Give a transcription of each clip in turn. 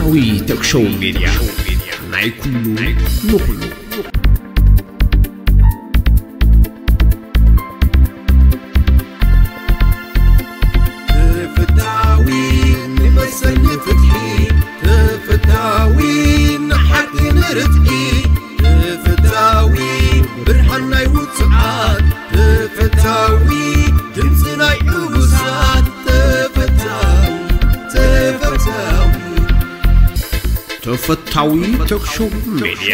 ዊ ቶክ ሾው ሜድያ፣ ናይ ኩሉ ንኹሉ። ተፈታዊ ንመሰል ንፍትሒ፣ ተፈታዊ ንሓቂ ንርትዒ፣ ተፈታዊ ብርሃን ናይ ውጹዓት፣ ተፈታዊ ድምጺ ናይ ዕቡሳት፣ ተፈታዊ፣ ተፈታዊ። ተፈታዊ ቶክ ሾው ሜድያ፣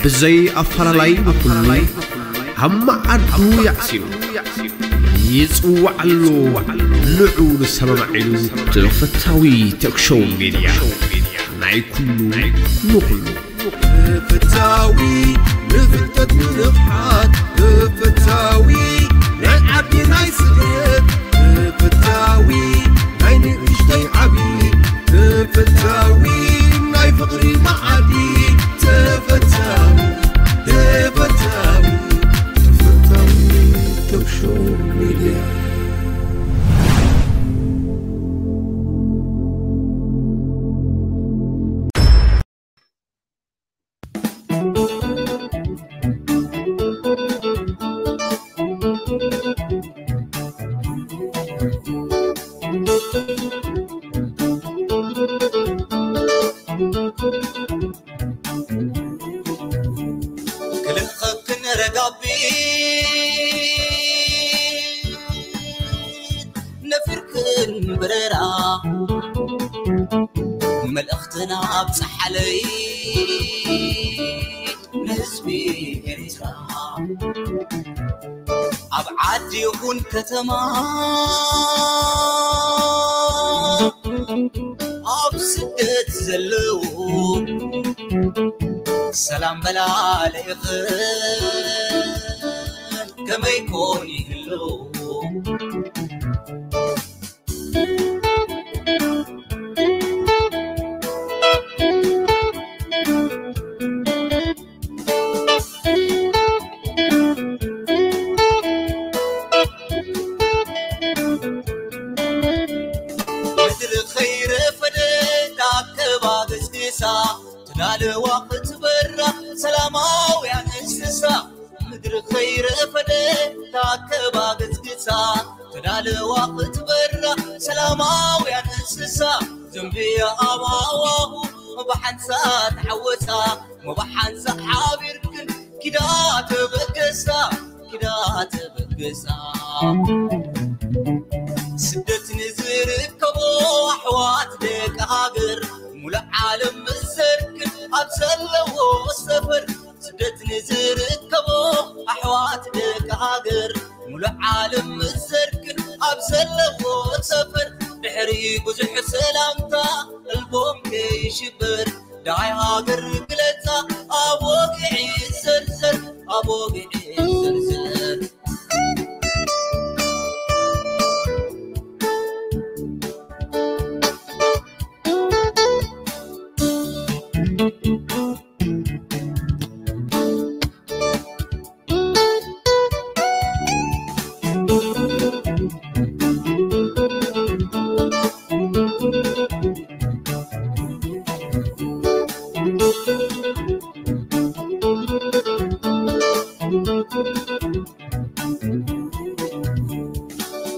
ብዘይ ኣፈላላይ ንኹሉ ኣብ መዓዱ የዕሲሉ፣ ይጽዋዕ ኣሎ ንዑ ንሰማማዕ ኢሉ። ተፈታዊ ቶክ ሾው ሜድያ፣ ናይ ኩሉ ንኹሉ። ተፈታዊ ንፍልጠት ንንቕሓት፣ ተፈታዊ ናይ ዓዲ ናይ ስደት፣ ተፈታዊ ናይ ንእሽተይ ዓቢ፣ ተፈታዊ ናይ ፍቕሪ መዓዲ፣ ተፈታዊ፣ ተፈታዊ፣ ተፈታዊ ቶክ ሾው ሜድያ። ክልኸክን ረጋቢት ነፊርክን ብረራ፣ መልእኽትና ኣብጽሓለይ ንህዝቢ ኤርትራ። ኣብ ዓዲ ይኹን ከተማ፣ ኣብ ስደት ዘለዉ፣ ሰላም በላ ለይኽን ከመይ ኮን ይህሉ? ምድሪ ኸይረፈደት ኣከባ ገስግሳ፣ ተዳለዋ ክትበራ ሰላማውያን እንስሳ። ምድሪ ኸይረፈደት ኣከባ ገስግሳ፣ ተዳለዋ ክትበራ ሰላማውያን እንስሳ። ዘንብያ ኣብ ሃዋሁ ብሓንሳ ተሓወሳ፣ ብሓንሳ ሓቢርክን ኪዳ ተበገሳ፣ ኪዳ ተበገሳ። ስደት ንዝርከቦ ኣሕዋት ደቂ ሃገር፣ ሙሉእ ዓለም ምዘርክን ኣብ ዘለዎ ሰፈር። ስደት ንዝርከቦ ኣሕዋት ደቂ ሃገር፣ ሙሉእ ዓለም ምዘርክን ኣብ ዘለዎ ሰፈር። ድሕሪ ብዙሕ ሰላምታ ቀልቦም ከይሽበር፣ ደሃይ ሃገር ግለጻ ኣብ ወግዒ ዘርዘር፣ ኣብ ወግዒ ዘርዘር።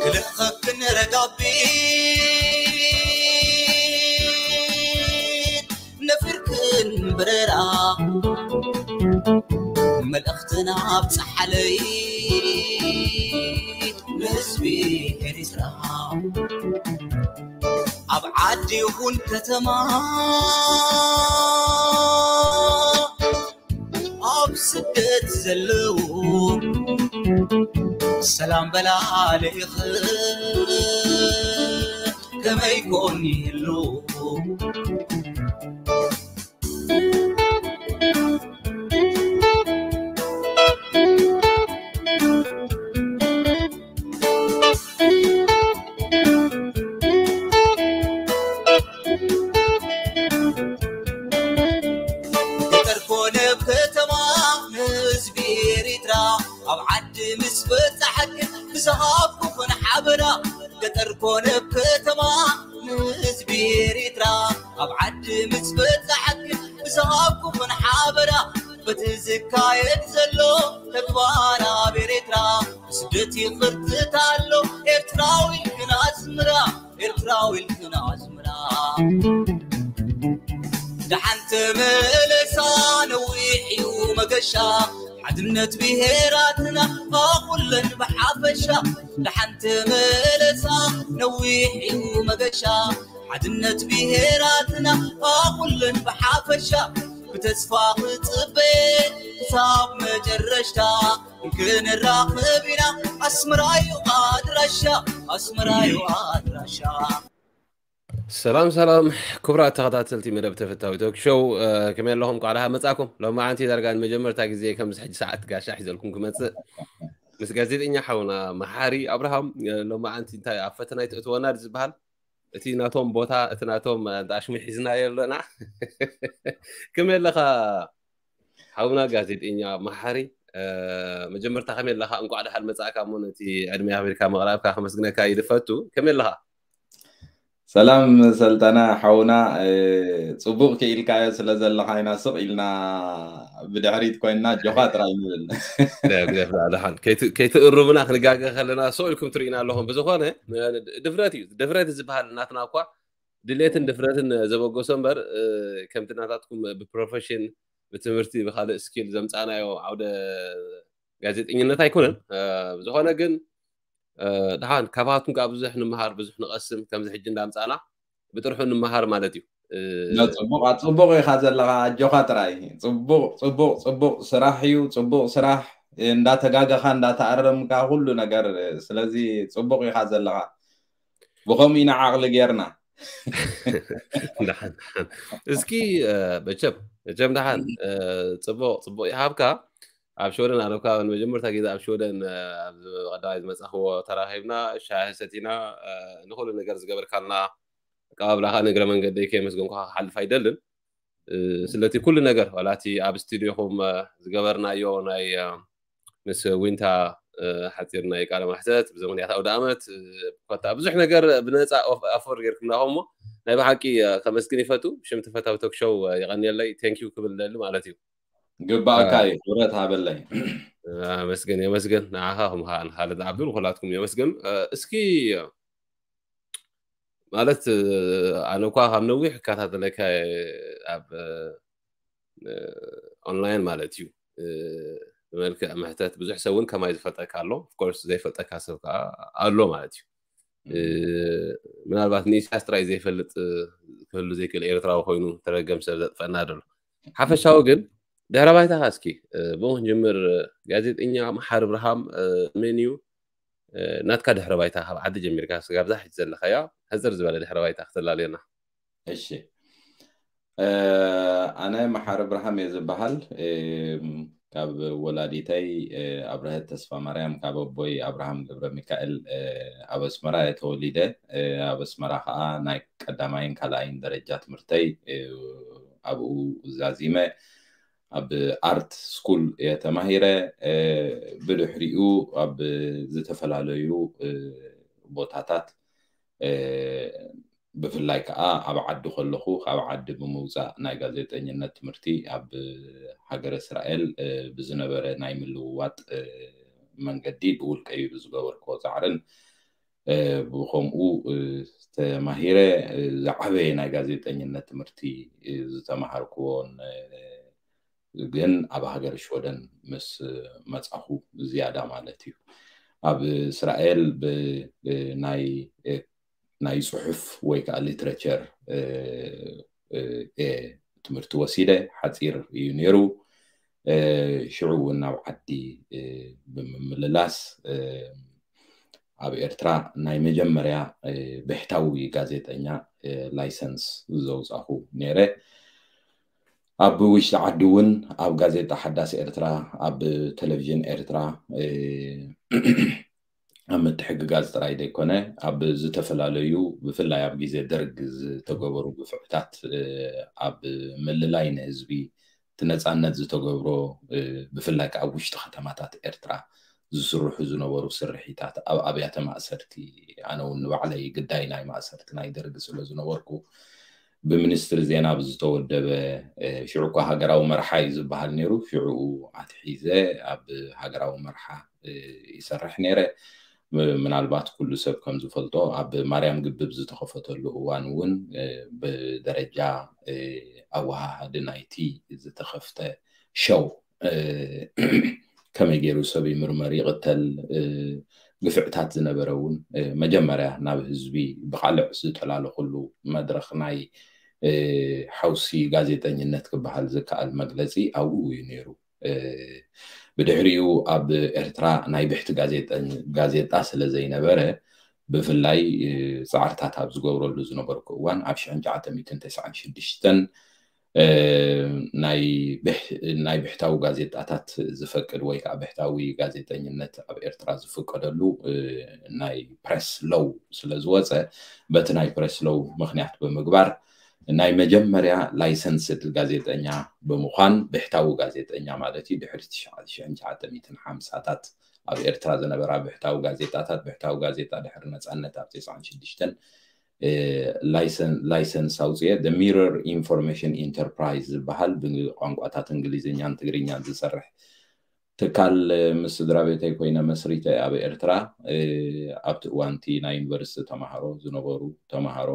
ክልእኸክን ረጋቢት ነፊርክን ብረራ፣ መልእኽትና ኣብጽሓለይ ንህዝቢ ኤርትራ። ኣብ ዓዲ ይኹን ከተማ፣ ኣብ ስደት ዘለዉ፣ ሰላም በላ ለይኽን ከመይ ኮን ይህሉ? ገጠር ኮነ ኣብ ከተማ ንህዝቢ ኤሪትራ፣ ኣብ ዓዲ ምስ በጻሕክን ብዝሃብኩኽን ሓበራ። ገጠር ኮነ ኣብ ከተማ ንህዝቢ ኤሪትራ፣ ኣብ ዓዲ ምስ በጻሕክን ብዝሃብኩኽን ሓበራ፣ በቲ ዝካየድ ዘሎ ተግባር ኣብ ኤርትራ፣ ስደት ይቕርትት ኣሎ። ኤርትራዊ ኢልክን ኣስምራ፣ ኤርትራዊ ኢልክን ኣስምራ። ደሓን ተመለሳ፣ ነዊሕ እዩ መገሻ። ሓድነት ብሄራትና፣ ኩለን ብሓፈሻ። ደሓን ተመለሳ፣ ነዊሕ እዩ መገሻ። ሓድነት ብሄራትና፣ ኩለን ብሓፈሻ። ብተስፋ ክጽበ ክሳብ መጨረሽታ፣ ክንራኸብ ኢና። ኣስመራ እዩ ኣድራሻ፣ ኣስመራ እዩ ኣድራሻ። ሰላም ሰላም፣ ክቡራት ተኸታተልቲ መደብ ተፈታዊ ቶክ ሾው፣ ከመይ ኣለኹም? ቋዕዳ መጻኩም። ሎማዓንቲ ዳርጋ ንመጀመርታ ግዜ ከምዚ ሕጂ ሰዓት ጋሻ ሒዘልኩም ክመጽእ፣ ምስ ጋዜጠኛ ሓውና መሓሪ ኣብርሃም። ሎማዓንቲ እንታይ ኣብ ፈተና ይትእትወና ዝበሃል፣ እቲ ናቶም ቦታ፣ እቲ ናቶም ኣሽሙ ሒዝናዮ ኣለና። ከመይ ኣለኻ ሓውና ጋዜጠኛ መሓሪ? መጀመርታ ከመይ ኣለኻ? እንቋዕ ደሓን መጻእካ። እሞ ነቲ ዕድመ ኣኽቢርካ ምቕራብካ ከመስግነካ ይድፈቱ። ከመይ ኣለኻ? ሰላም ሰልጠነ ሓውና፣ ጽቡቕ ክኢልካዮ ስለ ዘለኻ ኢና ስቕ ኢልና ብድሕሪት ኮይንና ጆኻ ጥራይ ንብል። ደሓን ከይትእርሙና ክንጋገ ከለና ስቕ ኢልኩም ትርእዩና ኣለኹም። ብዝኾነ ድፍረት እዩ፣ ድፍረት ዝበሃል ናትና እኳ ድሌትን ድፍረትን ዘበገሶ እምበር፣ ከምቲ ናታትኩም ብፕሮፌሽን፣ ብትምህርቲ፣ ብካልእ ስኪል ዘምጻናዮ ዓውደ ጋዜጠኝነት ኣይኮነን። ብዝኾነ ግን ደሓን ካባትኩም ከዓ ብዙሕ ንምሃር፣ ብዙሕ ንቐስም። ከምዚ ሕጂ እንዳምጻና ብጥርሑ ንምሃር ማለት እዩ። ጽቡቕ፣ ጽቡቕ ኢኻ ዘለኻ፣ ኣጆኻ ጥራይ። ጽቡቕ፣ ጽቡቕ፣ ጽቡቕ ስራሕ እዩ፣ ጽቡቕ ስራሕ። እንዳተጋገኻ፣ እንዳተኣረምካ፣ ኩሉ ነገር። ስለዚ ጽቡቕ ኢኻ ዘለኻ። ብኸምኡ ኢና ዓቕሊ ጌርና። ደሓን፣ ደሓን። እስኪ መቸም፣ መቸም ደሓን፣ ጽቡቕ፣ ጽቡቕ ይሃብካ። ኣብ ሽወደን ኣነ እኳ ንመጀመርታ ግዜ ኣብ ሽወደን፣ ኣብ ቀዳማይ ዝመጻኽዎ ተራኺብና፣ ሻሂ ሰቲና፣ ንኹሉ ነገር ዝገበርካልና ኣቀባብላኻ ንእግረ መንገደይ ከየመስገንኩኻ ክሓልፍ ኣይደልን። ስለቲ ኩሉ ነገር፣ ዋላ እቲ ኣብ ስቱዲዮኹም ዝገበርናዮ ናይ ምስ ዊንታ ሓፂር ናይ ቃለ ማሕተት፣ ብዘመንያት ኣውደ ኣመት ኮታ ብዙሕ ነገር ብነፃ ኣፎር ጌርኩምና። እሞ ናይ ብሓቂ ከመስግን ይፈቱ። ብሽም ተፈታዊ ቶክ ሾው የቐንየለይ፣ ቴንኪዩ ክብል ደሊ ማለት እዩ። ግባእካ እዩ፣ ክብረት ሃበለይ። ኣመስግን፣ የመስግን። ንዓኻ ከም ከዓ ንኻልድ ዓብዱ ንኹላትኩም የመስግን። እስኪ ማለት ኣነ እኳ ካብ ነዊሕ እከታተለካ ኣብ ኦንላይን ማለት እዩ፣ ብመልክዕ ምሕተት ብዙሕ ሰብ እውን ከማይ ዝፈልጠካ ኣሎ። ኦፍኮርስ ዘይፈልጠካ ሰብ ከዓ ኣሎ ማለት እዩ። ምናልባት ንኢሳያስ ጥራይ ዘይፈልጥ ክህሉ ዘይክእል ኤርትራዊ ኮይኑ ተረገም ሰብ ዘጥፈና ደሎ። ሓፈሻዊ ግን ድሕረ ባይታኻ እስኪ ብኡ ክንጅምር። ጋዜጠኛ መሓሪ ኣብርሃም መን እዩ? ናትካ ድሕረ ባይታ ካብ ዓዲ ጀሚርካ ስጋብ ዛ ሕጂ ዘለኻያ ሕፅር ዝበለ ድሕረ ባይታ ክተላለየና። እሺ፣ ኣነ መሓሪ ኣብርሃም እየ ዝበሃል። ካብ ወላዲተይ ኣብረሀት ተስፋ ማርያም፣ ካብ ኣቦይ ኣብርሃም ገብረ ሚካኤል። ኣብ ኣስመራ እየ ተወሊደ። ኣብ ኣስመራ ከዓ ናይ ቀዳማይን ካልኣይን ደረጃ ትምህርተይ ኣብኡ ዛዚመ። ኣብ ኣርት ስኩል እየ ተማሂረ። ብድሕሪኡ ኣብ ዝተፈላለዩ ቦታታት፣ ብፍላይ ከዓ ኣብ ዓዲ ከለኹ፣ ካብ ዓዲ ብምውፃእ ናይ ጋዜጠኝነት ትምህርቲ ኣብ ሃገረ እስራኤል ብዝነበረ ናይ ምልውዋጥ መንገዲ ብውልቀይ ብዝገበርክዎ ፃዕርን ብኸምኡ ተማሂረ። ዝዓበየ ናይ ጋዜጠኝነት ትምህርቲ ዝተማሃርክዎን ግን ኣብ ሃገር ሽወደን ምስ መጻኹ ዝያዳ ማለት እዩ። ኣብ እስራኤል ብናይ ናይ ጽሑፍ ወይ ከዓ ሊትሬቸር ትምህርቲ ወሲደ። ሓፂር እዩ ነይሩ። ሽዑ እውን ናብ ዓዲ ብምምልላስ ኣብ ኤርትራ ናይ መጀመርያ ብሕታዊ ጋዜጠኛ ላይሰንስ ዘውፃኹ ነይረ። ኣብ ውሽጢ ዓዲ እውን ኣብ ጋዜጣ ሓዳስ ኤርትራ፣ ኣብ ቴሌቪዥን ኤርትራ ኣብ ምትሕግጋዝ ጥራይ ዘይኮነ፣ ኣብ ዝተፈላለዩ ብፍላይ ኣብ ግዜ ደርግ ዝተገበሩ ግፍዕታት ኣብ ምልላይ ንህዝቢ እቲ ነፃነት ዝተገብሮ ብፍላይ ከዓ ኣብ ውሽጢ ከተማታት ኤርትራ ዝስርሑ ዝነበሩ ስርሒታት ኣብ ኣብያተ ማእሰርቲ፣ ኣነ እውን ንባዕለይ ግዳይ ናይ ማእሰርቲ ናይ ደርግ ስለ ዝነበርኩ ብሚኒስትሪ ዜና ብዝተወደበ ሽዑ እኳ ሃገራዊ መርሓ እዩ ዝበሃል ነይሩ። ሽዑኡ ኣትሒዘ ኣብ ሃገራዊ መርሓ ይሰርሕ ነይረ። ምናልባት ኩሉ ሰብ ከም ዝፈልጦ ኣብ ማርያም ግብብ ዝተኸፈተሉ እዋን እውን ብደረጃ ኣወሃሃዲ ናይቲ ዝተኸፍተ ሸው ከመይ ገይሩ ሰብ ይምርመር ይቕተል ግፍዕታት ዝነበረ እውን መጀመርያ ናብ ህዝቢ ብቃልዕ ዝተላለኹሉ መድረኽ ናይ ሓውሲ ጋዜጠኝነት ክበሃል ዝከኣል መግለፂ ኣብኡ እዩ ነይሩ። ብድሕሪኡ ኣብ ኤርትራ ናይ ብሕቲ ጋዜጣ ስለ ዘይነበረ ብፍላይ ፃዕርታት ኣብ ዝገብረሉ ዝነበርኩ እዋን ኣብ ሽሕን ትሽዓተ ሚእትን ተስዓን ሽዱሽተን ናይ ብሕታዊ ጋዜጣታት ዝፈቅድ ወይ ከዓ ብሕታዊ ጋዜጠኝነት ኣብ ኤርትራ ዝፍቀደሉ ናይ ፕረስ ሎው ስለ ዝወፀ በቲ ናይ ፕረስ ሎው ምክንያት ብምግባር ናይ መጀመርያ ላይሰንስድ ጋዜጠኛ ብምዃን ብሕታዊ ጋዜጠኛ ማለት እዩ ድሕሪ ሽሕን ትሽዓተ ሚእትን ሓምሳታት ኣብ ኤርትራ ዝነበራ ብሕታዊ ጋዜጣታት ብሕታዊ ጋዜጣ ድሕሪ ነፃነት ኣብ ተስዓን ሽዱሽተን ላይሰንስ ኣውፅኤ ሚረር ኢንፎርሜሽን ኢንተርፕራይዝ ዝበሃል ብቋንቋታት እንግሊዝኛን ትግርኛን ዝሰርሕ ትካል ምስ ስድራ ቤተይ ኮይነ መስሪተ ኣብ ኤርትራ ኣብቲ እዋንቲ ናይ ዩኒቨርሲቲ ተማሃሮ ዝነበሩ ተማሃሮ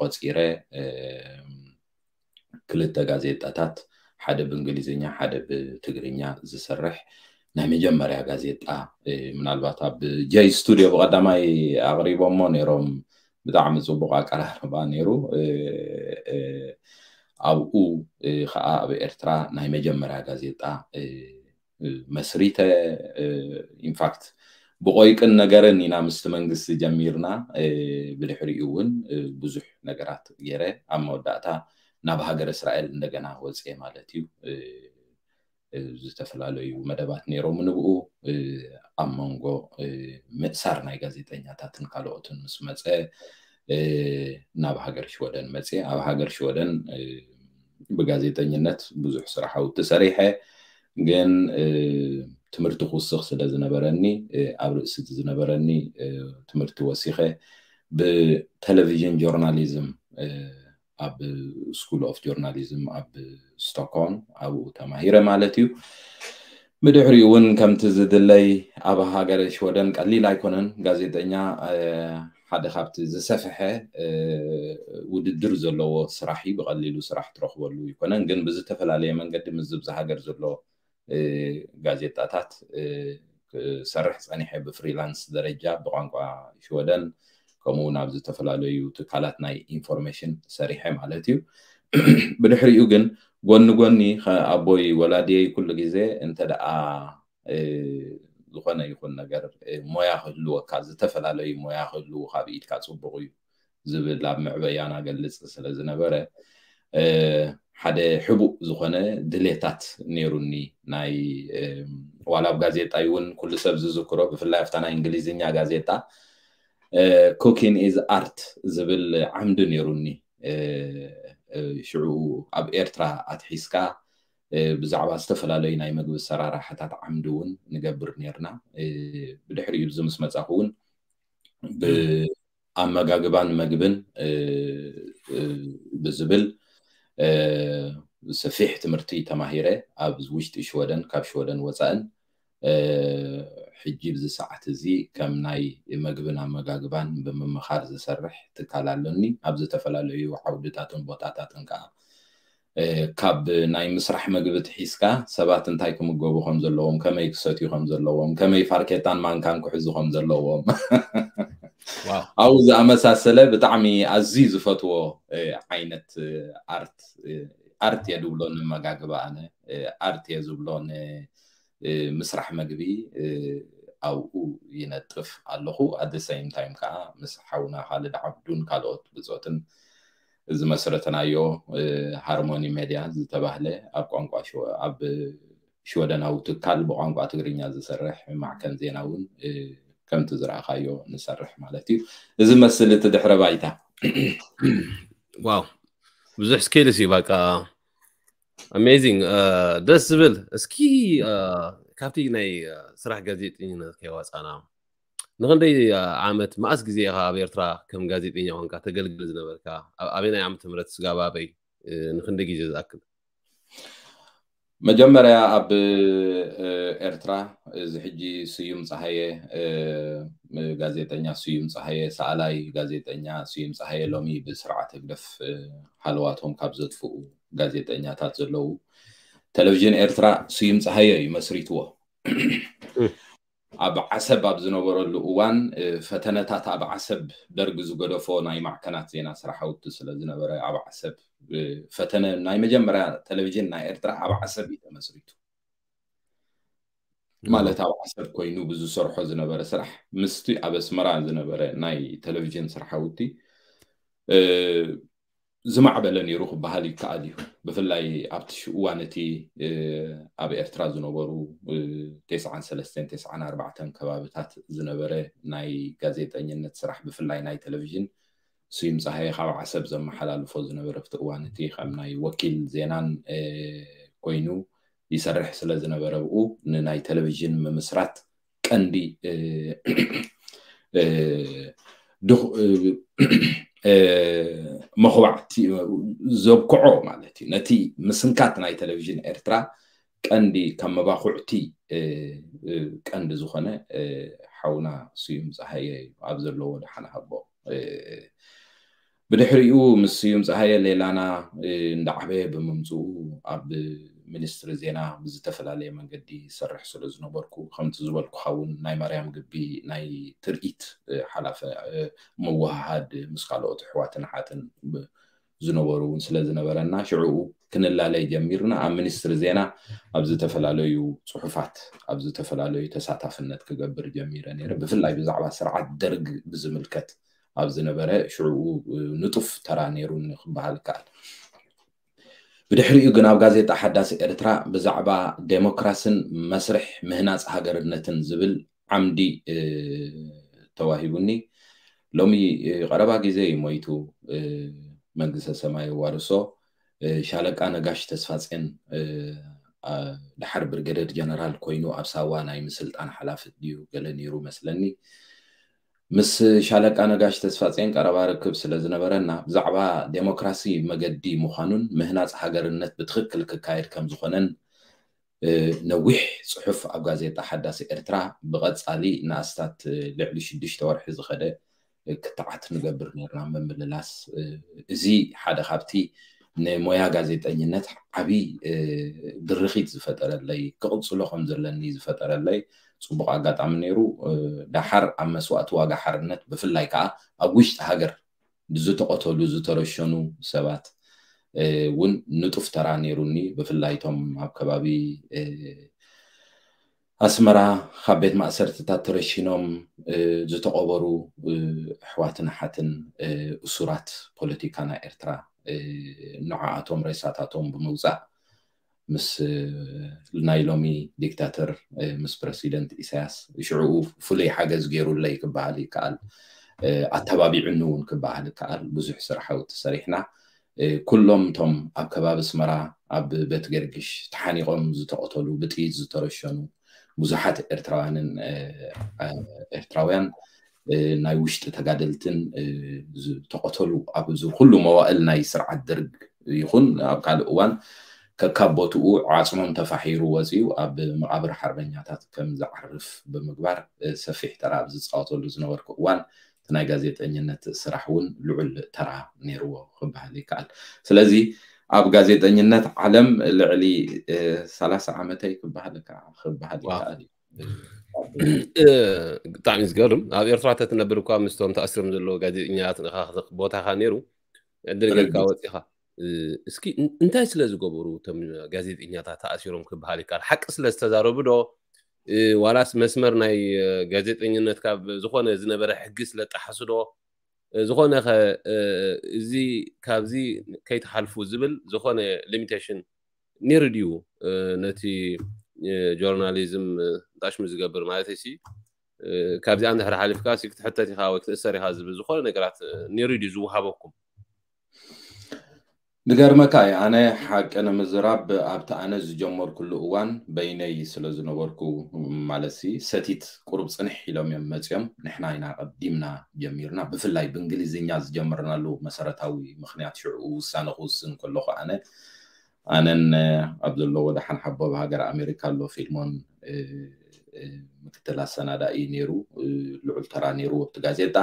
ቆፂረ ክልተ ጋዜጣታት ሓደ ብእንግሊዝኛ ሓደ ብትግርኛ ዝሰርሕ ናይ መጀመርያ ጋዜጣ ምናልባት ኣብ ጀይ ስቱድዮ ብቀዳማይ ኣቕሪቦሞ ነይሮም። ብጣዕሚ ፅቡቅ ኣቀራርባ ነይሩ። ኣብኡ ከዓ ኣብ ኤርትራ ናይ መጀመርያ ጋዜጣ መስሪተ ኢንፋክት ብቆይቅን ነገርን ኢና ምስቲ መንግስቲ ጀሚርና። ብድሕሪኡ እውን ብዙሕ ነገራት ገይረ ኣብ መወዳእታ ናብ ሃገር እስራኤል እንደገና ወፅኤ ማለት እዩ። ዝተፈላለዩ መደባት ነይሮም ንብኡ ኣብ መንጎ ምእሳር ናይ ጋዜጠኛታትን ካልኦትን ምስ መፀ ናብ ሃገር ሽወደን መፅየ ኣብ ሃገር ሽወደን ብጋዜጠኝነት ብዙሕ ስራሕ ውቲ ሰሪሐ ግን ትምህርቲ ክውስኽ ስለ ዝነበረኒ ኣብ ርእሲ ዝነበረኒ ትምህርቲ ወሲኸ ብቴሌቪዥን ጆርናሊዝም ኣብ ስኩል ኦፍ ጆርናሊዝም ኣብ ስቶክሆልም ኣብኡ ተማሂረ ማለት እዩ። ብድሕሪኡ እውን ከምቲ ዝድለይ ኣብ ሃገር ሽወደን ቀሊል ኣይኮነን። ጋዜጠኛ ሓደ ካብቲ ዝሰፍሐ ውድድር ዘለዎ ስራሕ እዩ። ብቀሊሉ ስራሕ ትረኽበሉ ይኮነን፣ ግን ብዝተፈላለየ መንገዲ ምስ ዝብዚ ሃገር ዘሎ ጋዜጣታት ክሰርሕ ፀኒሐ ብፍሪላንስ ደረጃ ብቋንቋ ሽወደን ከምኡ እውን ኣብ ዝተፈላለዩ ትካላት ናይ ኢንፎርሜሽን ሰሪሐ ማለት እዩ። ብድሕሪኡ ግን ጎኒ ጎኒ ኣቦይ ወላዲየይ ኩሉ ግዜ እንተ ደኣ ዝኾነ ይኹን ነገር ሞያ ክህልወካ ዝተፈላለዩ ሞያ ክህልውካ ብኢድካ ፅቡቕ እዩ ዝብል ኣብ መዕበያና ገልፅ ስለ ዝነበረ ሓደ ሕቡእ ዝኾነ ድሌታት ነይሩኒ። ናይ ዋላ ኣብ ጋዜጣ እውን ኩሉ ሰብ ዝዝክሮ ብፍላይ ኣብታ ናይ እንግሊዝኛ ጋዜጣ ኩኪን ኢዝ ኣርት ዝብል ዓምዲ ነይሩኒ። ሽዑ ኣብ ኤርትራ ኣትሒዝካ ብዛዕባ ዝተፈላለዩ ናይ መግቢ ኣሰራርሓታት ዓምዲ እውን ንገብር ነርና። ብድሕሪኡ እዚ ምስ መፃኹ እውን ኣመጋግባን መግብን ብዝብል ሰፊሕ ትምህርቲ ተማሂረ ኣብ ውሽጢ ሽወደን ካብ ሽወደን ወፃእን ሕጂ ብዚ ሰዓት እዚ ከም ናይ መግብን ኣመጋግባን ብምምኻር ዝሰርሕ ትካል ኣለኒ። ኣብ ዝተፈላለዩ ዓውድታትን ቦታታትን ከዓ ካብ ናይ ምስራሕ መግቢ ትሒዝካ ሰባት እንታይ ክምገቡ ከም ዘለዎም፣ ከመይ ክሰትዩ ከም ዘለዎም፣ ከመይ ፋርኬታን ማንካን ክሕዙ ከም ዘለዎም ኣብኡ ዝኣመሳሰለ ብጣዕሚ ኣዝዩ ዝፈትዎ ዓይነት ኣርት ኣርት እየ ዝብሎ ንመጋግባ ኣነ ኣርት እየ ዝብሎ ንምስራሕ መግቢ ኣብኡ ይነጥፍ ኣለኹ። ኣደ ሰይም ታይም ከዓ ምስ ሓውና ካልድ ዓብዱን ካልኦት ብፆትን ዝመስረተናዮ ሃርሞኒ ሜድያ ዝተባህለ ኣብ ቋንቋ ኣብ ሽወደናዊ ትካል ብቋንቋ ትግርኛ ዝሰርሕ ማዕከን ዜና እውን ከምቲ ዝረኣኻዮ ንሰርሕ ማለት እዩ። እዚ መስል እቲ ድሕረ ባይታ። ዋው ብዙሕ ስኪልስ እዩ በቃ። ኣሜዚንግ ደስ ዝብል። እስኪ ካብቲ ናይ ስራሕ ጋዜጠኝነት ከይወፃና ንክንደይ ዓመት መኣስ ግዜ ኢኻ ኣብ ኤርትራ ከም ጋዜጠኛ ኮንካ ተገልግል ዝነበርካ? ኣብ ኣበናይ ዓመተ ምህረት ስጋብ ኣበይ? ንክንደይ ግዜ ዝኣክል? መጀመርያ ኣብ ኤርትራ፣ እዚ ሕጂ ስዩም ፀሃየ፣ ጋዜጠኛ ስዩም ፀሃየ፣ ሰኣላይ ጋዜጠኛ ስዩም ፀሃየ፣ ሎሚ ብስርዓት ህግደፍ ሃለዋቶም ካብ ዘጥፍኡ ጋዜጠኛታት ዘለዉ፣ ቴሌቪዥን ኤርትራ ስዩም ፀሃየ እዩ መስሪትዎ። ኣብ ዓሰብ ኣብ ዝነበረሉ እዋን፣ ፈተነታት ኣብ ዓሰብ፣ ደርግ ዝገደፎ ናይ ማዕከናት ዜና ስራሕቲ ስለ ዝነበረ፣ ኣብ ዓሰብ ፈተነ፣ ናይ መጀመርያ ቴሌቪዥን ናይ ኤርትራ ኣብ ዓሰብ እዩ ተመስሪቱ። ማለት ኣብ ዓሰብ ኮይኑ ብዝሰርሖ ዝነበረ ስራሕ ምስቲ ኣብ ኣስመራ ዝነበረ ናይ ቴሌቪዥን ስራሕቲ ዝማዕበለ ነይሩ ክበሃል ይከኣል እዩ። ብፍላይ ኣብቲ እዋን እቲ ኣብ ኤርትራ ዝነበሩ ተስዓን ሰለስተን ተስዓን ኣርባዕተን ከባብታት ዝነበረ ናይ ጋዜጠኝነት ስራሕ፣ ብፍላይ ናይ ቴሌቪዥን፣ ስዩም ፀሃየ ካብ ዓሰብ ዘመሓላልፎ ዝነበረ ኣብቲ እዋን እቲ ከም ናይ ወኪል ዜናን ኮይኑ ይሰርሕ ስለ ዝነበረ፣ ብኡ ንናይ ቴሌቪዥን ምምስራት ቀንዲ መኹባዕቲ ዘብክዖ ማለት እዩ። ነቲ ምስንካት ናይ ቴሌቪዥን ኤርትራ ቀንዲ ካብ መባኹዕቲ ቀንዲ ዝኾነ ሓውና ስዩም ፀሃየ እዩ። ኣብ ዘለዎ ደሓን ሃቦ። ብድሕሪኡ ምስ ስዩም ፀሃየ ሌላና እንዳዓበየ ብምምፅኡ፣ ኣብ ሚኒስትሪ ዜና ብዝተፈላለየ መንገዲ ይሰርሕ ስለ ዝነበርኩ፣ ከምቲ ዝበልኩኻ እውን ናይ ማርያም ግቢ ናይ ትርኢት ሓላፈ፣ ምውህሃድ ምስ ካልኦት ኣሕዋትን ኣሓትን ዝነበሩ እውን ስለ ዝነበረና፣ ሽዕኡ ክንላለይ ጀሚርና። ኣብ ሚኒስትሪ ዜና ኣብ ዝተፈላለዩ ፅሑፋት፣ ኣብ ዝተፈላለዩ ተሳታፍነት ክገብር ጀሚረ ነይረ። ብፍላይ ብዛዕባ ስርዓት ደርግ ብዝምልከት ኣብ ዝነበረ፣ ሽዕኡ ንጡፍ ተራ ነይሩኒ ክበሃል ይከኣል። ብድሕሪኡ ግን ኣብ ጋዜጣ ሓዳስ ኤርትራ ብዛዕባ ዴሞክራስን መስርሕ ምህናፅ ሃገርነትን ዝብል ዓምዲ ተዋሂቡኒ። ሎሚ ቀረባ ግዜ እዩ ሞይቱ፣ መንግስተ ሰማይ የዋርሶ። ሻለቃ ነጋሽ ተስፋጼን፣ ደሓር ብርጌደር ጀነራል ኮይኑ ኣብ ሳዋ ናይ ምስልጣን ሓላፊ ድዩ ገለ ነይሩ መስለኒ። ምስ ሻለቃ ነጋሽ ተስፋጼን ቀረባ ርክብ ስለ ዝነበረና፣ ብዛዕባ ዴሞክራሲ መገዲ ምዃኑን ምህናፅ ሃገርነት ብትኽክል ክካየድ ከም ዝኾነን ነዊሕ ፅሑፍ ኣብ ጋዜጣ ሓዳስ ኤርትራ ብቐፃሊ ንኣስታት ልዕሊ ሽዱሽተ ወርሒ ዝኸደ ክትዓት ንገብር ነርና። ምምልላስ፣ እዚ ሓደ ካብቲ ንሞያ ጋዜጠኝነት ዓብዪ ድርኺት ዝፈጠረለይ፣ ክቕፅሎ ከም ዘለኒ ዝፈጠረለይ ፅቡቕ ኣጋጣሚ ነይሩ። ደሓር ኣብ መስዋእቲ ዋጋ ሓርነት፣ ብፍላይ ከዓ ኣብ ውሽጢ ሃገር ዝተቐተሉ ዝተረሸኑ ሰባት እውን ንጡፍ ተራ ነይሩኒ። ብፍላይ እቶም ኣብ ከባቢ ኣስመራ ካብ ቤት ማእሰርትታት ተረሺኖም ዝተቐበሩ ኣሕዋትን ኣሓትን፣ እሱራት ፖለቲካ ናይ ኤርትራ፣ ንዓኣቶም ሬሳታቶም ብምውፃእ ምስ ናይ ሎሚ ዲክታተር፣ ምስ ፕረሲደንት ኢሳያስ ሽዕኡ ፍሉይ ሓገዝ ገይሩለይ ክበሃል ይከኣል። ኣተባቢዑኒ እውን ክበሃል ይከኣል። ብዙሕ ስራሕቲ ሰሪሕና። ኩሎም እቶም ኣብ ከባቢ ኣስመራ ኣብ ቤት ገርግሽ ተሓኒቖም ዝተቐተሉ፣ ብጥይት ዝተረሸኑ ብዙሓት ኤርትራውያንን ኤርትራውያን ናይ ውሽጢ ተጋደልትን ዝተቐተሉ፣ ኣብዚ ኩሉ መዋእል ናይ ስርዓት ደርግ ይኹን ኣብ ካልእ እዋን ከካብ ቦትኡ ዓጽሞም ተፋሒሩ ወጺኡ ኣብ መቓብር ሓርበኛታት ከም ዝዓርፍ ብምግባር ሰፊሕ ተራ ኣብ ዝጻወተሉ ዝነበርኩ እዋን፣ እቲ ናይ ጋዜጠኝነት ስራሕ እውን ልዑል ተራ ነይርዎ ክበሃል ይከኣል። ስለዚ ኣብ ጋዜጠኝነት ዓለም ልዕሊ ሰላሳ ዓመተይ ክበሃል ይከኣል እዩ። ብጣዕሚ ዝገርም። ኣብ ኤርትራ ተትነብር እኳ ምስቶም ተኣሲሮም ዘለዉ ጋዜጠኛታት ቦታኻ ነይሩ፣ ዕድል ጌርካ ወፂኻ። እስኪ እንታይ ስለ ዝገበሩ እቶም ጋዜጠኛታት ተኣሲሮም ክበሃል ይከኣል? ሓቂ ስለ ዝተዛረቡ ዶ፣ ዋላስ መስመር ናይ ጋዜጠኝነት ካብ ዝኾነ ዝነበረ ሕጊ ስለ ጣሓሱ ዶ፣ ዝኾነ ከ እዚ ካብዚ ከይትሓልፉ ዝብል ዝኾነ ሊሚቴሽን ነይሩ ድዩ? ነቲ ጆርናሊዝም ጣሽሙ ዝገብር ማለት ሲ፣ ካብዚኣ እንድሕር ሓሊፍካ ሲ ክትሕተት ኢኻ ወይ ክትእሰር ኢኻ ዝብል ዝኾነ ነገራት ነይሩ ድዩ ዝወሃበኩም? ንገርመካ እዩ፣ ኣነ ሓቂ ንምዝራብ ኣብቲ ኣነ ዝጀመርኩሉ እዋን በይነይ ስለ ዝነበርኩ፣ ማለት ሲ ሰቲት ቁሩብ ጽንሕ ኢሎም እዮም መጺኦም። ንሕና ኢና ቀዲምና ጀሚርና። ብፍላይ ብእንግሊዝኛ ዝጀመርናሉ መሰረታዊ ምኽንያት ሽዑ ውሳነ ክውስን ከለኹ ኣነ ኣነን ኣብ ዘለዎ ደሓን ሓቦ ኣብ ሃገር ኣሜሪካ ኣሎ ፊልሞን ምክትል ኣሰናዳኢ ነይሩ፣ ልዑል ተራ ነይሩ ኣብቲ ጋዜጣ።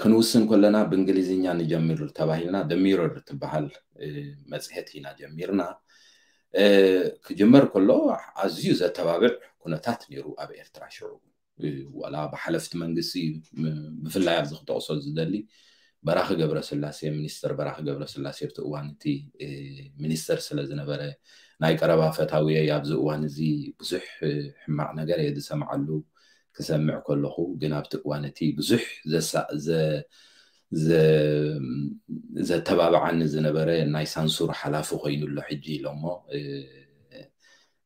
ክንውስን ከለና ብእንግሊዝኛ ንጀምር ተባሂልና ደሚረር ትበሃል መፅሄት ኢና ጀሚርና። ክጅመር ከሎ ኣዝዩ ዘተባብዕ ኩነታት ነይሩ ኣብ ኤርትራ ሽዑ። ዋላ ብሓለፍቲ መንግስቲ፣ ብፍላይ ኣብዚ ክጠቕሶ ዝደሊ በራኺ ገብረስላሴ፣ ሚኒስተር በራኺ ገብረስላሴ ኣብቲ እዋን እቲ ሚኒስተር ስለ ዝነበረ፣ ናይ ቀረባ ፈታውየይ ኣብዚ እዋን እዚ ብዙሕ ሕማቕ ነገር እየ ዝሰምዓሉ። ክሰምዕ ከለኹ ግን ኣብቲ እዋን እቲ ብዙሕ ዘተባብዓኒ ዝነበረ ናይ ሳንሱር ሓላፊ ኮይኑ ኣሎ ሕጂ ኢሎሞ።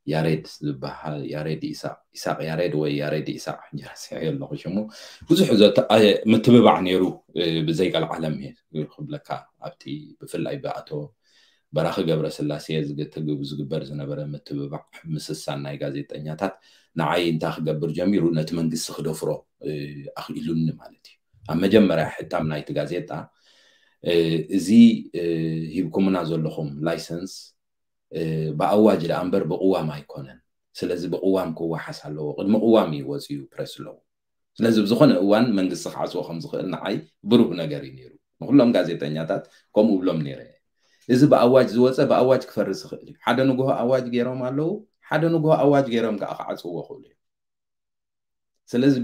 ያሬድ ዝበሃል፣ ያሬድ ኢሳቅ፣ ኢሳቅ ያሬድ ወይ ያሬድ ኢሳቅ፣ ሕጂ ረሲዐዮ ኣለኹ ሽሙ። ብዙሕ ምትብባዕ ነይሩ። ብዘይ ቀልዓለም እየ ክብለካ፣ ኣብቲ ብፍላይ ብኣቶ በራኺ ገብረስላሴ ዝግበር ዝነበረ ምትብባዕ ምስሳን ናይ ጋዜጠኛታት ንዓይ እንታይ ክገብር ጀሚሩ፣ ነቲ መንግስቲ ክደፍሮ ኣኽኢሉኒ ማለት እዩ። ኣብ መጀመርያ ሕታም ናይቲ ጋዜጣ እዚ ሂብኩምና ዘለኹም ላይሰንስ ብኣዋጅ ደኣ እምበር ብቅዋም ኣይኮነን። ስለዚ ብቅዋም ክወሓስ ኣለዎ። ቅድሚ ቅዋም እዩ ወፂኡ ፕረስ ኣለዎ። ስለዚ ብዝኾነ እዋን መንግስቲ ክዓፅዎ ከም ዝኽእል ንዓይ ብሩህ ነገር እዩ ነይሩ። ንኩሎም ጋዜጠኛታት ከምኡ ብሎም ነይረ። እዚ ብኣዋጅ ዝወፀ ብኣዋጅ ክፈርስ ይኽእል እዩ። ሓደ ንግሆ ኣዋጅ ገይሮም ኣለዉ፣ ሓደ ንግሆ ኣዋጅ ገይሮም ከዓ ክዓፅዎ ይኽእሉ እዮም። ስለዚ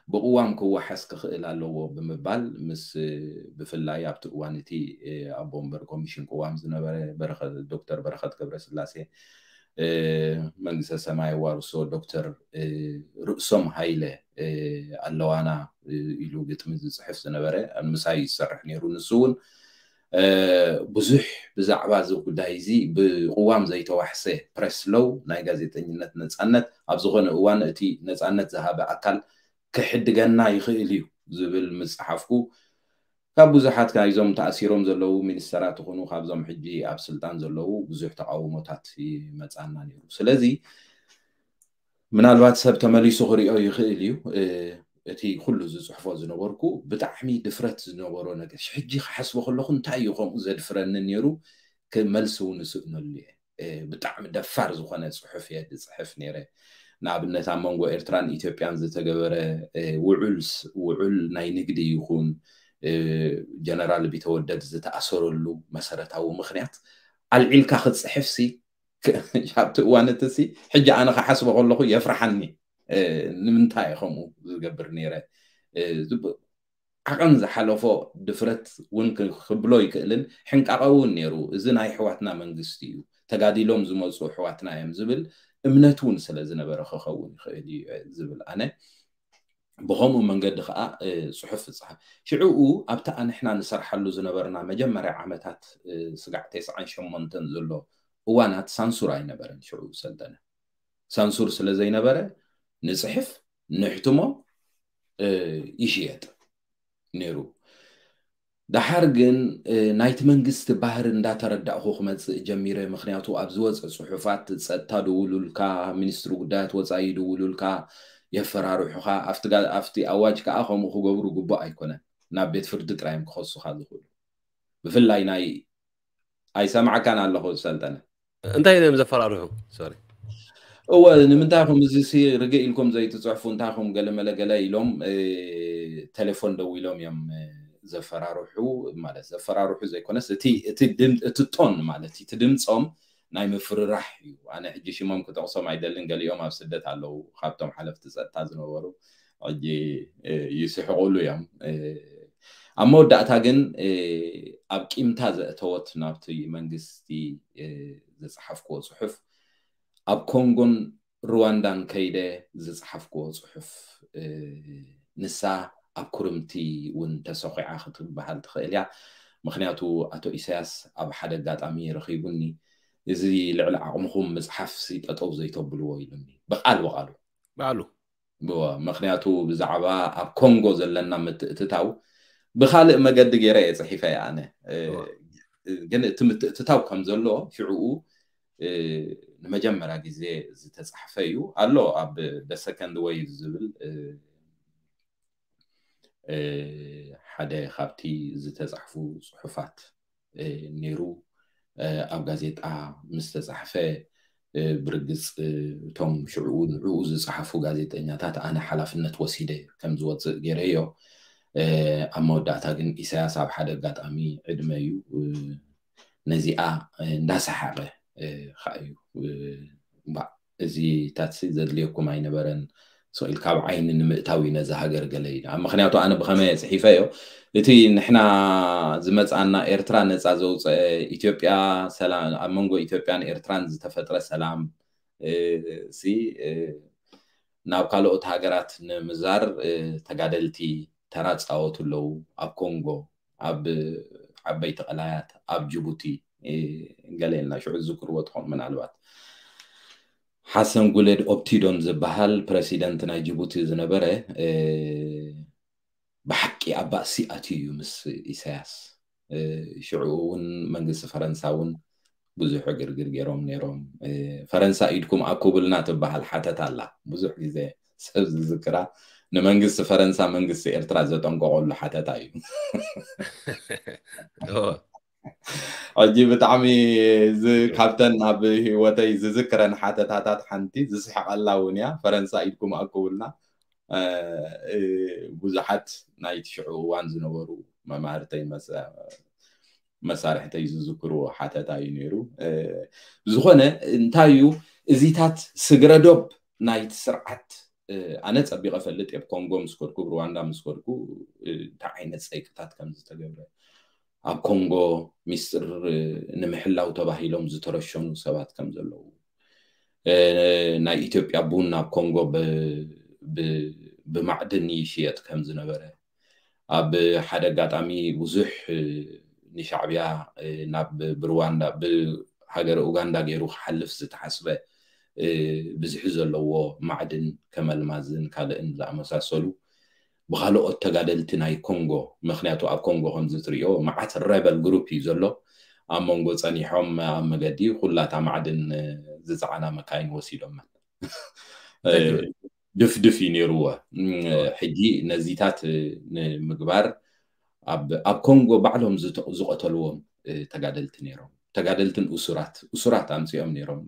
ብቅዋም ክወሓስ ክኽእል ኣለዎ ብምባል ምስ ብፍላይ ኣብቲ እዋን እቲ ኣቦ ወንበር ኮሚሽን ቅዋም ዝነበረ ዶክተር በረኸት ገብረስላሴ መንግስተ ሰማይ ዋርሶ ዶክተር ርእሶም ሃይለ ኣለዋና ኢሉ ግጥሚ ዝፅሕፍ ዝነበረ ምሳይ ዝሰርሕ ነይሩ። ንሱ እውን ብዙሕ ብዛዕባ እዚ ጉዳይ እዚ ብቅዋም ዘይተዋሕሰ ፕረስ ሎው ናይ ጋዜጠኝነት ነፃነት ኣብ ዝኾነ እዋን እቲ ነፃነት ዝሃበ ኣካል ክሕድገና ይኽእል እዩ ዝብል ምስ ፀሓፍኩ ካብ ብዙሓት ናይዞም ተኣሲሮም ዘለዉ ሚኒስተራት ይኹኑ ካብዞም ሕጂ ኣብ ስልጣን ዘለዉ ብዙሕ ተቃውሞታት ይመፃና ነይሩ። ስለዚ ምናልባት ሰብ ተመሊሱ ክሪኦ ይኽእል እዩ። እቲ ኩሉ ዝፅሕፎ ዝነበርኩ ብጣዕሚ ድፍረት ዝነበሮ ነገር ሕጂ ክሓስቦ ከለኹ እንታይ እዩ ከምኡ ዘድፍረኒ ነይሩ ክመልሲ እውን እስእነሉ እየ። ብጣዕሚ ደፋር ዝኾነ ፅሑፍ እየ ዝፅሕፍ ነይረ። ንኣብነት ኣብ መንጎ ኤርትራን ኢትዮጵያን ዝተገበረ ውዑል ውዑል ናይ ንግዲ ይኹን ጀነራል ቢተወደድ ዝተኣሰረሉ መሰረታዊ ምኽንያት ኣልዒልካ ክትፅሕፍ ሲ ኣብቲ እዋን እቲ ሲ ሕጂ ኣነ ክሓስቦ ከለኹ የፍርሓኒ። ንምንታይ ከምኡ ዝገብር ነይረ? ዓቐን ዝሓለፎ ድፍረት እውን ክብሎ ይክእልን ሕንቃቐ እውን ነይሩ። እዚ ናይ ኣሕዋትና መንግስቲ እዩ፣ ተጋዲሎም ዝመፁ ኣሕዋትና እዮም ዝብል እምነት እውን ስለ ዝነበረ ክኸውን ይኽእል እዩ ዝብል ኣነ። ብኸምኡ መንገዲ ከዓ ፅሑፍ ዝፀሓፍ ሽዕኡ ኣብታ ንሕና ንሰርሓሉ ዝነበርና መጀመርያ ዓመታት ስጋዕ ተስዓን ሸሞንተን ዘሎ እዋናት ሳንሱር ኣይነበረን። ሽዑ ሰልጠነ ሳንሱር ስለ ዘይነበረ ንፅሕፍ ንሕትሞ ይሽየጥ ነይሩ። ደሓር ግን ናይቲ መንግስቲ ባህሪ እንዳተረዳእኹ ክመፅእ ጀሚረ። ምክንያቱ ኣብ ዝወፀ ፅሑፋት ፀጥታ ድውሉልካ፣ ሚኒስትሪ ጉዳያት ወፃኢ ድውሉልካ፣ የፈራርሑኻ። ኣብቲ ኣዋጅ ከዓ ከምኡ ክገብሩ ግቡእ ኣይኮነን። ናብ ቤት ፍርዲ ጥራዮም ክኸሱኻ ዝኽእሉ። ብፍላይ ናይ ኣይሰማዕካን ኣለኹ ሰልጠነ። እንታይ እዮም ዘፈራርሑ? ሶሪ እወ ንምንታይ ኹም እዚ ሲ ርግእ ኢልኩም ዘይትፅሕፉ እንታይ ኹም ገለመለ ገለ ኢሎም ቴሌፎን ደው ኢሎም እዮም ዘፈራርሑ። ማለት ዘፈራርሑ ዘይኮነስ እቲ ቶን ማለት እቲ ድምፆም ናይ ምፍርራሕ እዩ። ኣነ ሕጂ ሽሞም ክጠቕሶም ኣይደልን፣ ገሊኦም ኣብ ስደት ኣለዉ ካብቶም ሓለፍቲ ፀጥታ ዝነበሩ ሕጂ ይስሕቁሉ እዮም። ኣብ መወዳእታ ግን ኣብ ቂምታ ዘእተወት ናብቲ መንግስቲ ዝፀሓፍክዎ ፅሑፍ ኣብ ኮንጎን ሩዋንዳን ከይደ ዝፀሓፍክዎ ፅሑፍ ንሳ ኣብ ኩርምቲ እውን ተሰኺዓ ክትበሃል ትኽእል እያ። ምክንያቱ ኣቶ ኢሳያስ ኣብ ሓደ ኣጋጣሚ ረኺቡኒ እዚ ልዕሊ ዓቕምኹም ምፅሓፍ ሲ ጠጠው ዘይተብልዎ ኢሉኒ ብቃል ብቃሉ ባዕሉ ምክንያቱ ብዛዕባ ኣብ ኮንጎ ዘለና ምትእትታው ብኻልእ መገዲ ገይረ እየ ጽሒፈ ኣነ። ግን እቲ ምትእትታው ከም ዘሎ ሽዕኡ ንመጀመርያ ግዜ ዝተጻሕፈ እዩ ኣሎ። ኣብ The Second Wave ዝብል ሓደ ካብቲ ዝተጻሕፉ ጽሑፋት ነይሩ። ኣብ ጋዜጣ ምስ ተጻሕፈ፣ ብርግጽ እቶም ሽዕኡ ንዕኡ ዝጸሓፉ ጋዜጠኛታት ኣነ ሓላፍነት ወሲደ ከም ዝወጽእ ገይረዮ። ኣብ መወዳእታ ግን ኢሳያስ ኣብ ሓደ ኣጋጣሚ ዕድመ እዩ ነዚኣ እንዳሰሓቐ ከኣ እዩ። እዚታት ዘድልየኩም ኣይነበረን። ስቕ ኢልካ ኣብ ዓይኒ ንምእታው እዩ ነዛ ሃገር ገለ ኢሉ። ምክንያቱ ኣነ ብኸመይ ጽሒፈዮ፣ እቲ ንሕና ዝመጽኣና ኤርትራ ነጻ ዘውፀአ፣ ኢትዮጵያ ሰላም፣ ኣብ መንጎ ኢትዮጵያን ኤርትራን ዝተፈጥረ ሰላም ሲ ናብ ካልኦት ሃገራት ንምዛር ተጋደልቲ ተራ ፃወቱ ኣለዉ። ኣብ ኮንጎ፣ ኣብ ዓበይቲ ቀላያት፣ ኣብ ጅቡቲ ገለ ኢልና ሽዑ ዝዝክርዎ ትኾኑ ምናልባት። ሓሰን ጉለድ ኦፕቲዶን ዝበሃል ፕረሲደንት ናይ ጅቡቲ ዝነበረ ብሓቂ ኣብ ባእሲ ኣትዩ እዩ ምስ ኢሳያስ። ሽዑ እውን መንግስቲ ፈረንሳ እውን ብዙሕ ዕግርግር ገይሮም ነይሮም። ፈረንሳ ኢድኩም ኣኩብልና ትበሃል ሓተት ኣላ። ብዙሕ ግዜ ሰብ ዝዝክራ ንመንግስቲ ፈረንሳ መንግስቲ ኤርትራ ዘጠንቀቐሉ ሓተታ እዩ። ሕጂ ብጣዕሚ ካብተን ኣብ ህይወተይ ዝዝክረን ሓተታታት ሓንቲ ዝስሕቀላ እውን እያ። ፈረንሳ ኢድኩም ኣኩብልና ብዙሓት ናይ ትሽዑ እዋን ዝነበሩ መማህርተይ መሳርሕተይ ዝዝክርዎ ሓተታ እዩ ነይሩ። ብዝኾነ እንታይ እዩ እዚታት ስግረ ዶብ ናይቲ ስርዓት ኣነ ጸቢቐ ፈልጥ እየ። ኮንጎ ምስ ከድኩ፣ ሩዋንዳ ምስ ከድኩ እንታይ ዓይነት ጸይቅታት ከም ዝተገብረ፣ ኣብ ኮንጎ ሚስጥር ንምሕላው ተባሂሎም ዝተረሸኑ ሰባት ከም ዘለዉ፣ ናይ ኢትዮጵያ ቡን ኣብ ኮንጎ ብማዕድን ይሽየጥ ከም ዝነበረ፣ ኣብ ሓደ ኣጋጣሚ ብዙሕ ንሻዕብያ ናብ ብሩዋንዳ ብሃገረ ኡጋንዳ ገይሩ ክሓልፍ ዝተሓስበ ብዝሒ ዘለዎ ማዕድን ከመልማዝን ካልእን ዝኣመሳሰሉ ብካልኦት ተጋደልቲ ናይ ኮንጎ፣ ምክንያቱ ኣብ ኮንጎ ከምዚ ትሪኦ መዓት ሬበል ግሩፕ እዩ ዘሎ። ኣብ መንጎ ጸኒሖም ኣብ መገዲ ኩላታ ማዕድን ዝጸዓና መካይን ወሲዶመን። ድፍድፍ እዩ ነይርዎ። ሕጂ ነዚታት ንምግባር ኣብ ኮንጎ ባዕሎም ዝቐተልዎም ተጋደልቲ ነይሮም። ተጋደልትን እሱራት እሱራት ኣምፂኦም ነይሮም።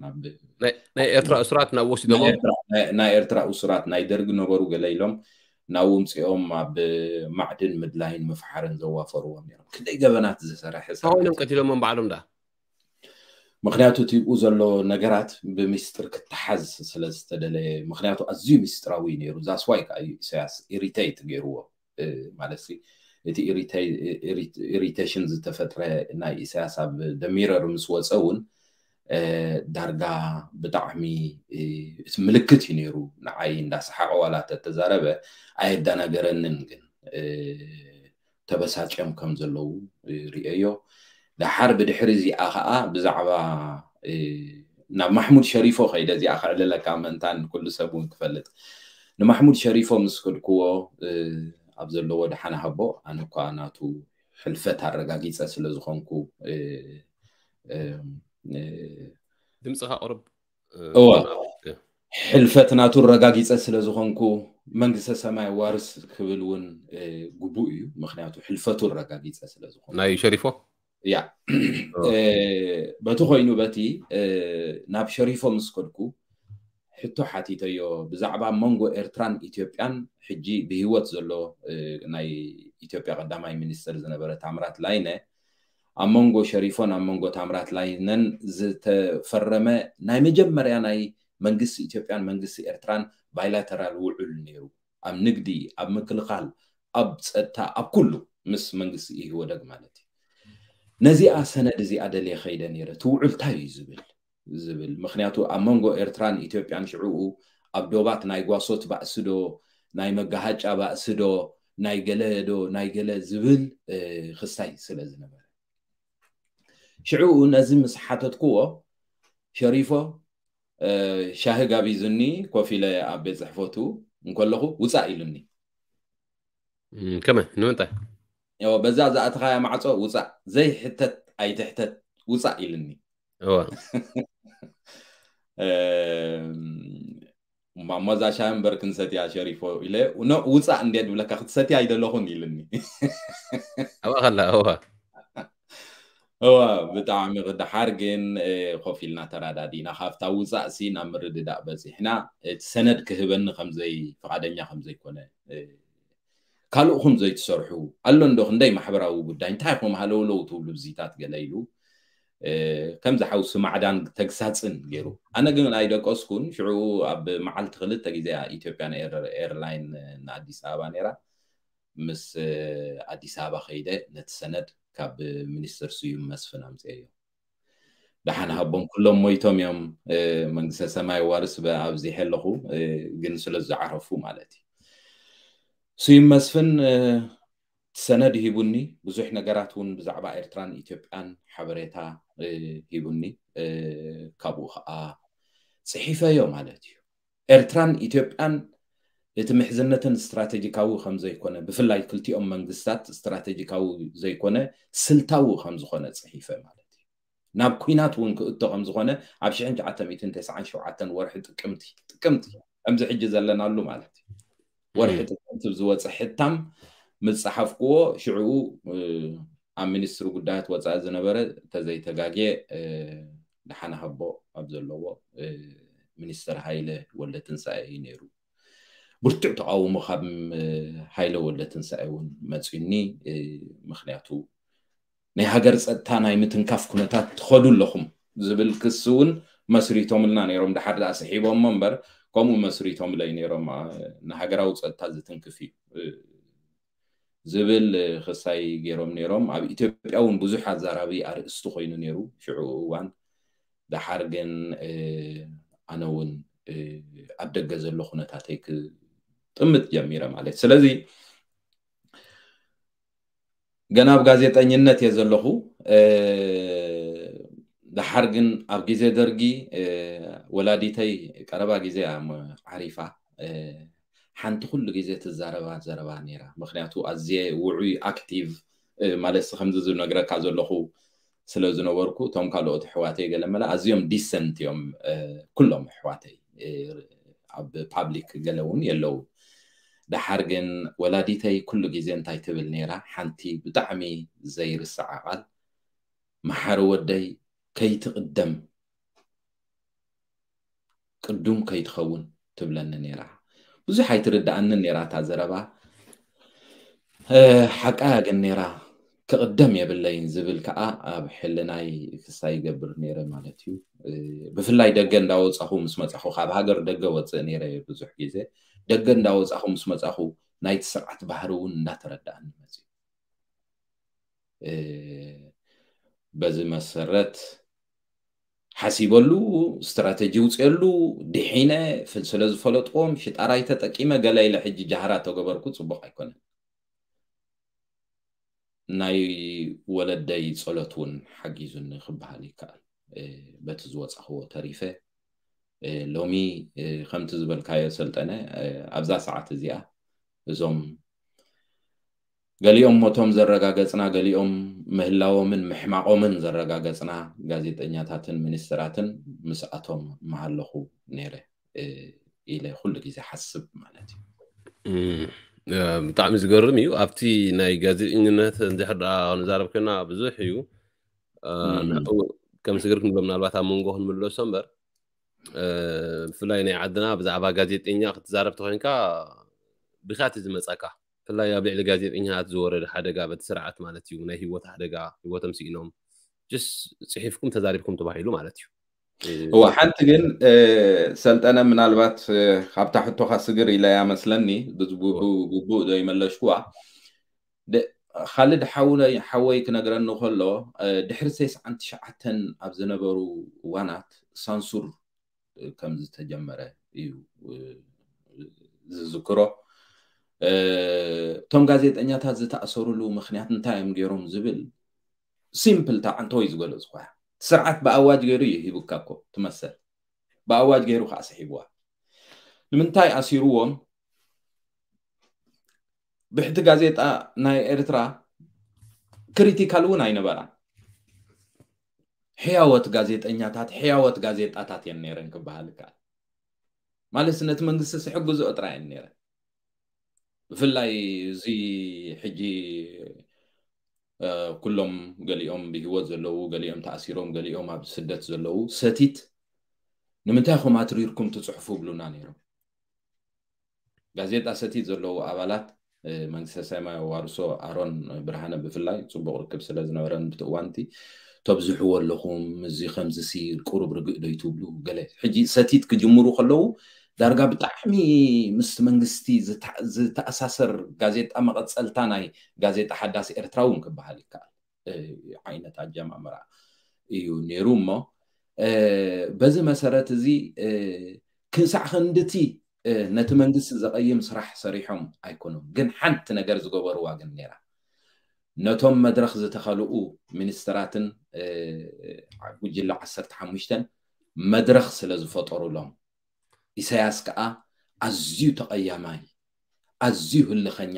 ናይ ኤርትራ እሱራት ናብ ወሲዶሞ ናይ ኤርትራ እሱራት ናይ ደርግ ነበሩ ገለ ኢሎም ናብ ውምፅኦም ኣብ ማዕድን ምድላይን ምፍሓርን ዘዋፈርዎም ነይሮም። ክንደይ ገበናት ዝሰረሐ ኮይኖም ቀቲሎሞም ባዕሎም ዳ ምክንያቱ እቲ ብኡ ዘሎ ነገራት ብሚስጥር ክተሓዝ ስለዝተደለየ። ምክንያቱ ኣዝዩ ሚስጥራዊ ነይሩ። ዛስዋይ ከዓ እዩ ኢሳያስ ኢሪቴት ገይርዎ ማለት እቲ ኢሪቴሽን ዝተፈጥረ ናይ ኢሳያስ ኣብ ደሚረር ምስ ወፀ እውን ዳርጋ ብጣዕሚ እቲ ምልክት እዩ ነይሩ። ንዓይ እንዳሰሓቀ ዋላ ተተዛረበ ኣየዳናገረንን ግን ተበሳጭዮም ከም ዘለዉ ርእየዮ። ደሓር ብድሕሪ እዚኣ ከዓ ብዛዕባ ናብ ማሕሙድ ሸሪፎ ከይደ እዚኣ ከዕልለካ ምእንታን ኩሉ ሰብ እውን ክፈልጥ። ንማሕሙድ ሸሪፎ ምስ ከድክዎ ኣብ ዘለዎ ደሓን ሃቦ ኣነ እኳ ናቱ ሕልፈት ኣረጋጊፀ ስለ ዝኾንኩ ድምፅኻ ቁርብ እወ ሕልፈት ናቱ ኣረጋጊፀ ስለ ዝኾንኩ መንግስተ ሰማይ ዋርስ ክብል እውን ግቡእ እዩ። ምክንያቱ ሕልፈቱ ኣረጋጊፀ ስለ ዝኾንኩ ናይ ሸሪፎ ያ በቲ ኮይኑ በቲ ናብ ሸሪፎ ምስ ከድኩ ሕቶ ሓቲተዮ ብዛዕባ መንጎ ኤርትራን ኢትዮጵያን ሕጂ ብህይወት ዘሎ ናይ ኢትዮጵያ ቀዳማይ ሚኒስትር ዝነበረ ታምራት ላይነ ኣብ መንጎ ሸሪፎን ኣብ መንጎ ታምራት ላይነን ዝተፈረመ ናይ መጀመርያ ናይ መንግስቲ ኢትዮጵያን መንግስቲ ኤርትራን ባይላተራል ውዑል ነይሩ። ኣብ ንግዲ፣ ኣብ ምክልኻል፣ ኣብ ጸጥታ፣ ኣብ ኩሉ ምስ መንግስቲ ኢህወደግ ማለት እዩ። ነዚኣ ሰነድ እዚኣ ደልየ ከይደ ነይረ። እቲ ውዑል እንታይ እዩ ዝብል ዝብል ምክንያቱ ኣብ መንጎ ኤርትራን ኢትዮጵያን ሽዕኡ ኣብ ዶባት ናይ ጓሶት ባእሲ ዶ ናይ መጋሃጫ ባእሲ ዶ ናይ ገለ ዶ ናይ ገለ ዝብል ክስታይ ስለ ዝነበረ ሽዕኡ ነዚ ምስ ሓተትክዎ ሸሪፎ ሻሂ ጋቢዙኒ ኮፍ ኢለ ኣብ ቤት ፅሕፈቱ እንከለኹ ውፃእ ኢሉኒ። ከመ ንምንታይ? ዮ፣ በዛ ዝኣተኻያ ማዕጾ ውጻእ፣ ዘይሕተት ኣይትሕተት፣ ውጻእ ኢልኒ። እዋ እም፣ እሞ እዛ ሻሂ እምበር ክንሰትያ ሸሪፎ ኢለ፣ ኖ፣ ውጻእ እንድየ ድብለካ፣ ክትሰትያ ኣይደለኹን ኢልኒ። ኣብኣ ከላ እዋ እዋ፣ ብጣዕሚ ክድሓር ግን እ፣ ኮፍ ኢልና ተራዳዲና ካብታ ውፃእ ሲ ናብ ምርድዳእ በፂሕና። እቲ ሰነድ ክህበኒ ከምዘይ ፍቓደኛ ከምዘይኮነ እ፣ ካልእኹም ዘይትሰርሑ ኣሎ እንዶ ክንደይ ማሕበራዊ ጉዳይ እንታይ ኢኹም ሃለውለው ትብሉ ብዚታት ገለ ኢሉ እ፣ ከምዚ ሓውሲ ማዕዳን ተግሳፅን ገይሩ። ኣነ ግን ኣይደቀስኩን። ሽዑ ኣብ መዓልቲ ክልተ ግዜ ኢትዮጵያን ኤር- ኤርላይን ንኣዲስ ኣበባ ነይራ። ምስ እ፣ ኣዲስ ኣበባ ከይደ ነቲ ሰነድ ካብ ሚኒስትር ስዩም መስፍን ኣምፅኤዮ። ደሓን ሃቦም፣ ኩሎም ሞይቶም እዮም። እ፣ መንግስተ ሰማይ ዋርስ በ- ኣብዚሐ ኣለኹ እ፣ ግን ስለ ዝዓረፉ ማለት እዩ። ስዩም መስፍን እ፣ ሰነድ ሂቡኒ። ብዙሕ ነገራት እውን ብዛዕባ ኤርትራን ኢትዮጵያን ሓበሬታ እ፣ ሂቡኒ። እ፣ ካብኡ ከዓ ፅሒፈዮ ማለት እዩ። ኤርትራን ኢትዮጵያን እቲ ምሕዝነትን ስትራቴጂካዊ ከም ዘይኮነ፣ ብፍላይ ክልቲኦም መንግስታት ስትራቴጂካዊ ዘይኮነ ስልታዊ ከም ዝኾነ ጽሒፈ ማለት እዩ። ናብ ኲናት እውን ክእቶ ከም ዝኾነ ኣብ ሽሕን ትሽዓተ ሚእትን ተስዓን ሸውዓተን ወርሒ ጥቅምቲ ጥቅምቲ ከምዚ ሕጂ ዘለናሉ ማለት እዩ። ወርሒ ጥቅምቲ ዝወፀ ሕታም ምስ ጸሓፍክዎ ሽዕኡ እ፣ ኣብ ሚኒስትሪ ጉዳያት ወፃኢ ዝነበረ ተዘይተጋግየ እ፣ ደሓን ሃቦ ኣብ ዘለዎ እ፣ ሚኒስትር ሃይለ ወልደ ትንሳኤ እዩ ነይሩ። ብርቱዕ ተቃውሞ ካብ እ፣ ሃይለ ወልደ ትንሳኤ እውን መፂኒ እ፣ ምክንያቱ ናይ ሃገር ፀጥታ ናይ ምትንካፍ ኩነታት ትኸዱ ኣለኹም ዝብል ክሲ እውን መስሪቶምልና ነይሮም። ድሓር ደኣ ስሒቦሞ እምበር ከምኡ መስሪቶምለይ ነይሮም። እ፣ ንሃገራዊ ፀጥታ ዝትንክፍ እዩ እ፣ ዝብል እ፣ ክሳይ ገይሮም ነይሮም። ኣብ ኢትዮጵያ እውን ብዙሕ ኣዛራቢ ኣርእስቲ ኮይኑ ነይሩ ሽዑ እዋን። ደሓር ግን እ፣ ኣነ እውን እ፣ ኣብ ደገ ዘሎ ኩነታተይ ክጥምት ጀሚረ ማለት። ስለዚ ገና ኣብ ጋዜጠኝነት እየ ዘለኹ። እ፣ ደሓር ግን ኣብ ግዜ ደርጊ እ፣ ወላዲተይ ቀረባ ግዜ እያ ሞ- ዓሪፋ። እ፣ ሓንቲ ኩሉ ግዜ ትዛረባ ዘረባ ነይራ። ምክንያቱ ኣዝየ ውዑይ ኣክቲቭ እ፣ ማለት ሲ ከምዚ ዝነግረካ ዘለኹ ስለ ዝነበርኩ እቶም ካልኦት ኣሕዋተይ ገለ መለ ኣዝዮም ዲሰንት እዮም እ፣ ኩሎም ኣሕዋተይ እ፣ ኣብ ፓብሊክ ገለ እውን የለዉ። ደሓር ግን ወላዲተይ ኩሉ ግዜ እንታይ ትብል ነይራ፣ ሓንቲ ብጣዕሚ ዘይርስዓ ቃል፣ መሓሪ ወደይ ከይትቕደም ቅዱም ከይትኸውን ትብለኒ ነይራ። ብዙሕ ኣይትርድኣንን ነይራ እታ ዘረባ። እ፣ ሓቃያ ግን ነይራ። ክቕደም የብለይን ዝብል ከዓ ኣብ ሕልናይ ክሳይ ይገብር ነይረ ማለት እዩ። እ፣ ብፍላይ ደገ እንዳወፃኹ ምስ መፃኹ፣ ካብ ሃገር ደገ ወፅእ ነይረ ብዙሕ ግዜ። ደገ እንዳወፃኹ ምስ መፃኹ ናይቲ ስርዓት ባህሪ እውን እንዳተረዳኣኒ መፅዩ። እ፣ በዚ መሰረት ሓሲበሉ፣ ስትራተጂ ውፅየሉ፣ ድሒነ ፍል ስለ ዝፈለጥዎም ሽጣራይ ተጠቂመ ገለ ኢለ ሕጂ ጃህራ ተገበርኩ ፅቡቕ ኣይኮነን። ናይ ወለደይ ጸሎት እውን ሓጊዙኒ ክበሃል ይከኣል። እ፣ በቲ ዝወጻኽዎ ተሪፈ እ፣ ሎሚ እ፣ ከምቲ ዝበልካዮ ሰልጠነ እ፣ ኣብዛ ሰዓት እዚኣ እዞም ገሊኦም ሞቶም ዘረጋገጽና፣ ገሊኦም ምህላዎምን ምሕማቖምን ዘረጋገጽና ጋዜጠኛታትን ሚኒስትራትን ምስኣቶም ምሃለኹ ነይረ እ፣ ኢለ ኩሉ ግዜ ሓስብ ማለት እዩ። እም፣ እ፣ ብጣዕሚ ዝገርም እዩ። ኣብቲ ናይ ጋዜጠኝነት እንድሕር ደኣ ክንዛረብ ኮይና ብዙሕ እዩ። እ፣ እም። ንዕኡ ከም ስግር ክንብሎ ምናልባት ኣብ መንጎ ክንምለሶ እምበር፣ እ፣ ብፍላይ ናይ ዓድና ብዛዕባ ጋዜጠኛ ክትዛረብ ተኮይንካ ብኻት ዝመጻካ። ብፍላይ ኣብ ልዕሊ ጋዜጠኛታት ዝወረደ ሓደጋ በቲ ስርዓት ማለት እዩ። ናይ ህይወት ሓደጋ፣ ህይወቶም ስኢኖም። ጅስ ጽሒፍኩም ተዛሪብኩም ተባሂሉ ማለት እዩ። እ፣ እዋ፣ ሓንቲ ግን እ፣ ሰልጠነ ምናልባት እ፣ ካብታ ሕቶኻ ስግር ኢለያ መስለኒ፣ ብዝ- ብ- ብ- ግቡእ ዶ ይመለሽኩዋ። ደ- ካልድ ሓውነ- ሓወይ ክነግረኒ ከሎ እ፣ ድሕሪ ተስዓን ትሽዓተን ኣብ ዝነበሩ እዋናት ሳንሱር እ፣ ከም ዝተጀመረ እዩ እ፣ ዝዝክሮ። እ፣ እቶም ጋዜጠኛታት ዝተኣሰሩሉ ምክንያት እንታይ እዮም ገይሮም ዝብል ሲምፕል ታዓንተወይ ዝገለጽኳ። ስርዓት ብኣዋጅ ገይሩ እዩ ሂቡካ እኮ ትመሰል። ብኣዋጅ ገይሩ ከዓ ስሒብዋ። ንምንታይ ኣሲርዎም? ብሕቲ ጋዜጣ ናይ ኤርትራ ክሪቲካል እውን ኣይነበራን። ሕያወት ጋዜጠኛታት፣ ሕያወት ጋዜጣታት እየን ነይረን ክበሃል ይከኣል። ማለት ነቲ መንግስቲ ዝሕግዝኦ ጥራይ እየን ነይረን። ብፍላይ እዚ ሕጂ ኩሎም፣ ገሊኦም ብህይወት ዘለዉ፣ ገሊኦም ተኣሲሮም፣ ገሊኦም ኣብ ስደት ዘለዉ፣ ሰቲት ንምንታይ ኢኹም ኣትሪርኩም ትፅሕፉ ይብሉና ነይሮም። ጋዜጣ ሰቲት ዘለዉ ኣባላት መንግስተ ሰማይ ዋርሶ ኣሮን ብርሃነ ብፍላይ ፅቡቕ ርክብ ስለ ዝነበረን ብቲ እዋንቲ ተብዝሕዎ ኣለኹም፣ እዚ ከምዚ ሲ ቁሩብ ርግእ ዶ ይትብሉ ገለ። ሕጂ ሰቲት ክጅምሩ ከለዉ ዳርጋ ብጣዕሚ ምስቲ መንግስቲ ዝተኣሳሰር ጋዜጣ፣ መቐፀልታ ናይ ጋዜጣ ሓዳስ ኤርትራ እውን ክበሃል ይከኣል ዓይነት ኣጀማምራ እዩ ነይሩ። እሞ በዚ መሰረት እዚ ክሳዕ ክንድቲ ነቲ መንግስቲ ዘቐይም ስራሕ ሰሪሖም ኣይኮኑን፣ ግን ሓንቲ ነገር ዝገበርዋ ግን ነይራ። ነቶም መድረኽ ዝተኸልኡ ሚኒስትራትን ጉጅለ ዓሰርተ ሓሙሽተን መድረኽ ስለ ዝፈጠሩሎም፣ ኢሳያስ ከኣ ኣዝዩ ተቐያማይ፣ ኣዝዩ ህልኸኛ፣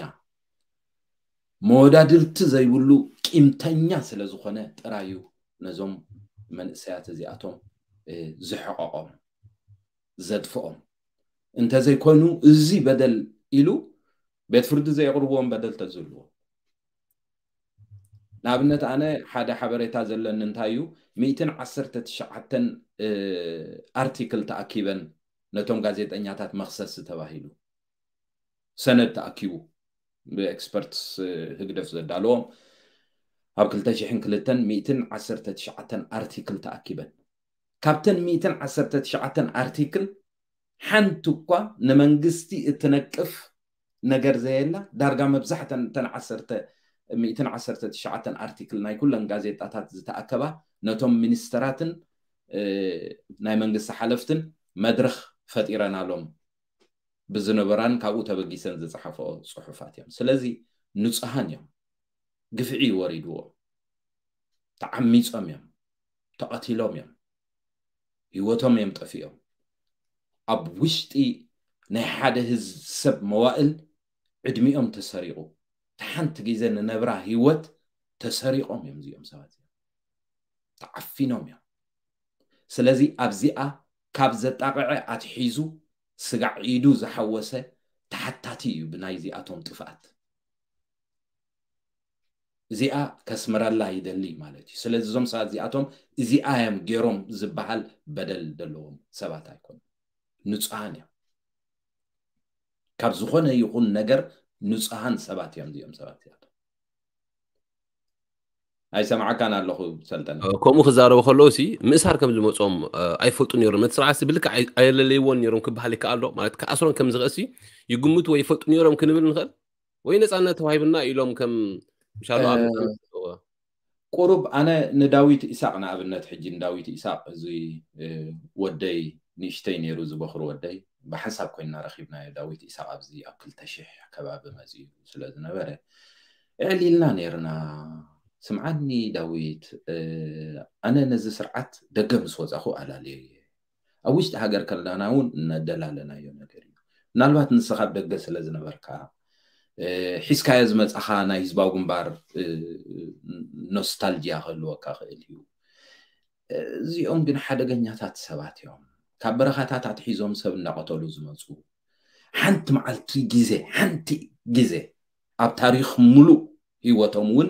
መወዳድርቲ ዘይብሉ ቂምተኛ ስለ ዝኾነ ጥራዩ ነዞም መንእሰያት እዚኣቶም ዝሕቐቖም፣ ዘጥፍኦም። እንተዘይኮይኑ እዚ በደል ኢሉ ቤት ፍርዲ ዘየቕርብዎም በደል ተዝህልዎ። ንኣብነት ኣነ ሓደ ሓበሬታ ዘለኒ እንታይ እዩ፣ ሚእትን ዓሰርተ ትሽዓተን ኣርቲክል ተኣኪበን ነቶም ጋዜጠኛታት መኽሰሲ ተባሂሉ ሰነድ ተኣኪቡ ብኤክስፐርትስ ህግደፍ ዘዳለዎም ኣብ ክልተ ሽሕን ክልተን ሚእትን ዓሰርተ ትሽዓተን ኣርቲክል ተኣኪበን። ካብተን ሚእትን ዓሰርተ ትሽዓተን ኣርቲክል ሓንቲ እኳ ንመንግስቲ እትነቅፍ ነገር ዘየላ፣ ዳርጋ መብዛሕተን እተን ዓሰርተ ሚእትን ዓሰርተ ትሽዓተን ኣርቲክል ናይ ኩለን ጋዜጣታት ዝተኣከባ ነቶም ሚኒስተራትን ናይ መንግስቲ ሓለፍትን መድረኽ ፈጢረናሎም ብዝነበራን ካብኡ ተበጊሰን ዝጸሓፈኦ ጽሑፋት እዮም። ስለዚ ንጹሃን እዮም። ግፍዒ ወሪድዎም፣ ተዓሚጾም እዮም፣ ተቐቲሎም እዮም፣ ህይወቶም እዮም ጠፊኦም። ኣብ ውሽጢ ናይ ሓደ ህዝብ ሰብ መዋእል ዕድሚኦም ተሰሪቑ፣ ሓንቲ ግዜ ንነብራ ህይወት ተሰሪቖም እዮም እዚኦም ሰባት እዮም። ተዓፊኖም እዮም። ስለዚ ኣብዚኣ ካብ ዘጣቕዐ ኣትሒዙ ስጋዕ ኢዱ ዝሓወሰ ተሓታቲ እዩ ብናይዚኣቶም ጥፍኣት። እዚኣ ከስምረላ ይደሊ ማለት እዩ። ስለዚ እዞም ሰባት እዚኣቶም እዚኣ እዮም ገይሮም ዝበሃል በደል ዘለዎም ሰባት ኣይኮኑን። ንጹሃን እዮም። ካብ ዝኾነ ይኹን ነገር ንጹሃን ሰባት እዮም እዚኦም ሰባት እዚኣቶም። ኣይሰማዓካን ኣለኹ ሰልጠነ። ከምኡ ክዛረቡ ከለዉ ሲ ምእሳር ከም ዝመጾም ኣይፈልጡ ነይሮም። ነቲ ስርዓት ብልክዕ ኣየለለይዎን ነይሮም ክበሃል ይከኣል ዶ? ማለት ክኣስሮም ከም ዝኽእል ሲ ይግምቱ ወይ ይፈልጡ ነይሮም ክንብል ንኽእል? ወይ ነጻነት ተዋሂብና ኢሎም ከም ሻሎ ኣብ ቁሩብ ኣነ ንዳዊት ኢሳቕ ንኣብነት፣ ሕጂ ንዳዊት ኢሳቕ እዚ ወደይ ንእሽተይ ነይሩ፣ ዝበኽሩ ወደይ ብሓንሳብ ኮይንና ረኺብናዮ። ዳዊት ኢሳቕ ኣብዚ ኣብ ክልተ ሽሕ ከባቢ መጺኡ ስለ ዝነበረ እዕሊልና ነይርና። ስምዓኒ ዳዊት፣ ኣነ ነዚ ስርዓት ደገ ምስ ወጻኹ ኣላልዮ እየ። ኣብ ውሽጢ ሃገር ከለና እውን እናደላለናዮ ነገር እዩ። ምናልባት ንስኻ ኣብ ደገ ስለ ዝነበርካ ሒዝካዮ ዝመጻኻ ናይ ህዝባዊ ግንባር ኖስታልጂያ ክህልወካ ክእል እዩ። እዚኦም ግን ሓደገኛታት ሰባት እዮም። ካብ በረኻታት ኣትሒዞም ሰብ እናቐተሉ ዝመፁ፣ ሓንቲ መዓልቲ ግዜ፣ ሓንቲ ግዜ ኣብ ታሪኽ ሙሉእ ህይወቶም እውን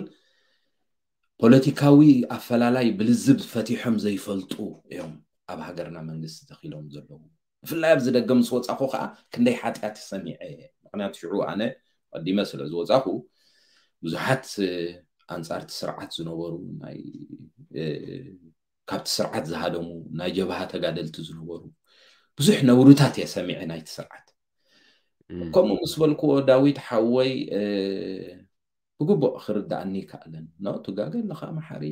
ፖለቲካዊ ኣፈላላይ ብልዝብ ፈቲሖም ዘይፈልጡ እዮም ኣብ ሃገርና መንግስቲ ተኺሎም ዘለዉ። ብፍላይ ኣብዚ ደገ ምስ ወፃኹ ከዓ ክንደይ ሓጢኣት ሰሚዐ እየ። ምክንያቱ ሽዑ ኣነ ቀዲመ ስለ ዝወፃኹ ብዙሓት ኣንፃርቲ ስርዓት ዝነበሩ ናይ ካብቲ ስርዓት ዝሃደሙ ናይ ጀብሃ ተጋደልቲ ዝነበሩ ብዙሕ ነውርታት እየ ሰሚዐ ናይቲ ስርዓት። ከምኡ ምስ በልክዎ ዳዊት ሓወይ ብግቡእ ክርዳእኒ ይከኣለን። ኖ ትጋገ ኣለኻ መሓሪ፣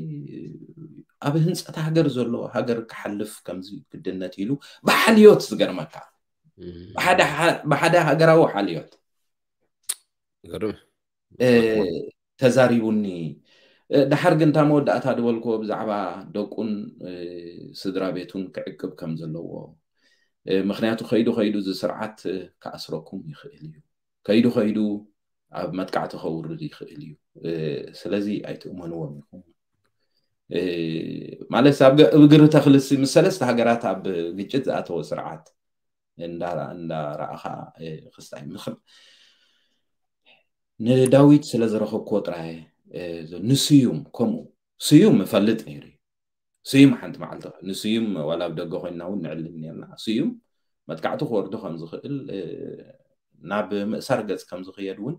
ኣብ ህንፀት ሃገር ዘሎ ሃገር ክሓልፍ ከምዚ ግድነት ኢሉ ብሓልዮት ዝገርመካ ብሓደ ሃገራዊ ሓልዮት ተዛሪቡኒ። ድሓር ግን እታ መወዳእታ ዝበልክዎ ብዛዕባ ደቁን ስድራ ቤቱን ክዕቅብ ከም ዘለዎ፣ ምክንያቱ ከይዱ ከይዱ እዚ ስርዓት ክኣስረኩም ይኽእል እዩ። ከይዱ ከይዱ ኣብ መጥቃዕቲ ከውርድ ይኽእል እዩ። ስለዚ ኣይትእመንዎም ኢኹም። ማለት ኣብ እግሪ ተኽልሲ ምስ ሰለስተ ሃገራት ኣብ ግጭት ዝኣተወ ስርዓት እንዳረኣኻ ክስታይ ምኽር ንዳዊት ስለ ዝረኸብክዎ ጥራይ ንስዩም ከምኡ ስዩም እፈልጥ ነይሩ እዩ። ስዩም ሓንቲ መዓልቲ ንስዩም ዋላ ኣብ ደገ ኮይንና እውን ንዕልል ነርና። ስዩም መጥቃዕቲ ክወርዶ ከም ዝኽእል ናብ ምእሳር ገጽ ከም ዝኽየድ እውን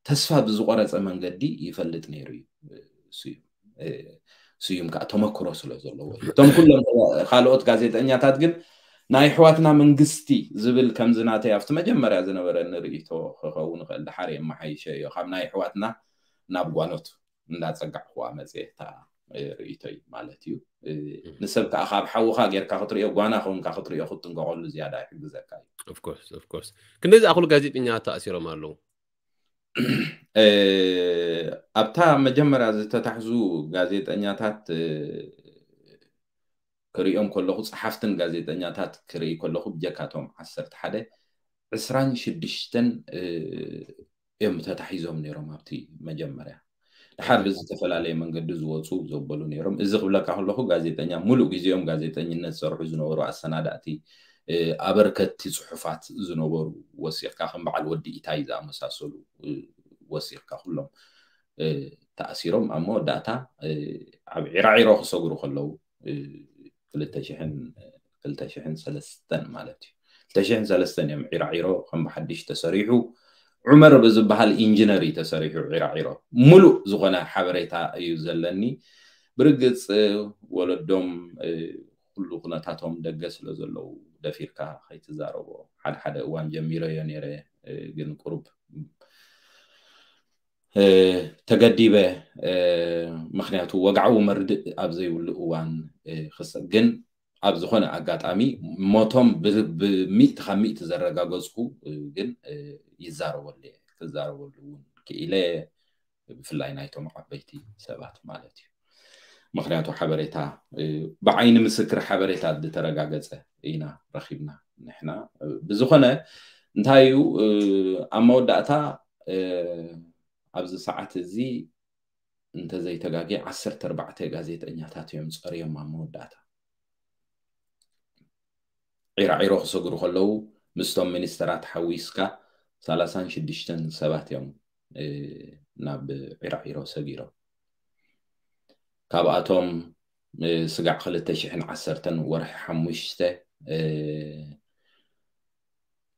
ተስፋ ብዝቆረጸ መንገዲ ይፈልጥ ነይሩ እዩ። ስዩም ስዩም ከዓ ተመክሮ ስለ ዘለዎ እዩ። እቶም ኩሎም ካልኦት ጋዜጠኛታት ግን ናይ ኣሕዋትና መንግስቲ ዝብል ከምዚ ናተይ ኣብቲ መጀመርያ ዝነበረ ንርእይቶ ክኸውን ይኽእል፣ ድሓር የመሓይሸ እዮ ካብ ናይ ኣሕዋትና ናብ ጓኖት እንዳጸጋዕኩዋ መጽሔታ ርእይቶይ ማለት እዩ። ንሰብ ከዓ ካብ ሓውኻ ጌርካ ክትሪኦ ጓና ከውንካ ክትሪኦ ክትጥንቀቀሉ ዝያዳ ይሕግዘካ እዩ። ክንደዚ ኣክሉ ጋዜጠኛ ተኣሲሮም ኣለዉ። ኣብታ መጀመርያ ዝተታሕዙ ጋዜጠኛታት ክርእዮም ከለኹ፣ ጸሓፍትን ጋዜጠኛታት ክርኢ ከለኹ ብጀካቶም ዓሰርተ ሓደ ዕስራን ሽዱሽተን እዮም ተታሒዞም ነይሮም ኣብቲ መጀመርያ። ድሓር ብዝተፈላለየ መንገዲ ዝወፁ ዘበሉ ነይሮም። እዚ ክብለካ ከለኹ ጋዜጠኛ ሙሉእ ግዜኦም ጋዜጠኝነት ዝሰርሑ ዝነበሩ ኣሰናዳእቲ፣ ኣበርከቲ ፅሑፋት ዝነበሩ ወሲኽካ ከም በዓል ወዲ ኢታይ ዝኣመሳሰሉ ወሲኽካ ኩሎም ተኣሲሮም ኣብ መወዳእታ ኣብ ዒራዒሮ ክሰግሩ ከለዉ ክልተ ሽሕን ክልተ ሽሕን ሰለስተን ማለት እዩ። ክልተ ሽሕን ሰለስተን እዮም ዒራዒሮ ከም ብሓድሽ ተሰሪሑ። ዑመር ብዝበሃል ኢንጂነር እዩ ተሰሪሑ ዒራዒሮ። ሙሉእ ዝኾነ ሓበሬታ እዩ ዘለኒ። ብርግጽ ወለዶም ኩሉ ኩነታቶም ደገ ስለ ዘለዉ ደፊርካ ከይትዛረቦ ሓደ ሓደ እዋን ጀሚረዮ ነይረ፣ ግን ቁሩብ ተገዲበ። ምክንያቱ ወግዓዊ መርድእ ኣብ ዘይብሉ እዋን ክሰ ግን ኣብ ዝኾነ ኣጋጣሚ ሞቶም ብሚእቲ ካብ ሚእቲ ዘረጋገፅኩ ግን ይዛረበሉ እየ። ክዛረበሉ እውን ክኢለ፣ ብፍላይ ናይቶም ዓበይቲ ሰባት ማለት እዩ። ምክንያቱ ሓበሬታ ብዓይኒ ምስክር ሓበሬታ ዝተረጋገፀ ኢና ረኪብና ንሕና። ብዝኾነ እንታይ እዩ ኣብ መወዳእታ ኣብዚ ሰዓት እዚ እንተዘይተጋጌ ዓሰርተ ኣርባዕተ ጋዜጠኛታት እዮም ፀርዮም ኣብ መወዳእታ። ዒራዒሮ ክሰግሩ ከለዉ ምስቶም ሚኒስተራት ሓዊስካ ሰላሳን ሽዱሽተን ሰባት እዮም ናብ ዒራዒሮ ሰጊሮም። ካብኣቶም ስጋዕ ክልተ ሽሕን ዓሰርተን ወርሒ ሓሙሽተ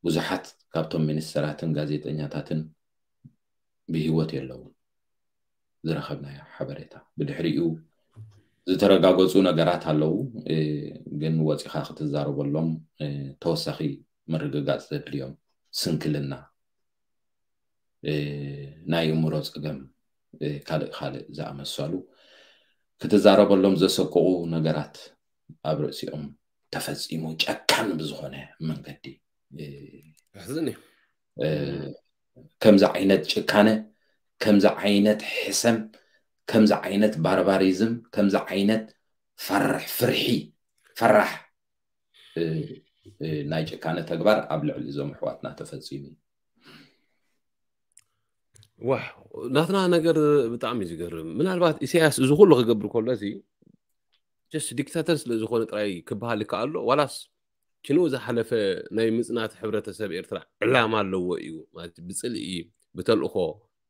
ብዙሓት ካብቶም ሚኒስተራትን ጋዜጠኛታትን ብህይወት የለውን። ዝረኸብናዮ ሓበሬታ ብድሕሪኡ ዝተረጋገፁ ነገራት ኣለዉ፣ ግን ወፂኻ ክትዛረበሎም ተወሳኺ ምርግጋፅ ዘድልዮም፣ ስንክልና፣ ናይ እምሮ ፀገም፣ ካልእ ካልእ ዝኣመሰሉ ክትዛረበሎም ዘሰቅቑ ነገራት ኣብ ርእሲኦም ተፈፂሙ ጨካን ብዝኾነ መንገዲ። ከምዚ ዓይነት ጭካነ፣ ከምዚ ዓይነት ሕሰም፣ ከምዚ ዓይነት ባርባሪዝም፣ ከምዚ ዓይነት ፈርሕ ፍርሒ ፈራሕ ናይ ጭካነ ተግባር ኣብ ልዕሊ እዞም ኣሕዋትና ተፈፂሙ። ዋ ናትና ነገር ብጣዕሚ እዩ ዝገርም። ምናልባት ኢሳያስ እዚ ኩሉ ክገብር ከሎ እዚ ጀስት ዲክታተር ስለ ዝኾነ ጥራይ ክበሃል ይከኣሎ ዋላስ ኪንኡ ዝሓለፈ ናይ ምጽናት ሕብረተሰብ ኤርትራ ዕላማ ኣለዎ እዩ ማለት ብጽልኢ ብተልእኾ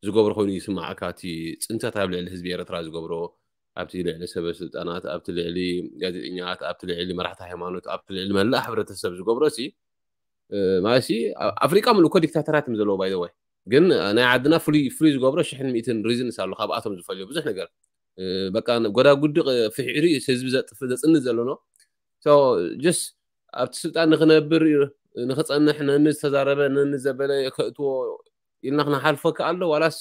ዝገብሮ ኮይኑ ይስማዓካ። እቲ ጽንተት ኣብ ልዕሊ ህዝቢ ኤርትራ ዝገብሮ ኣብቲ ልዕሊ ሰበ ስልጣናት ኣብቲ ልዕሊ ጋዜጠኛት ኣብቲ ልዕሊ መራሕቲ ሃይማኖት ኣብቲ ልዕሊ መላእ ሕብረተሰብ ዝገብሮ ሲ ማለት ሲ ኣፍሪቃ ምሉእ እኮ ዲክታተራት እዮም ዘለዎ ባይ ወይ ግን ናይ ዓድና ፍሉይ ፍሉይ ዝገብሮ ሽሕን ሚእትን ሪዝንስ ኣሎ ካብኣቶም ዝፈልዮ ብዙሕ ነገር በቃ ጎዳጉዲ ፍሒሩ ህዝቢ ዘጥፍ ዘጽንት ዘሎ ነው። ጀስ ኣብቲ ስልጣን ንክነብር ንክጸንሕ ነኒ ዝተዛረበ ነኒ ዘበለ ከእትዎ ኢልና ክነሓልፎ ከኣሎ ዋላስ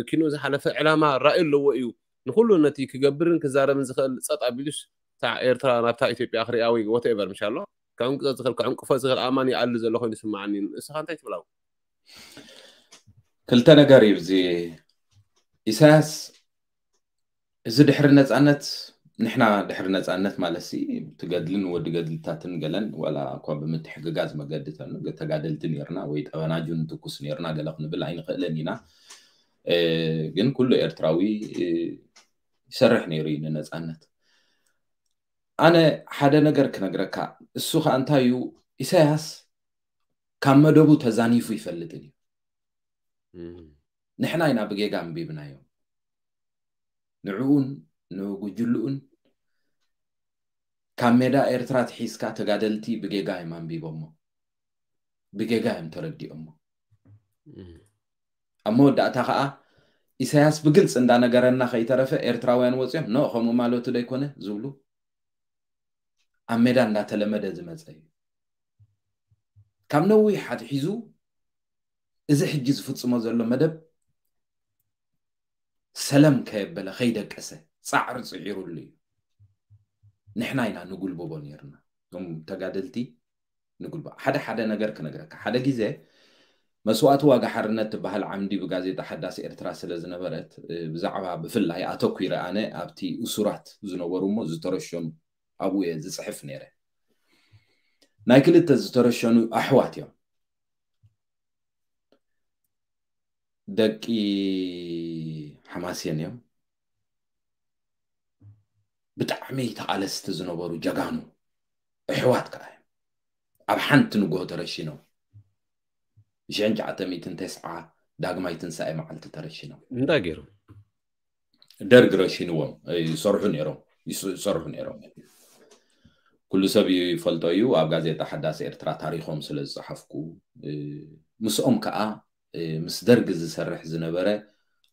ኪኖ ዝሓለፈ ዕላማ ራእዩ ኣለዎ እዩ ንኩሉ ነቲ ክገብርን ክዛረብን ዝኽእል ጸጥ ኣቢሉስ ኤርትራ ናብታ ኢትዮጵያ ክሪኣ ወይ ወተኤቨር ምሻሎ ከዕንቅፎ ዝኽእል ከዕንቅፎ ዝኽእል ኣማን ይኣሊ ዘሎ ኮይኑ ይስምዓኒ። ንስኻ እንታይ ትብላው? ክልተ ነገር እዩ እዚ ኢሳያስ። እዚ ድሕሪ ነፃነት ንሕና ድሕሪ ነፃነት ማለት ሲ ትገድልን ወዲ ገድልታትን ገለን ዋላ እኳ ብምትሕግጋዝ መገዲ ተጋደልቲ ነርና ወይ ጠበናጁ ንትኩስ ነርና ገለ ክንብል ኣይንኽእልን ኢና። ግን ኩሉ ኤርትራዊ ይሰርሕ ነይሩ እዩ ንነፃነት። ኣነ ሓደ ነገር ክነግረካ፣ እሱ ከዓ እንታይ እዩ፣ ኢሳያስ ካብ መደቡ ተዛኒፉ ይፈልጥን እዩ። ንሕና ኢና ብጌጋ ኣንቢብናዮም። ንዕኡን ንጉጅልኡን ካብ ሜዳ ኤርትራ ትሒዝካ ተጋደልቲ ብጌጋ እዮም ኣንቢቦሞ፣ ብጌጋ እዮም ተረዲኦሞ። ኣብ መወዳእታ ከዓ ኢሳያስ ብግልፂ እንዳነገረና ከይተረፈ ኤርትራውያን ወፂኦም ኖ ከምኡ ማለቱ ዶ ኣይኮነ ዝብሉ ኣብ ሜዳ እንዳተለመደ ዝመፀ እዩ። ካብ ነዊሕ ኣትሒዙ እዚ ሕጂ ዝፍፅሞ ዘሎ መደብ ሰለም ከየበለ ከይደቀሰ ፃዕሪ ፅዒሩሉ እዩ። ንሕና ኢና ንጉልብቦ ነይርና፣ እቶም ተጋደልቲ ንጉልቦ። ሓደ ሓደ ነገር ክነግረካ፣ ሓደ ግዜ መስዋእቲ ዋጋ ሓርነት ትበሃል ዓምዲ ብጋዜጣ ሓዳስ ኤርትራ ስለ ዝነበረት ብዛዕባ ብፍላይ ኣተኲረ ኣነ ኣብቲ እሱራት ዝነበሩ እሞ ዝተረሸኑ ኣብኡ እየ ዝፅሕፍ ነይረ። ናይ ክልተ ዝተረሸኑ ኣሕዋት እዮም፣ ደቂ ሓማሴን እዮም። ብጣዕሚ ተቓለስቲ ዝነበሩ ጀጋኑ ኣሕዋት ከዓ እዮም ኣብ ሓንቲ ንግሆ ተረሺኖም። ብሽሕን ትሽዓተ ሚእትን ተስዓ ዳግማይ ትንሳኤ መዓልቲ ተረሺኖም። እንታይ ገይሮም? ደርግ ረሺንዎም ይሰርሑ ነይሮም፣ ይሰርሑ ነይሮም። ኩሉ ሰብ ይፈልጦ እዩ። ኣብ ጋዜጣ ሓዳስ ኤርትራ ታሪኾም ስለ ዝጸሓፍኩ፣ ምስኦም ከዓ ምስ ደርግ ዝሰርሕ ዝነበረ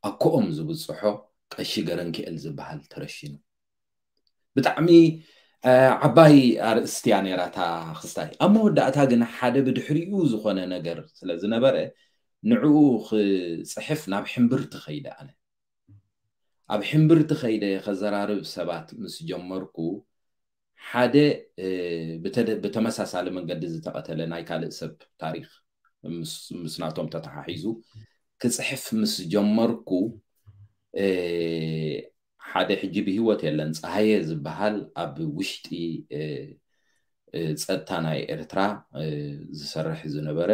ኣኮኦም ዝብጽሖ ቀሺ ገረንክኤል ዝበሃል ተረሺኑ። ብጣዕሚ ዓባይ ኣርእስቲ እያ ነይራ እታ ክስታይ። ኣብ መወዳእታ ግን ሓደ ብድሕሪኡ ዝኾነ ነገር ስለ ዝነበረ ንዕኡ ክጽሕፍ ናብ ሕምብርቲ ከይደ ኣነ። ኣብ ሕምብርቲ ከይደ ከዘራርብ ሰባት ምስ ጀመርኩ ሓደ ብተመሳሳሊ መንገዲ ዝተቐተለ ናይ ካልእ ሰብ ታሪኽ ምስ ናቶም ተተሓሒዙ ክጽሕፍ ምስ ጀመርኩ ሓደ ሕጂ ብህይወት የለን፣ ፀሃየ ዝበሃል ኣብ ውሽጢ ፀጥታ ናይ ኤርትራ ዝሰርሕ ዝነበረ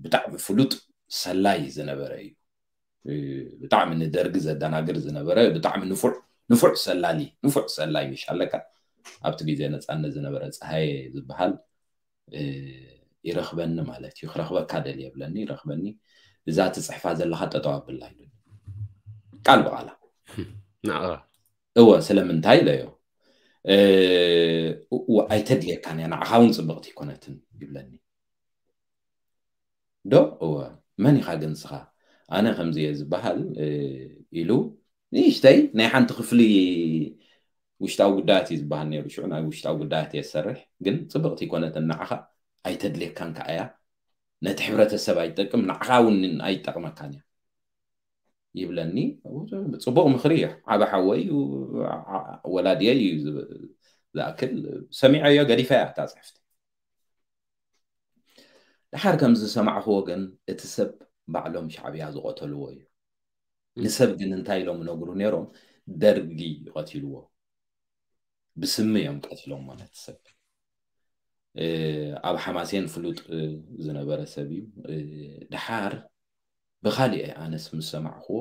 ብጣዕሚ ፍሉጥ ሰላይ ዝነበረ እዩ። ብጣዕሚ ንደርጊ ዘደናግር ዝነበረ ብጣዕሚ ንፉዕ ንፉዕ ሰላሊ ንፉዕ ሰላይ ምሽ ኣለካ። ኣብቲ ግዜ ነፃነት ዝነበረ ፀሃየ ዝበሃል ይረኽበኒ ማለት እዩ። ክረኽበካ ደልየ ብለኒ፣ ይረኽበኒ። እዛ ትፅሕፋ ዘለኻ ጠጠው ኣብላ ኢሉኒ ቃል ብቓላ። እወ ስለምንታይ ኢለዮ። ኣይተድልየካን እያ፣ ንዓኻ እውን ፅብቕቲ ኣይኮነትን ይብለኒ። ዶ እወ መን ኢኻ ግን ንስኻ? ኣነ ከምዚ እየ ዝበሃል ኢሉ ንእሽተይ ናይ ሓንቲ ክፍሊ ውሽጣዊ ጉዳያት እዩ ዝበሃል ነይሩ። ሽዑ ናይ ውሽጣዊ ጉዳያት እየ ዝሰርሕ፣ ግን ፅብቕቲ ኣይኮነትን ንዓኻ፣ ኣይተድልየካን ከዓ እያ፣ ነቲ ሕብረተሰብ ኣይጠቅም፣ ንዓኻ እውን ኣይጠቅመካን እያ ይብለኒ። ፅቡቕ ምኽሪ እዩ። ዓበ ሓወይ እዩ፣ ወላድየይ እዩ ዝኣክል ሰሚዐዮ፣ ገዲፈያ እታ ፅሕፍቲ። ድሓር ከም ዝሰማዕኽዎ ግን እቲ ሰብ ባዕሎም ሻዕብያ ዝቐተልዎ እዩ። ንሰብ ግን እንታይ ኢሎም ነግሩ ነይሮም? ደርጊ ይቐትልዎ፣ ብስሚ እዮም ቀትሎም ማለት ሰብ። ኣብ ሓማሴን ፍሉጥ ዝነበረ ሰብ እዩ። ድሓር ብኻሊእ ኣነስ ምስ ሰማዕኽዎ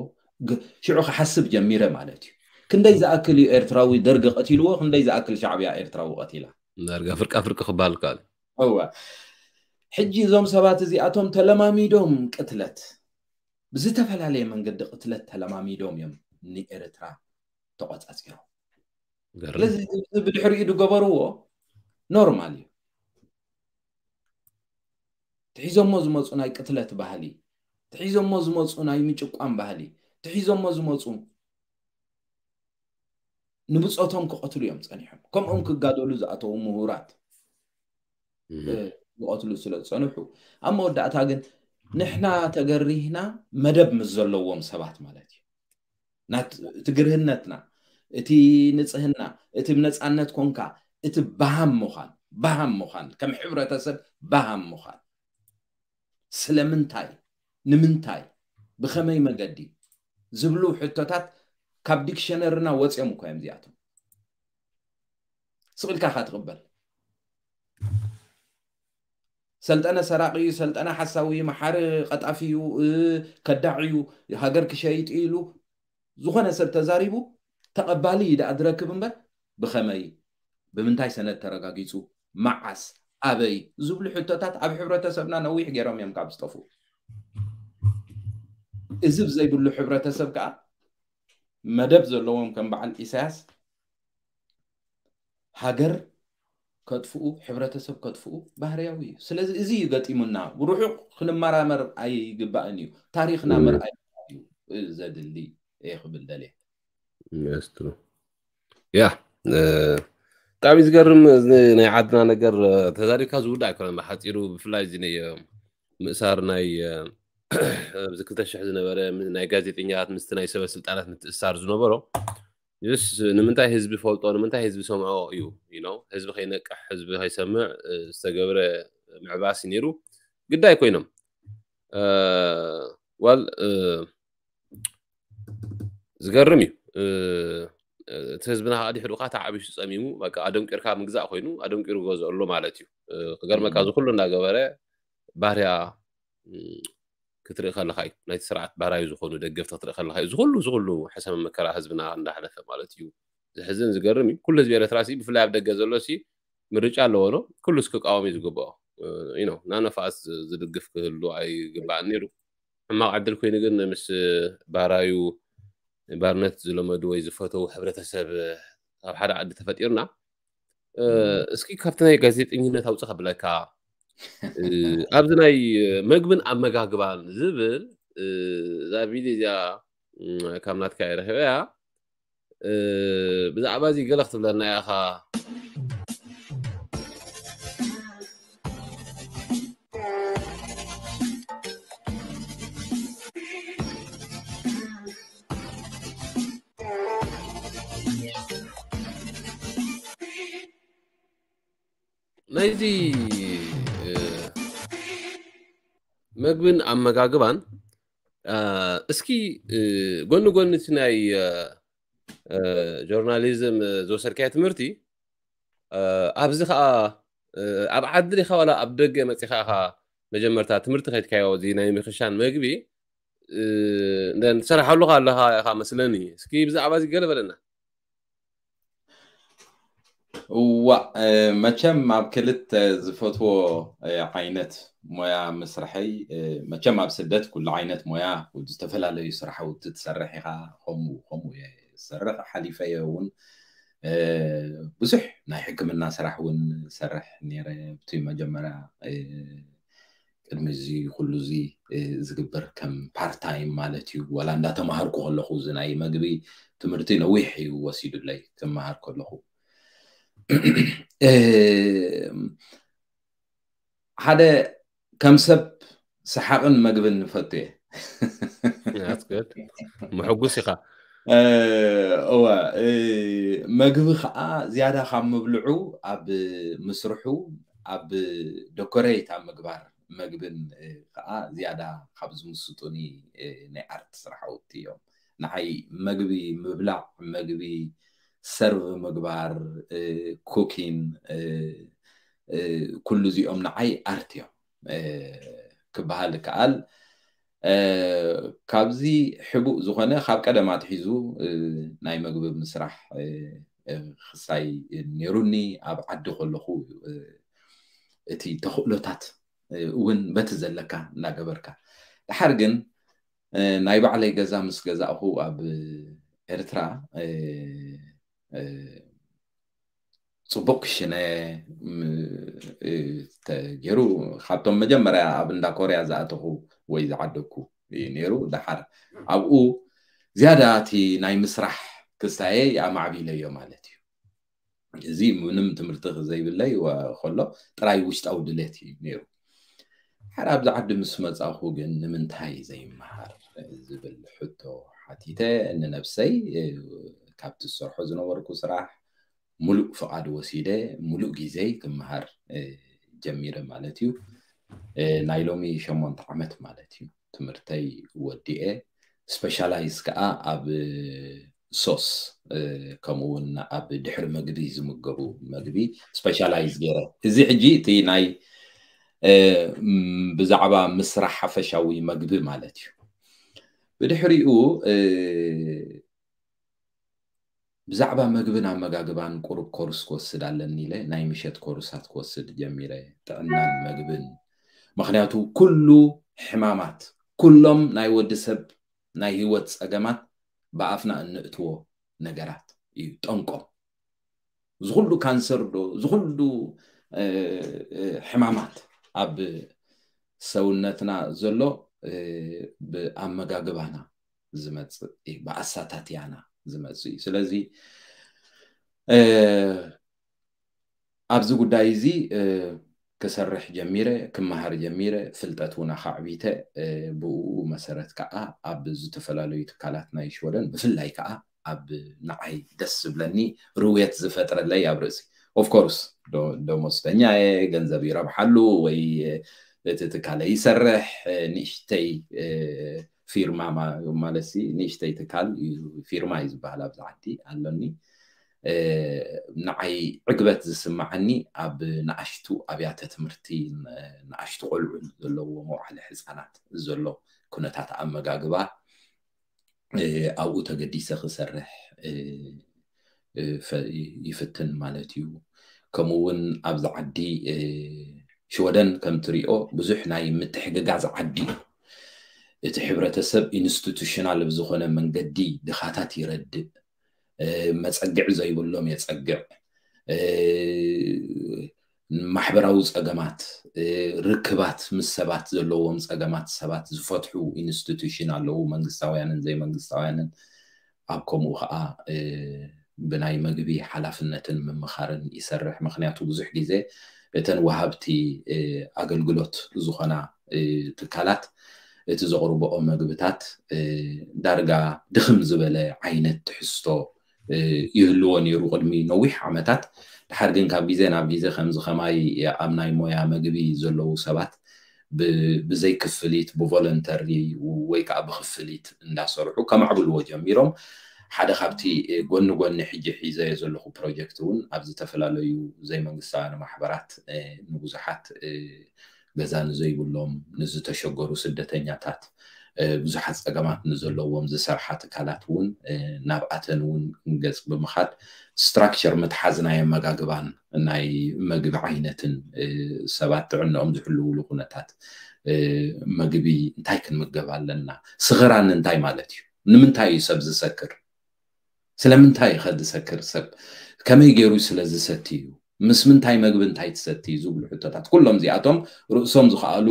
ሽዑ ክሓስብ ጀሚረ ማለት እዩ። ክንደይ ዝኣክል እዩ ኤርትራዊ ደርጊ ቀቲልዎ፣ ክንደይ ዝኣክል ሻዕብያ ኤርትራዊ ቀቲላ። ዳርጋ ፍርቃ ፍርቂ ክበሃል ከኣል። እወ ሕጂ እዞም ሰባት እዚኣቶም ተለማሚዶም ቅትለት ብዝተፈላለየ መንገዲ ቅትለት ተለማሚዶም እዮም ንኤርትራ ተቆጻጺሮም። ስለዚ ብድሕሪኡ ዝገበርዎ ኖርማል እዩ። ትሒዞሞ ዝመፁ ናይ ቅትለት ባህሊ፣ ትሒዞሞ ዝመፁ ናይ ምጭቋን ባህሊ፣ ትሒዞሞ ዝመፁ ንብፆቶም ክቐትሉ እዮም ፀኒሖም። ከምኦም ክጋደሉ ዝኣተዉ ምሁራት ዝቐትሉ ስለ ዝፀንሑ ኣብ መወዳእታ ግን ንሕና ተገሪህና መደብ ምስ ዘለዎም ሰባት ማለት እዩ። እቲ ግርህነትና፣ እቲ ንፅህና፣ እቲ ብነፃነት ኮንካ እቲ በሃም ምዃን፣ በሃም ምዃን ከም ሕብረተሰብ በሃም ምዃን ስለምንታይ፣ ንምንታይ፣ ብኸመይ መገዲ ዝብሉ ሕቶታት ካብ ዲክሸነርና ወፂኦም እኮ እዮም እዚኣቶም። ስቕ ኢልካ ኢኻ ትቕበል። ሰልጠነ ሰራቂ እዩ፣ ሰልጠነ ሓሳዊ እዩ፣ መሓሪ ቀጣፊ እዩ፣ ከዳዕ እዩ፣ ሃገር ክሸይጥ እዩ ኢሉ ዝኾነ ሰብ ተዛሪቡ ተቐባሊ እዩ ደኣ ዝረክብ እምበር፣ ብኸመይ፣ ብምንታይ ሰነድ ተረጋጊፁ፣ መዓስ፣ ኣበይ ዝብሉ ሕቶታት ኣብ ሕብረተሰብና ነዊሕ ገይሮም እዮም ካብ ዝጠፍኡ። እዚ ብዘይብሉ ሕብረተሰብ ከዓ መደብ ዘለዎም ከም በዓል ኢሳያስ ሃገር ከጥፍኡ፣ ሕብረተሰብ ከጥፍኡ ባህርያዊ እዩ። ስለዚ እዚ እዩ ገጢሙና። ርሑቕ ክንመራመር ኣይግባእን እዩ። ታሪኽና ምርኣይ እዩ ዘድሊ እየ ክብል ደልየ። Yes, true. ያ ብጣዕሚ ዝገርም። ናይ ዓድና ነገር ተዛሪብካ ዝውዳእ ኣይኮነን። ብሓፂሩ ብፍላይ እዚ ናይ ምእሳር ናይ ኣብዚ ክልተ ሽሕ ዝነበረ ናይ ጋዜጠኛታት ምስቲ ናይ ሰበ ስልጣናት ምትእሳር ዝነበሮ ስ ንምንታይ ህዝቢ ፈልጦ፣ ንምንታይ ህዝቢ ሰምዖ እዩ። ህዝቢ ከይነቅሕ፣ ህዝቢ ከይሰምዕ ዝተገብረ ምዕባስ ነይሩ። ግዳይ ኮይኖም ዋል ዝገርም እዩ። እቲ ህዝብና ከዓ ድሕሪኡ ከዓ ተዓቢሱ ጸሚሙ፣ በቃ ኣደንቂርካ ምግዛእ ኮይኑ ኣደንቂሩ ገዝኦ ኣሎ ማለት እዩ። ክገርመካ፣ እዚ ኩሉ እናገበረ ባህርያ ክትርኢ ከለካ እዩ፣ ናይቲ ስርዓት ባህራዊ ዝኾኑ ደገፍቲ ክትርኢ ከለካ እዩ። እዚ ኩሉ እዚ ኩሉ ሕሰም መከራ ህዝብና እንዳሕለፈ ማለት እዩ። ዝሕዝን ዝገርም እዩ። ኩሉ ህዝቢ ኤርትራ ሲ ብፍላይ ኣብ ደገ ዘሎ ሲ ምርጫ ኣለዎ ዶ? ኩሉ እስኪ ክቃወም እዩ ዝግብኦ። ናነፋስ ዝድግፍ ክህሉ ኣይግባእን ነይሩ። ሕማቕ ዕድል ኮይኑ ግን ምስ ባህራዩ ባርነት ዝለመዱ ወይ ዝፈተው ሕብረተሰብ ኣብ ሓደ ዓዲ ተፈጢርና። እስኪ ካብቲ ናይ ጋዜጠኝነት ኣውፅእ ከብለካ፣ ኣብዚ ናይ መግብን ኣመጋግባን ዝብል እዛ ቪድዮ እዚኣ ካብ ናትካ እየ ረኺበያ። ብዛዕባ እዚ ገለ ክትብለና ኢኻ። ናይዚ መግብን ኣመጋግባን እስኪ ጎኒ ጎኒ እቲ ናይ ጆርናሊዝም ዝወሰድካዮ ትምህርቲ ኣብዚ ከዓ ኣብ ዓዲ ዲኻ ዋላ ኣብ ደገ መፂኻ ኢኻ መጀመርታ ትምህርቲ ከይድካዮ እዚ ናይ ምክሻን መግቢ ትሰርሓሉ ኣለኻ ኢኻ መስለኒ። እስኪ ብዛዕባ እዚ ገለ በለና። እዋ መቸም ኣብ ክልተ ዝፈትዎ ዓይነት ሞያ ምስርሐይ፣ መቸም ኣብ ስደት ኩሉ ዓይነት ሞያ ዝተፈላለዩ ስራሕውቲ ትሰርሕ ኢኻ። ከምኡ ከምኡ እየ ዝሰርሕ። ሓሊፈ እየ እውን ብዙሕ ናይ ሕክምና ስራሕ እውን ሰርሕ ነይረ። ብቲ መጀመርያ ቅድሚ እዚ ኩሉ እዚ ዝግበር ከም ፓርታይም ማለት እዩ። ዋላ እንዳተማሃርኩ ከለኹ እዚ ናይ መግቢ ትምህርቲ ነዊሕ እዩ ወሲዱለይ ክመሃር ከለኹ። ሓደ ከም ሰብ ሰሓቕን መግብን ንፈቱ እየ። ምሕጉስ ኢኻ። እወ፣ መግቢ ከዓ ዝያዳ ካብ ምብልዑ ኣብ ምስርሑ፣ ኣብ ደኮሬት ኣብ ምግባር መግብን ከዓ ዝያዳ ካብ ዝምስጡኒ ናይ ኣርት ስራሕቲ እዮም። ንዓይ መግቢ ምብላዕ፣ መግቢ ሰርቭ ምግባር፣ ኩኪን፣ ኩሉ እዚኦም ንዓይ ኣርት እዮም ክበሃል ይከኣል። ካብዚ ሕቡእ ዝኾነ ካብ ቀደም ኣትሒዙ ናይ መግቢ ምስራሕ ክሳይ ነይሩኒ። ኣብ ዓዲ ከለኹ እቲ ተኽእሎታት እውን በቲ ዘለካ እናገበርካ፣ ድሓር ግን ናይ ባዕለይ ገዛ ምስ ገዛእኹ ኣብ ኤርትራ ፅቡቅ ክሽነ ተገይሩ ካብቶም መጀመርያ ኣብ እንዳ ኮርያ ዝኣተኹ ወይ ዝዓደግኩ እዩ ነይሩ። ድሓር ኣብኡ ዝያዳ እቲ ናይ ምስራሕ ክስታየይ ኣማዕቢለዮ ማለት እዩ። እዚ ምንም ትምህርቲ ዘይብለይ ከሎ ጥራይ ውሽጣዊ ድሌት እዩ ነይሩ። ሓደ ኣብዚ ዓዲ ምስ መጻኹ ግን ንምንታይ ዘይመሃር ዝብል ሕቶ ሓቲተ ንነብሰይ። ካብቲ ዝሰርሖ ዝነበርኩ ስራሕ ሙሉእ ፍቓድ ወሲደ ሙሉእ ግዜይ ክመሃር ጀሚረ ማለት እዩ። ናይ ሎሚ ሸሞንተ ዓመት ማለት እዩ ትምህርተይ ወዲኤ። ስፔሻላይዝ ከዓ ኣብ ሶስ ከምኡ እውን ኣብ ድሕሪ መግቢ ዝምገቡ መግቢ ስፔሻላይዝ ገይረ። እዚ ሕጂ እቲ ናይ ብዛዕባ ምስራሕ ሓፈሻዊ መግቢ ማለት እዩ። ብድሕሪኡ ብዛዕባ መግብን ኣመጋግባን ቁሩብ ኮርስ ክወስድ ኣለኒ ኢለ ናይ ምሸት ኮርሳት ክወስድ ጀሚረ፣ ጥዕናን መግብን። ምክንያቱ ኩሉ ሕማማት፣ ኩሎም ናይ ወዲ ሰብ፣ ናይ ህይወት ጸገማት ብኣፍና እንእትዎ ነገራት እዩ ጠንቆም። ዝኩሉ ካንሰር ዶ ዝኩሉ ሕማማት ኣብ ሰውነትና ዘሎ ብኣመጋግባና ዝመፅእ እዩ፣ ብኣሳታትያና ዝመፅእ እዩ። ስለዚ ኣብዚ ጉዳይ እዚ ክሰርሕ ጀሚረ፣ ክመሃር ጀሚረ፣ ፍልጠት እውን ኣኻዕቢተ፣ ብኡ መሰረት ከዓ ኣብ ዝተፈላለዩ ትካላት ናይ ሽወደን ብፍላይ ከዓ ኣብ ንዓይ ደስ ዝብለኒ ርውየት ዝፈጥረለይ ኣብ ርእሲ ኦፍኮርስ ደሞዝተኛ እየ፣ ገንዘብ ይረብሓሉ ወይ እቲ ትካለ ይሰርሕ፣ ንእሽተይ ፊርማ ማለት ንእሽተይ ትካል ፊርማ እዩ ዝበሃል ኣብዚ ዓዲ ኣለኒ። ንዓይ ዕግበት ዝስምዓኒ ኣብ ንኣሽቱ ኣብያተ ትምህርቲ ንኣሽቱ ቆልዑ ዘለዎ መውዓሊ ህፃናት ዘሎ ኩነታት ኣመጋግባ ኣብኡ ተገዲሰ ክሰርሕ ይፍትን ማለት እዩ። ከምኡ እውን ኣብዚ ዓዲ ሽወደን ከም ትሪኦ ብዙሕ ናይ ምትሕግጋዝ ዓዲ እዩ። እቲ ሕብረተሰብ ኢንስቲቱሽናል ብዝኾነ መንገዲ ድኻታት ይረድእ፣ መፀግዕ ዘይብሎም የፀግዕ፣ ማሕበራዊ ፀገማት፣ ርክባት ምስ ሰባት ዘለዎም ፀገማት ሰባት ዝፈትሑ ኢንስቲቱሽን ኣለዉ፣ መንግስታውያንን ዘይመንግስታውያንን። ኣብ ከምኡ ከዓ ብናይ መግቢ ሓላፍነትን ምምኻርን ይሰርሕ። ምክንያቱ ብዙሕ ግዜ እተን ወሃብቲ ኣገልግሎት ዝኾና ትካላት እቲ ዘቕርብኦ መግብታት ዳርጋ ድኽም ዝበለ ዓይነት ትሕዝቶ ይህልዎ ነይሩ ቅድሚ ነዊሕ ዓመታት። ድሓር ግን ካብ ግዜ ናብ ግዜ ከምዚ ከማይ ኣብ ናይ ሞያ መግቢ ዘለዉ ሰባት ብዘይ ክፍሊት ብቮለንተሪ ወይ ከዓ ብክፍሊት እንዳሰርሑ ከማዕብልዎ ጀሚሮም። ሓደ ካብቲ ጎኒ ጎኒ ሕጂ ሒዘ ዘለኹ ፕሮጀክት እውን ኣብ ዝተፈላለዩ ዘይመንግስታውያን ማሕበራት ንብዙሓት ገዛ ንዘይብሎም ንዝተሸገሩ ስደተኛታት ብዙሓት ፀገማት ንዘለዎም ዝሰርሓ ትካላት እውን ናብኣተን እውን ገፅ ብምኻድ ስትራክቸር ምትሓዝ ናይ ኣመጋግባን ናይ መግቢ ዓይነትን ሰባት ጥዕንኦም ዝሕልውሉ ኩነታት መግቢ እንታይ ክንምገብ ኣለና፣ ስኽራን እንታይ ማለት እዩ፣ ንምንታይ እዩ ሰብ ዝሰክር፣ ስለምንታይ እዩ ዝሰክር ሰብ፣ ከመይ ገይሩ ስለ ዝሰቲ እዩ፣ ምስ ምንታይ መግቢ እንታይ ትሰቲ ዝብሉ ሕቶታት ኩሎም እዚኣቶም ርእሶም ዝኸኣሉ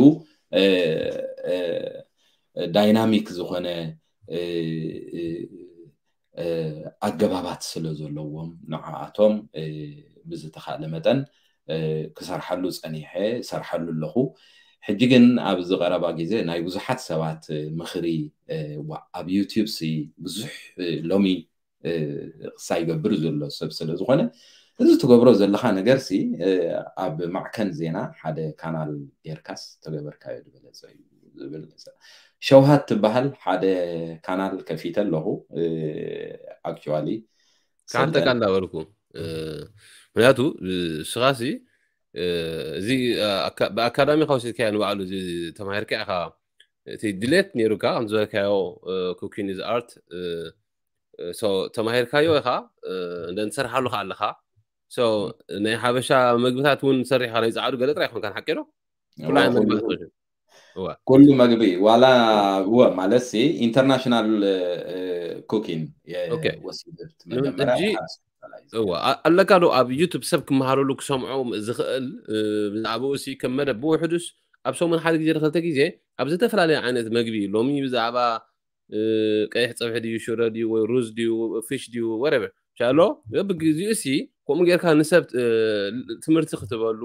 ዳይናሚክ ዝኾነ ኣገባባት ስለ ዘለዎም ንዓኣቶም ብዝተኻእለ መጠን ክሰርሓሉ ፀኒሐ፣ ሰርሓሉ ኣለኹ። ሕጂ ግን ኣብዚ ቀረባ ግዜ ናይ ብዙሓት ሰባት ምኽሪ ኣብ ዩቲዩብ ሲ ብዙሕ ሎሚ ክሳይ ይገብር ዘሎ ሰብ ስለ ዝኾነ እዚ ትገብሮ ዘለኻ ነገር ሲ ኣብ ማዕከን ዜና ሓደ ካናል ጌርካስ ተገበርካዮ ዝበለፀ እዩ ዝብል። ሸውሃት ትበሃል ሓደ ካናል ከፊተ ኣለኹ። ኣክቹዋሊ ካንተካ እንዳበልኩ ምክንያቱ ስኻሲ እዚ ብኣካዳሚ ካውሲድካዮ ንባዕሉ እዚ ተማሂርካ ኢኻ እቲ ድሌት ነይሩካ ከም ዝበልካዮ ኩኪን ኢዝ ኣርት ተማሂርካዮ ኢኻ እንደ ትሰርሓሉ ከ ኣለኻ ናይ ሓበሻ መግብታት እውን ሰሪሕካ ናይ ፀዓዱ ገለ ጥራይ ይኮንካ ሓቂ ዶ ኩሉ ዓይነት መግብታት ኩሉ መግቢ ዋላ እወ ማለት ሲ ኢንተርናሽናል ኩኪን ወሲደት መጀመሪያ ኣለካ ዶ ኣብ ዩቱብ ሰብ ክመሃረሉ ክሰምዖ ዝኽእል ብዛዕባኡ ሲ ከም መደብ ብውሕዱስ ኣብ ሰሙን ሓደ ግዜ ንክልተ ግዜ ኣብ ዝተፈላለየ ዓይነት መግቢ ሎሚ ብዛዕባ ቀይሕ ፀብሒ ድዩ ሽረ ድዩ ወይ ሩዝ ድዩ ፊሽ ድዩ ወረቨር ሻሎ በብግዚኡ ሲ ከምኡ ጌርካ ንሰብ ትምህርቲ ክትበሉ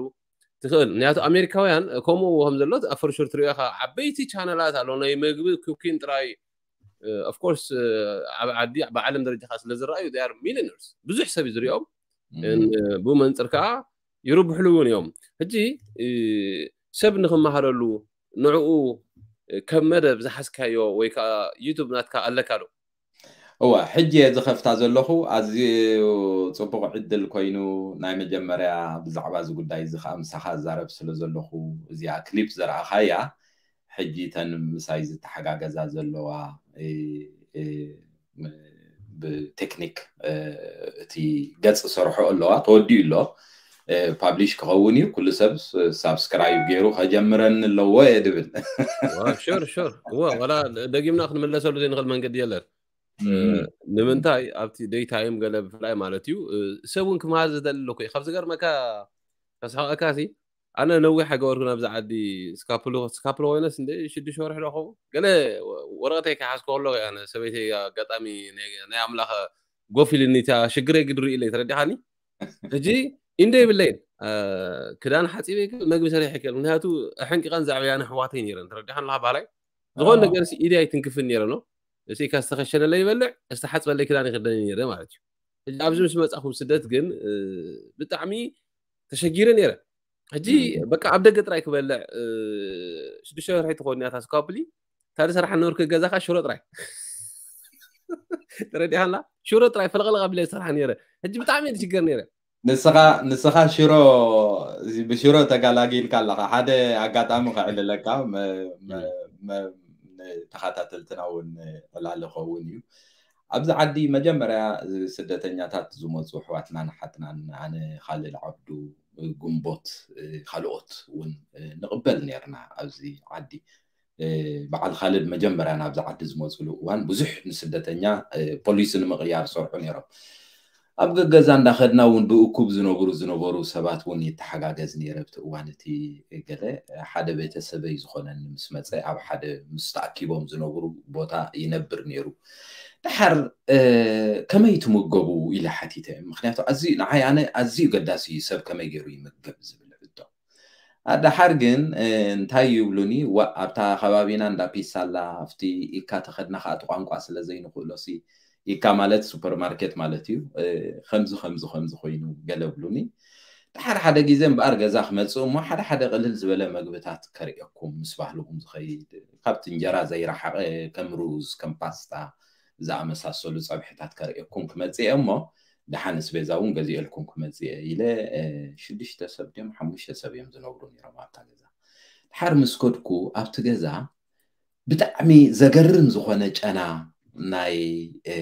ትኽእል ምክንያቱ ኣሜሪካውያን ከምኡ ከም ዘሎ ኣፈርሹር ትሪኦ ኢኻ ዓበይቲ ቻነላት ኣሎ ናይ መግቢ ኩኪን ጥራይ ኦፍኮርስ ኣብ ዓዲ ብዓለም ደረጃ ከዓ ስለ ዝረኣዩ ር ሚሊነርስ ብዙሕ ሰብ እዩ ዝሪኦም ብኡ መንፅር ከዓ ይርብሕሉ እውን እዮም ሕጂ ሰብ ንክመሃረሉ ንዕኡ ከም መደብ ዝሓዝካዮ ወይ ከዓ ዩቱብ ናትካ ኣለካ ዶ እወ፣ ሕጂ እየ ዝኸፍታ ዘለኹ። ኣዝዩ ጽቡቕ ዕድል ኮይኑ፣ ናይ መጀመርያ ብዛዕባ እዚ ጉዳይ እዚ ኸኣ ምሳኻ እዛረብ ስለ ዘለኹ፣ እዚኣ ክሊፕ ዘርኣኻያ፣ ሕጂ እተን ምሳይ ዝተሓጋገዛ ዘለዋ፣ እ፣ እ፣ ም-፣ ብቴክኒክ፣ እ፣ እቲ ገጽ ሰርሖ ኣለዋ፣ ተወዲኡ ኣሎ። እ፣ ፓብሊሽ ክኸውን እዩ። ኩሉ ሰብ ስ-፣ ሳብስክራይብ ገይሩ ከጀምረኒ ኣለዎ እየ ድብል። ዋ፣ ሹር፣ ሹር። እወ፣ ዋላ ደጊምና ክንምለሰሉ ዘይንኽእል መንገዲ የለን። እ፣ እም። ንምንታይ ኣብቲ ደይ ታይም ገለ ብፍላይ ማለት እዩ፣ እ፣ ሰብ እውን ክመሃር ዝደሊ ኣለኩ እዩ። ካብ ዝገርመካ፣ ከስሕቐካ ሲ፣ ኣነ ነዊሕ ኣይገበርኩን ኣብዚ ዓዲ። ስካፕሎ፣ ስካፕሎ ኮይነስ እንደ ሽዱሽተ ወርሒ ዶ ኸውን? ገለ ወ-፣ ወረቐተይ ከይሓዝኩ ከለኹ እያ፣ ኣነ ሰበይተይ ኣጋጣሚ ናይ፣ ናይ ኣምላኽ ጎፍ ኢልኒ፣ እታ ሽግረይ ግድሪ ኢለይ፣ ተረዲኻኒ? ሕጂ ኢንዶ የብለይን። እ፣ ክዳን ሓጺበ ይክእል፣ መግቢ ሰሪሐ ይክእል። ምክንያቱ ኣሕንቂቐን ዘዕበያን ኣሕዋተይ ነይረን፣ ተረዲኻኒ ኣለኻ ባህላይ? ዝኾነ ኣዎ። ነገር ሲ ኢደይ ኣይትንክፍን ነይረ ነው። እሲ ኢካ ዝተኸሸነለ ይበልዕ፣ ዝተሓጽበለይ ክዳን ይክደን ነይረ ማለት እዩ። ሕጂ ኣብዚ ምስ መጻኹ ስደት ግን፣ እ፣ ብጣዕሚ ተሸጊረ ነይረ። ሕጂ እም። በቃ ኣብ ደገ ጥራይ ክበልዕ፣ እ፣ ሽዱሽተ ወርሒ ትኾን እያ እታ ስካፕሊ። እታ ዝሰርሓ ነበርኩ ገዛ ኸኣ ሽሮ ጥራይ። ተረዲኻላ? ሽሮ ጥራይ ፈለቕለቕ ኣቢለ ዝሰርሓ ነይረ። ሕጂ ብጣዕሚ እየ ዝሽገር ነይረ። ንስኻ፣ ንስኻ ሽሮ፣ እዚ ብሽሮ ተጋላጊልካ ኣለኻ። ሓደ ኣጋጣሚ ከዕልለካ፣ መ-፣ መ-፣ እም። መ-፣ ንተኸታተልትና እውን ዕላል ይኸውን እዩ። ኣብዚ ዓዲ መጀመርያ ስደተኛታት ዝመጹ ኣሕዋትናን ኣሓትናን፣ ኣነ፣ ኻልድ ዓብዱ፣ ግንቦት፣ ካልኦት እውን ንቕበል ነይርና ኣብዚ ዓዲ። እ፣ በዓል ኻልድ መጀመርያ ናብዚ ዓዲ ዝመፅሉ እዋን ብዙሕ ንስደተኛ፣ እ፣ ፖሊሲ ንምቕያር ዝሰርሑ ነይሮም። ኣብ ገገዛ እንዳኸድና እውን ብእኩብ ዝነብሩ፣ ዝነበሩ ሰባት እውን ይተሓጋገዝ ነይረ። ኣብቲ እዋን እቲ ገለ ሓደ ቤተሰበይ ዝኾነኒ ምስ መፀ ኣብ ሓደ ምስ ተኣኪቦም ዝነብሩ ቦታ ይነብር ነይሩ። ደሓር፣ እ፣ "ከመይ ትምገቡ?" ኢለ ሓቲተ። ምኽንያቱ ኣዝዩ፣ ንዓይ ኣነ ኣዝዩ ገዳሲ እዩ ሰብ ከመይ ገይሩ ይምገብ ዝብል ሕቶ። ኣድሓር ግን፣ እ፣ እንታይ ይብሉኒ፣ "ዋ፣ ኣብታ ከባቢና እንዳ ፒሳ ኣላ፣ ኣብቲ ኢካ ተኸድና ከኣ እቲ ቋንቋ ስለ ዘይንኽእሎሲ፣ ኢካ ማለት ሱፐርማርኬት ማለት እዩ፣ እ፣ ከምዚ፣ ከምዚ፣ ከምዚ ኮይኑ" ገለ ብሉኒ። ድሓር ሓደ ግዜ እምበኣር ገዛ ክመጽእ እሞ ሓደ ሓደ ቅልል ዝበለ መግብታት ከርእየኩም ምስ ባህልኹም ዝኸይድ፣ ካብቲ እንጀራ ዘይረሓቐ ከም ሩዝ፣ ከም ፓስታ ዝኣመሳሰሉ ጸብሕታት ከርእየኩም ክመጽእ እየ እሞ፣ ደሓን ኣስቤዛ እውን ገዚኤልኩም ክመጽእ እየ ኢለ፣ እ፣ ሽዱሽተ ሰብ ድዮም ሓሙሽተ ሰብ እዮም ዝነብሩ ነይሮም ኣብታ ገዛ። ድሓር ምስ ከድኩ ኣብቲ ገዛ ብጣዕሚ ዘገርም ዝኾነ ጨና ናይ፣ እ፣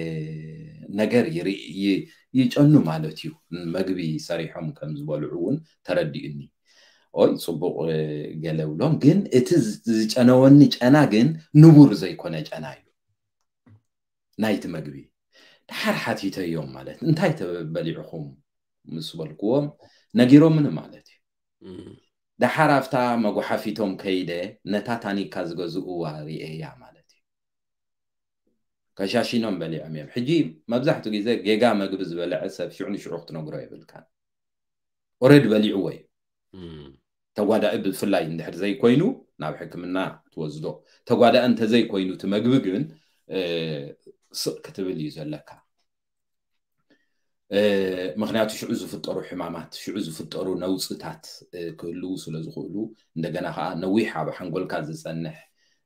ነገር ይርኢ-፣ ይ-፣ ይጨኑ ማለት እዩ። መግቢ ሰሪሖም ከም ዝበልዑ እውን ተረዲኡኒ። ኦይ፣ ጽቡቕ፣ እ፣ ገለ ብሎም፣ ግን እቲ ዝ-፣ ዝጨነወኒ ጨና ግን ንቡር ዘይኮነ ጨና እዩ። ናይቲ መግቢ። ድሓር ሓቲተዮም ማለት፣ "እንታይ ተበሊዕኹም?" ምስ በልክዎም፣ ነጊሮምኒ ማለት እዩ። እም። ድሓር ኣብታ መጉሓፊቶም ከይደ፣ ነታ ታኒካ ዝገዝእዋ ርእየያ ማለት እዩ። ከሻሺኖም በሊዖም እዮም። ሕጂ መብዛሕትኡ ግዜ ጌጋ መግቢ ዝበልዐ ሰብ ሽዑ ንሽዑ ክትነግሮ የብልካን። ኦረዲ በሊዕዎ እዩ። እም። ተጓዳኢ ብፍላይ እንድሕር ዘይኮይኑ ናብ ሕክምና ትወስዶ። ተጓዳኢ እንተዘይኮይኑ እቲ መግቢ ግን፣ እ፣ ስቕ ክትብል እዩ ዘለካ። እ፣ ምኽንያቱ ሽዑ ዝፍጠሩ ሕማማት፣ ሽዑ ዝፍጠሩ ነውጽታት፣ እ፣ ክህልዉ ስለ ዝኽእሉ፣ እንደገና ከኣ ነዊሕ ኣብ ሓንጎልካ ዝጸንሕ፣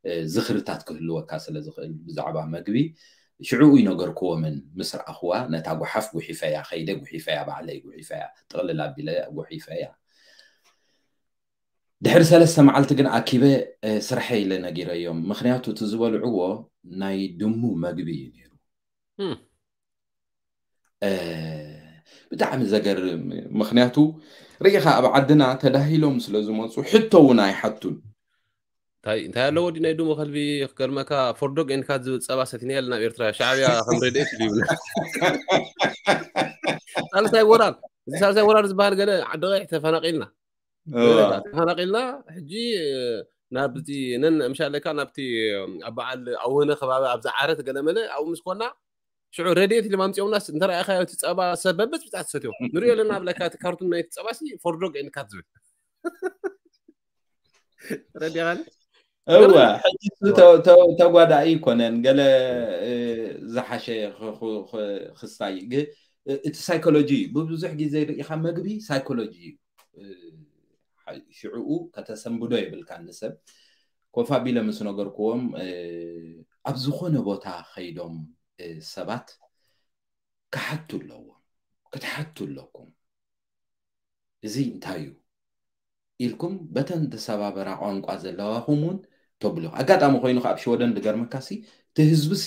እ፣ ዝኽርታት ክህልወካ ስለ ዝኽእል ብዛዕባ መግቢ ሽዑ ይነገርክዎምን ምስ ረኣኽዋ፣ ነታ ጓሓፍ ጉሒፈያ፣ ከይደ ጉሒፈያ፣ ባዕለይ ጉሒፈያ፣ ጥቕልል ኣቢለ ጉሒፈያ። ድሕሪ ሰለስተ መዓልቲ ግን ኣኪበ፣ እ፣ ስርሐይ ኢለ ነጊረዮም። ምኽንያቱ እቲ ዝበልዕዎ ናይ ድሙ መግቢ እዩ ነይሩ። እም። እ፣ ብጣዕሚ ዘገርም። ምኽንያቱ ርኢኻ ኣብ ዓድና ተዳሂሎም ስለ ዝመጹ ሕቶ እውን ኣይሓቱን። እንታይ፣ እንታይ ኣለዎ ድዩ ናይ ድሙ ከልቢ ክገርመካ፣ ፎርዶግ ኤንድ ካት ዝብል ጸባ ሰቲና ኢልና ኣብ ኤርትራ፣ ሻዕብያ ከም ረድኤት ድዩ ይብልና። ሳልሳይ ወራር፣ እዚ ሳልሳይ ወራር ዝበሃል ገለ ዓዲ ቀይሕ ተፈናቒልና። እዋ። ተፈናቒልና፣ ሕጂ፣ እ፣ ናብቲ ነን-፣ ምሻለካ ናብቲ ኣብ በዓል ኣውህነ ከባቢ ኣብዛ ዓረት ገለመለ ኣብኡ ምስ ኮና፣ ሽዑ ረድኤት ኢሎም ኣምጺኦምናስ እንተ ረኣኻዮ እቲ ጸባ ሰብ በብጽብጻ ትሰትዮ። ንሪኦ ኣለና ብለካ እቲ ካርቱን ናይቲ ጸባሲ ፎርዶግ ኤንድ ካት ዝብል። ረዲኻኒ? እወ፣ ገርም። ሕጂ እሱ እወ። ተ-፣ ተ-፣ ተጓዳኢ ኣይኮነን። ገለ፣ እ፣ ዝሓሸ ኽ-፣ ኽ-፣ ኽ-፣ ክስታይ። ግ-፣ እ-፣ እቲ ሳይኮሎጂ፣ ብብዙሕ ግዜ ርኢኻ መግቢ ሳይኮሎጂ እዩ። እ፣ ሓ-፣ ሽዕኡ ከተሰንብዶ የብልካን ንሰብ። ኮፍ ኣቢለ ምስ ነገርክዎም፣ እ፣ ኣብ ዝኾነ ቦታ ኸይዶም ሰባት ክሓቱ ኣለዎም። ክትሓቱ ኣለኩም። እዚ እንታይ እዩ ኢልኩም በተን ተሰባበራ ቋንቋ ዘለዋኹም እውን ተብሉ። ኣጋጣሚ ኮይኑ ካብ ሽወደን ዝገርመካሲ እቲ ህዝብሲ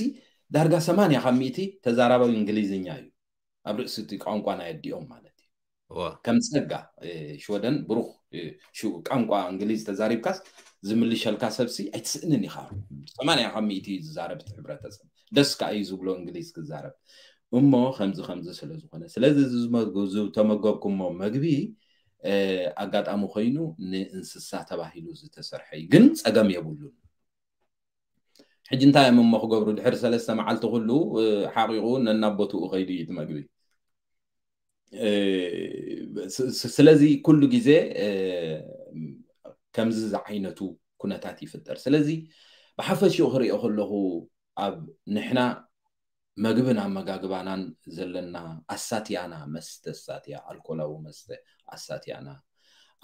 ዳርጋ ሰማንያ ካብ ሚእቲ ተዛራባዊ እንግሊዝኛ እዩ፣ ኣብ ርእሲ እቲ ቋንቋ ናይ ኣዲኦም ማለት እዩ። ከም ጸጋ ሽወደን ብሩኽ ቋንቋ እንግሊዝ ተዛሪብካስ ዝምልሸልካ ሰብሲ ኣይትስእንን ኢኻ። ሰማንያ ካብ ሚእቲ ዝዛረብ እቲ ሕብረተሰብ ደስ ከኣ እዩ ዝብሎ እንግሊዝ ክዛረብ እሞ ከምዚ ከምዚ ስለ ዝኾነ ስለዚ ዝተመገብኩሞ መግቢ ኣጋጣሚ ኮይኑ ንእንስሳ ተባሂሉ ዝተሰርሐ እዩ፣ ግን ጸገም የብሉን። ሕጂ እንታይ እዮም እሞ ክገብሩ ድሕሪ ሰለስተ መዓልቲ ኩሉ ሓቂቑ ነናቦትኡ ከይዱ እዩ እቲ መግቢ። ስለዚ ኩሉ ግዜ ከምዚ ዝዓይነቱ ኩነታት ይፍጠር። ስለዚ ብሓፈሽኡ ክሪኦ ከለኹ ኣብ ንሕና መግብን ኣመጋግባናን ዘለና ኣሳትያና መስተ ኣሳትያ ኣልኮላዊ መስተ ኣሳትያና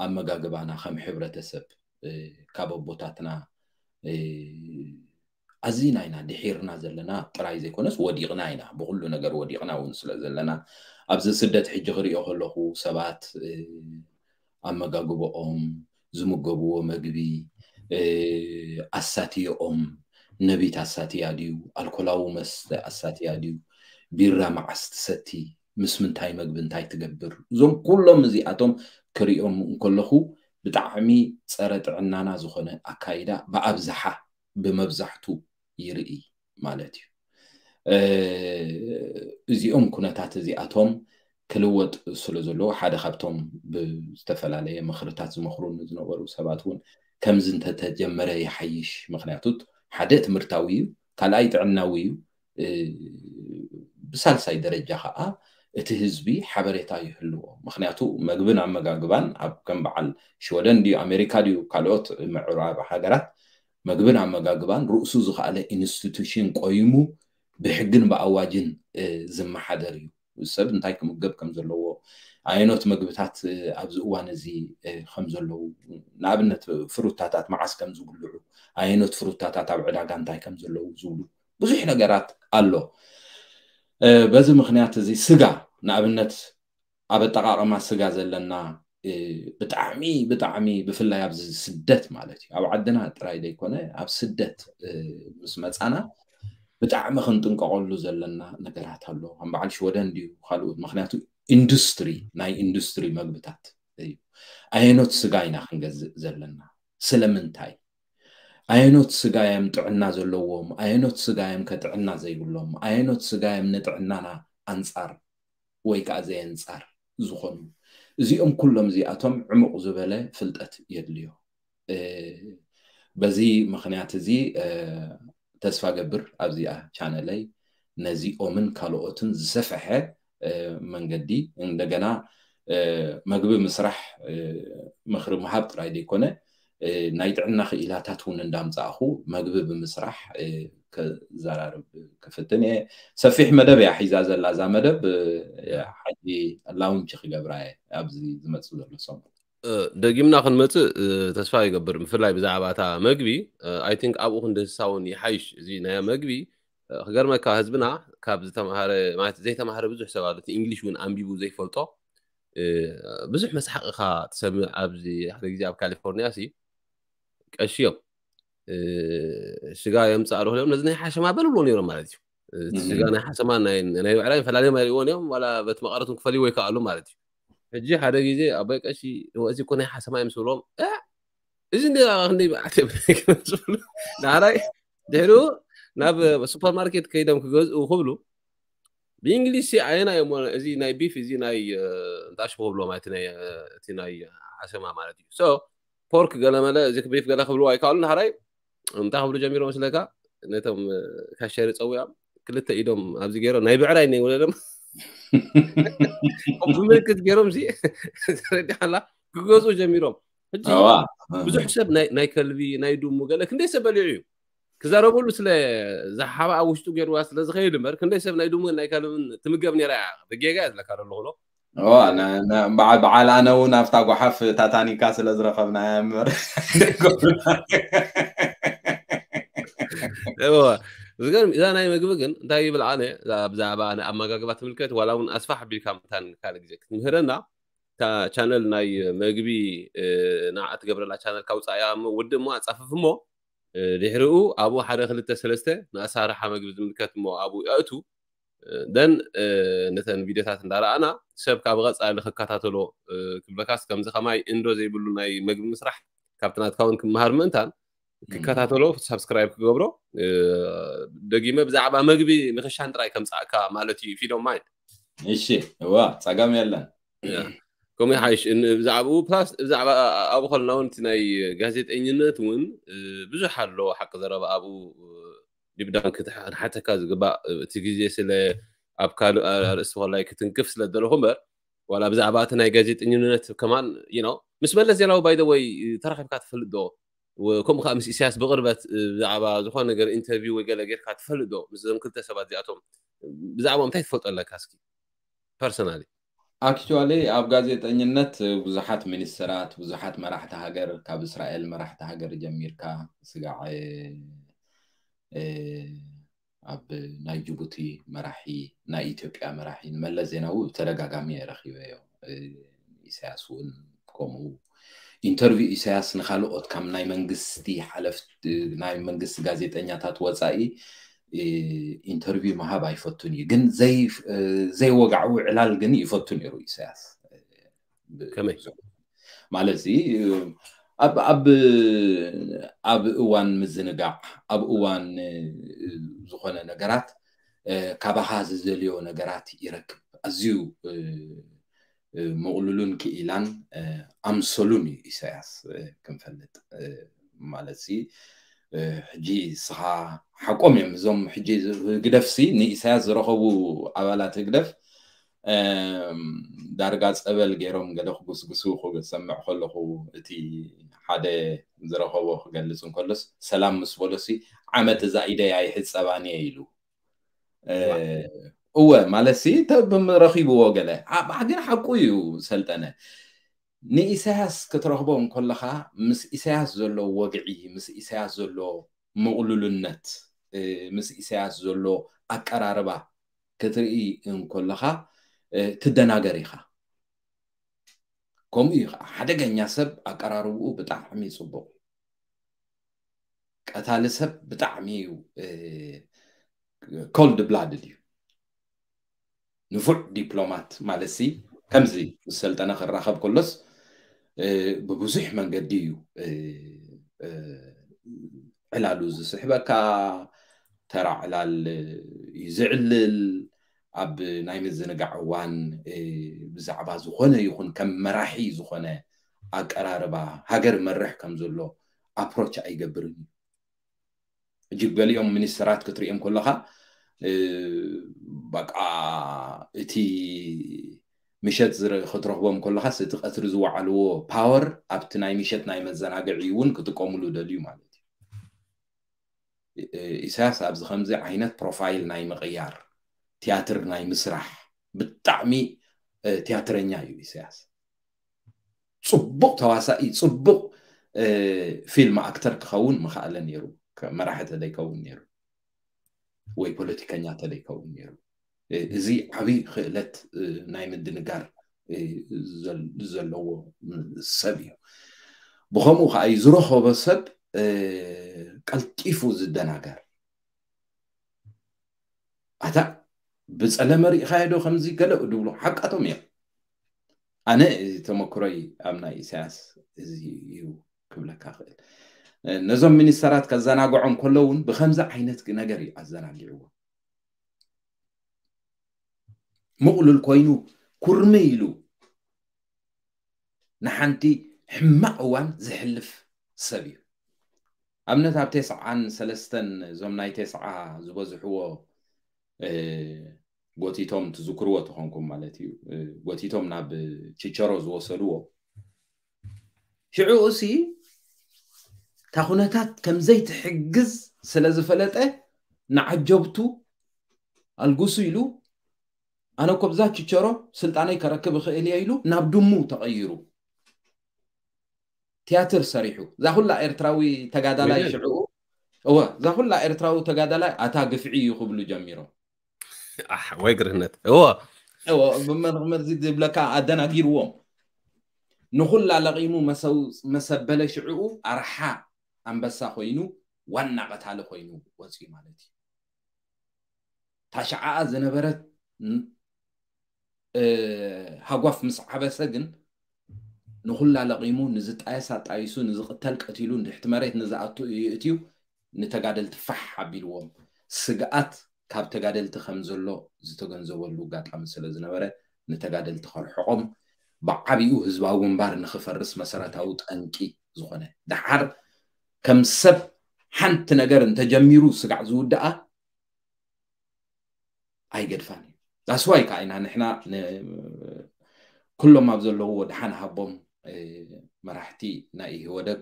ኣመጋግባና ከም ሕብረተሰብ ካብ ኣቦታትና ኣዚና ኢና ድሒርና ዘለና ጥራይ ዘይኮነስ ወዲቕና ኢና፣ ብኩሉ ነገር ወዲቕና እውን ስለ ዘለና ኣብዚ ስደት ሕጂ ክሪኦ ከለኹ ሰባት ኣመጋግቦኦም ዝምገብዎ መግቢ ኣሳትየኦም ነቢት ኣሳትያ ድዩ ኣልኮላዊ መስተ ኣሳትያ ድዩ ቢራ መዓስ ትሰቲ ምስ ምንታይ መግቢ እንታይ ትገብር እዞም ኩሎም እዚኣቶም ክሪኦም እንከለኹ ብጣዕሚ ፀረ ጥዕናና ዝኾነ ኣካይዳ ብኣብዝሓ ብመብዛሕቱ ይርኢ ማለት እዩ። እዚኦም ኩነታት እዚኣቶም ክልወጥ ስለ ዘለዎ ሓደ ካብቶም ብዝተፈላለየ ምኽርታት ዝመኽሩኒ ዝነበሩ ሰባት እውን ከምዚ እንተተጀመረ ይሓይሽ። ምክንያቱ ሓደ ትምህርታዊ እዩ፣ ካልኣይ ጥዕናዊ እዩ። ብሳልሳይ ደረጃ ከዓ እቲ ህዝቢ ሓበሬታ ይህልዎ። ምክንያቱ መግብን ኣመጋግባን ኣብ ከም በዓል ሽወደን ድዩ ኣሜሪካ ድዩ ካልኦት ምዕራብ ሃገራት መግብን ኣመጋግባን ርእሱ ዝኸኣለ ኢንስቲቱሽን ቆይሙ ብሕግን ብኣዋጅን ዝመሓደር እዩ። ሰብ እንታይ ክምገብ ከም ዘለዎ፣ ኣየኖት መግብታት ኣብዚ እዋን እዚ ከም ዘለዉ፣ ንኣብነት ፍሩታታት መዓስ ከም ዝብልዑ፣ ኣየኖት ፍሩታታት ኣብ ዕዳጋ እንታይ ከም ዘለዉ ዝብሉ ብዙሕ ነገራት ኣሎ። በዚ ምክንያት እዚ ስጋ ንኣብነት ኣብ ኣጠቃቅማ ስጋ ዘለና ብጣዕሚ ብጣዕሚ ብፍላይ ኣብዚ ስደት ማለት እዩ ኣብ ዓድና ጥራይ ዘይኮነ ኣብ ስደት ምስ መፃና ብጣዕሚ ክንጥንቀቀሉ ዘለና ነገራት ኣሎ። ከም በዓል ሽወደን ድዩ ካልኦት ምክንያቱ ኢንዱስትሪ ናይ ኢንዱስትሪ መግብታት እዩ። ኣየኖት ስጋ ኢና ክንገዝእ ዘለና? ስለምንታይ? ኣየኖት ስጋ እዮም ጥዕና ዘለዎም? ኣየኖት ስጋ እዮም ከጥዕና ዘይብሎም? ኣየኖት ስጋ እዮም ንጥዕናና ኣንፃር ወይ ከዓ ዘየንፃር ዝኾኑ? እዚኦም ኩሎም እዚኣቶም ዕሙቕ ዝበለ ፍልጠት የድልዮ። በዚ ምክንያት እዚ ተስፋ ገብር ኣብዚኣ ቻነለይ ነዚኦምን ካልኦትን ዝሰፈሐ መንገዲ እንደገና መግቢ ምስራሕ ምኽሪ ምሃብ ጥራይ ዘይኮነ ናይ ጥዕና ክኢላታት እውን እንዳምፃእኹ መግቢ ብምስራሕ ከዘራርብ ክፍትን እየ። ሰፊሕ መደብ እያ ሒዛ ዘላ እዛ መደብ። ሓጂ ላውንች ክገብራ እየ ኣብዚ ዝመፅእ ዘሎ ሰሙን። ደጊምና ክንመፅእ ተስፋ ይገብር። ብፍላይ ብዛዕባ እታ መግቢ ኣይ ቲንክ ኣብኡ ክንድህሳ እውን ይሓይሽ። እዚ ናይ መግቢ ክገርመካ ህዝብና ካብ ዝተምሃረ ማለት ዘይተምሃረ ብዙሕ ሰብ ኣሎ። እቲ እንግሊሽ እውን ኣንቢቡ ዘይፈልጦ ብዙሕ መስሓቕ ኢኻ ትሰምዕ። ኣብዚ ሓደ ግዜ ኣብ ካሊፎርኒያ ሲ ቀሺ እዮም ስጋ የምፅእ ኣለኹ ኢሎም ነዚ ናይ ሓሸማ በልብሎ ነይሮም ማለት እዩ። እቲ ስጋ ናይ ሓሸማ ናይ ብዕራይ ፈላልዮም ኣይርእይዎን እዮም ዋላ በቲ መቐረት ክፈልይዎ ይከኣሉ ማለት እዩ። ሕጂ ሓደ ግዜ ኣቦይ ቀሺ እዚ እኮ ናይ ሓሸማ እዮም ስብሎም እዚ እንደ ክንደይ መዓት እዮም ስብሉ ንዓራይ ድሕሪኡ ናብ ሱፐርማርኬት ከይዶም ክገዝኡ ክብሉ ብእንግሊዝ ኣየና እዮም እዚ ናይ ቢፍ እዚ ናይ እንታይ ሽሙ ክብልዎ ማለት እቲ ናይ ሓሸማ ማለት እዩ። ፖርክ ገለመለ እዚ ቢፍ ገለ ክብልዎ ኣይከኣሉን። ሓራይ እንታይ ክብሉ ጀሚሮም መስለካ ነቶም ካሸሪ ፀዊዖም ክልተ ኢዶም ኣብዚ ገይሮም ናይ ብዕራይ ነ ወለሎም ብምልክት ገይሮም ተረዲሓላ ክገዝኡ ጀሚሮም። ሕጂ ብዙሕ ሰብ ናይ ከልቢ ናይ ድሙ ገለ ክንደይ ሰብ በሊዑ እዩ ክዛረበሉ ስለ ዝሓባ ኣብ ውሽጡ ገይርዋ ስለ ዝኸይድ እምበር ክንደይ ሰብ ናይ ድሙን ናይ ከልብን ትምገብ ነይራ እያ ብጌጋ እያ ዝለካ ዘለኹ በዓል ኣነ እውን ኣብታ ጓሓፍ ታታኒካ ስለ ዝረኸብናያ እምበር ዝገርም እዛ ናይ መግቢ ግን እንታይ ይብል ኣነ እዛ ብዛዕባ ናይ ኣመጋግባ ትምልከት ዋላ እውን ኣስፋሕ ኣቢልካ መታን ካልእ ግዜ ክትምህረና እታ ቻነል ናይ መግቢ እ፣ ንዓ ትገብረላ ቻነል ካውፃእያ እሞ ውድእ እሞ ኣፃፍፍ እሞ እ፣ ድሕሪኡ ኣብኡ ሓደ ክልተ ሰለስተ ንኣሳርሓ መግቢ ዝምልከት እሞ ኣብኡ የእቱ ደን ነተን ቪዲዮታት እንዳረኣና ሰብ ካብ ቀፃሊ ክከታተሎ እ፣ ክብለካስ ከምዚ ከማይ እንዶ ዘይብሉ ናይ መግቢ ምስራሕ ካብቲ ናትካ እውን ክመሃር ምእንታን ክከታተሎ ሳብስክራይብ ክገብሮ እ፣ ደጊመ ብዛዕባ መግቢ ንክሻን ጥራይ ከምፃእካ ማለት እዩ ፊዶ ማይንድ እሺ እዋ ጸገም የለን ከምኡ ይሓይሽ ን- ብዛዕባኡ ፕላስ ብዛዕባ ኣብኡ ከለና እውን እቲ ናይ ጋዜጠኝነት እውን እ፣ ብዙሕ ኣሎ ሓቂ ዘረባ ኣብኡ እ፣ ዲብዳን ክትሓተካ ዝግባእ እ፣ እቲ ግዜ ስለ ኣብ ካልእ ኣርእስቲ ኮላይ ክትንክፍ ስለ ዘለኹ እምበር ዋላ ብዛዕባ እቲ ናይ ጋዜጠኝነት ከማን you know ምስ መለስ ዜናዊ ባይ ወይ ተራኺብካ ትፈልጥ ዶ ወ- ከምኡ ከዓ ምስ ኢሳያስ ብቅርበት እ፣ ብዛዕባ ዝኾነ ነገር ኢንተርቪው ወይ ገለ ጌርካ ትፈልጥ ዶ ምስዞም ክልተ ሰባት እዚኣቶም ብዛዕባኦም እንታይ ትፈልጦ ኣለካ እስኪ ፐርሰናሊ ኣክቹዋሊ ኣብ ጋዜጠኝነት ብዙሓት ሚኒስትራት ብዙሓት መራሕቲ ሃገር ካብ እስራኤል መራሕቲ ሃገር ጀሚርካ ስጋዕ እ፣ ኣብ ናይ ጅቡቲ መራሒ ናይ ኢትዮጵያ መራሒ ንመለስ ዜናዊ ብተደጋጋሚ እየ ረኺበዮ እ፣ ኢሳያስ እውን ከምኡ ኢንተርቪው ኢሳያስ ንካልኦት ካብ ናይ መንግስቲ ሓለፍቲ ናይ መንግስቲ ጋዜጠኛታት ወፃኢ እ፣ ኢንተርቪው ምሃብ ኣይፈቱን እዩ ግን ዘይ እ፣ ዘይወጋዕዊ ዕላል ግን ይፈቱ ነይሩ ኢሳያስ እ፣ ብ- ከመይ? ማለት እዚ ኣብ ኣብ ኣብ እዋን ምዝንጋዕ ኣብ እዋን እ፣ ዝኾነ ነገራት እ፣ ካባኻ ዝደልዮ ነገራት ይረክብ ኣዝዩ እ፣ እ፣ ምቕሉሉን ክኢላን እ፣ ኣምሰሉን እዩ ኢሳያስ እ፣ ክንፈልጥ እ፣ ማለት ሲ እ፣ ሕጂ ስኻ ሓቆም እዮም እዞም ሕጂ ህግደፍ ሲ ንኢሳያስ ዝረኸቡ ኣባላት ህግደፍ እም፣ ዳርጋ ጸበል ገይሮም ገለ ክጉስጉሱ ክሰምዕ ከለኹ እቲ ሓደ ዝረኸቦ ክገልጽ እንከሎስ ሰላም ምስ በሎሲ ዓመት እዛ ኢደይ ኣይሕጸባን እየ ኢሉ እ፣ እወ ማለት ሲ ተ- ብም- ረኺብዎ ገለ ኣባ ግን ሓቁ እዩ ሰልጠነ ንኢሳያስ ክትረኽቦ እንከለኻ ምስ ኢሳያስ ዘሎ ወግዒ ምስ ኢሳያስ ዘሎ ምቕሉልነት እ፣ ምስ ኢሳያስ ዘሎ ኣቀራርባ ክትርኢ እንከለኻ እ፣ ትደናገር ኢኻ ከምኡ እዩ ከዓ ሓደገኛ ሰብ ኣቀራርብኡ ብጣዕሚ ፅቡቕ ቀታሊ ሰብ ብጣዕሚ እዩ ኮልድ ብላድድ እዩ ንፉዕ ዲፕሎማት ማለት ሲ ከምዚ ምስ ሰልጠነ ክራኸብ ከሎስ እ፣ ብብዙሕ መንገዲ እዩ እ፣ እ፣ ዕላሉ ዝስሕበካ ተራ ዕላል እዩ ዝዕልል ኣብ ናይ ምዝንጋዕ እዋን እ፣ ብዛዕባ ዝኾነ ይኹን ከም መራሒ ዝኾነ ኣቀራርባ ሃገር መርሕ ከም ዘሎ ኣፕሮች ኣይገብርን እዩ ሕጂ ገሊኦም ሚኒስተራት ክትሪኦም ከለኻ እ፣ በቃ እቲ ምሸት ዝረ- ክትረኽቦም ከለኻስ እቲ ቀትሪ ዝወዓልዎ ፓወር ኣብቲ ናይ ምሸት ናይ መዘናግዒ እውን ክጥቀምሉ ደልዩ ማለት እዩ እ፣ ኢሳያስ ኣብዚ ከምዚ ዓይነት ፕሮፋይል ናይ ምቕያር ቲያትር ናይ ምስራሕ ብጣዕሚ እ፣ ቲያትረኛ እዩ ኢሳያስ ፅቡቕ ተዋሳኢ ፅቡቕ እ፣ ፊልም ኣክተር ክኸውን ምኽኣለ ነይሩ ከ- መራሒ ተደይከውን ነይሩ ወይ ፖለቲከኛ ተደይከውን ነይሩ እ፣ እዚ ዓብይ ክእለት እ፣ ናይ ምድንጋር እ፣ ዘል- ዘለዎ ም- ሰብ እዩ ብኸምኡ ከዓ እዩ ዝረኸቦ ሰብ እ፣ ቀልጢፉ ዝደናገር ኣታ ብፀለመ ርኢኻዮ ዶ ከምዚ ገለ ድብሉ ሓቃቶም እዮም ኣነ ተመክሮይ ኣብ ናይ ኢሳያስ እዚ እዩ ክብለካ ክእል ነዞም ሚኒስተራት ከዘናግዖም ከለውን ብከምዚ ዓይነት ነገር እዩ ኣዘናጊዕዎ ምቕሉል ኮይኑ ኩርሚ ኢሉ ንሓንቲ ሕማቕ እዋን ዝሕልፍ ሰብ እዩ ኣብነት ኣብ ቴስዓን ሰለስተን እዞም ናይ ቴስዓ ዝበዝሕዎ ጎቲቶም ትዝክርዎ ተኾንኩም ማለት እዩ ጎቲቶም ናብ ችቸሮ ዝወሰድዎ ሽዑ እሲ እታ ኩነታት ከምዘይትሕግዝ ስለ ዝፈለጠ ንዓጀብቱ ኣልጉሱ ኢሉ ኣነ ኮብዛ ችቸሮ ስልጣነይ ከረክብ እኽእል እየ ኢሉ ናብ ድሙ ተቐይሩ ቲያትር ሰሪሑ እዛ ኩላ ኤርትራዊ ተጋዳላይ ሽዑ እወ፣ እዛ ኩላ ኤርትራዊ ተጋዳላይ ኣታ ግፍዒ እዩ ክብሉ ጀሚሮም። ኣሕ፣ ወይ ግርህነት። እወ። እወ፣ ብመ-፣ መዚ ዝብለካ ኣደናጊርዎም። ንኹላ ለቒሙ መሰው-፣ መሰበለ ሽዕኡ ኣርሓ ኣንበሳ ኮይኑ ዋና ቀታሊ ኮይኑ ወፂኡ ማለት እዩ። ታሽዓኣ ዝነበረት ን-፣ እ፣ ሃጓፍ ምስ ዓበሰ ግን ንኹላ ለቒሙ ንዝጣየስ ኣጣይሱ ንዝቕተል ቀቲሉ ንድሕቲ መሬት ንዝኣቱ እዩ እትዩ ንተጋደልቲ ፋሕ ኣቢልዎም። ስግኣት ካብ ተጋደልቲ ከም ዘሎ ዝተገንዘበሉ ኣጋጣሚ ስለ ዝነበረ ንተጋደልቲ ከርሕቖም ብዓቢኡ ህዝባዊ ግንባር ንኽፈርስ መሰረታዊ ጠንቂ ዝኾነ። ደሓር ከም ሰብ ሓንቲ ነገር እንተጀሚሩ ስጋዕ ዝውድኣ ኣይገድፋን እዩ። ዛስዋይ ከዓ ኢና ንሕና ን-፣ ኩሎም ኣብ ዘለውዎ ደሓን ሃቦም፣ እ፣ መራሕቲ ናይ ኢህወደግ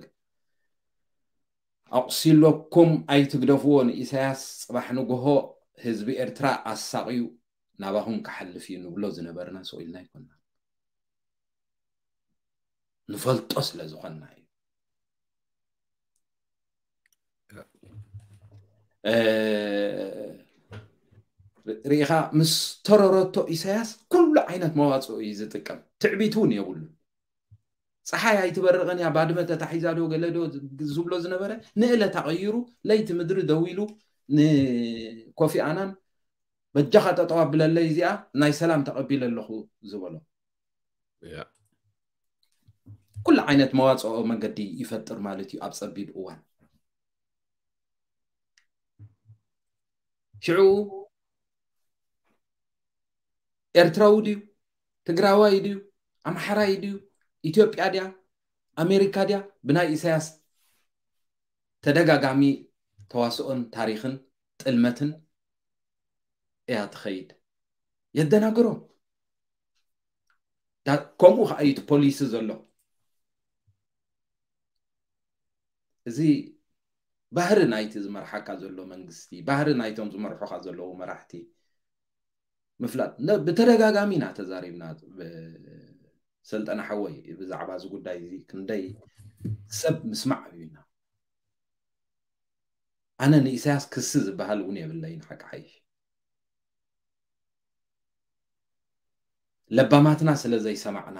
ኣቑሲለኩም ኣይትግደፍዎ ንኢሳያስ፣ ጽባሕ ንግሆ ህዝቢ ኤርትራ ኣሳቕዩ ናባኹም ክሓልፍ እዩ ንብሎ ዝነበርና ስቕ ኢልና ኣይኮንና። ንፈልጦ ስለ ዝኾንና እዩ። እ፣ ርኢኻ ምስ ተረረቶ ኢሳያስ ኩሉ ዓይነት መዋፅኦ እዩ ዝጥቀም። ትዕቢት እውን የብሉን። ፀሓይ ኣይትበርቕን እያ፣ ባድመ ተታሒዛ ዶ ገለ ዶ ዝብሎ ዝነበረ ንእለት ኣቐይሩ ለይቲ ምድሪ ደው ኢሉ ንኮፊ ኣናን በጃኻ ጠጠው ኣብለለይ እዚኣ ናይ ሰላም ተቐቢለ ኣለኹ ዝበሎ። ያ። ኩሉ ዓይነት መዋፅኦ መንገዲ ይፈጥር ማለት እዩ ኣብ ፀቢብ እዋን። ሽዑ ኤርትራዊ ድዩ፣ ትግራዋይ ድዩ፣ ኣምሓራይ ድዩ፣ ኢትዮጵያ ድያ፣ ኣሜሪካ ድያ፣ ብናይ ኢሳያስ ተደጋጋሚ ተዋስኦን ታሪኽን ጥልመትን እያ ትኸይድ። የደናግሮም። ዳ-፣ ከምኡ ከዓ እዩ እቲ ፖሊሲ ዘሎ። እዚ ባህሪ ናይቲ ዝመርሓካ ዘሎ መንግስቲ፣ ባህሪ ናይቶም ዝመርሑካ ዘለዉ መራሕቲ ምፍላጥ። ነ-፣ ብተደጋጋሚ ኢና ተዛሪብና፣ ብ-፣ ሰልጠነ ሓወይ፣ ብዛዕባ እዚ ጉዳይ እዚ ክንደይ ሰብ ምስማዕ ኣብዩና። ኣነ ንኢሳያስ ክሲ ዝበሃል እውን የብለይን፣ ሓቂ ሓይሽ። ለባማትና ስለ ዘይሰማዕና፣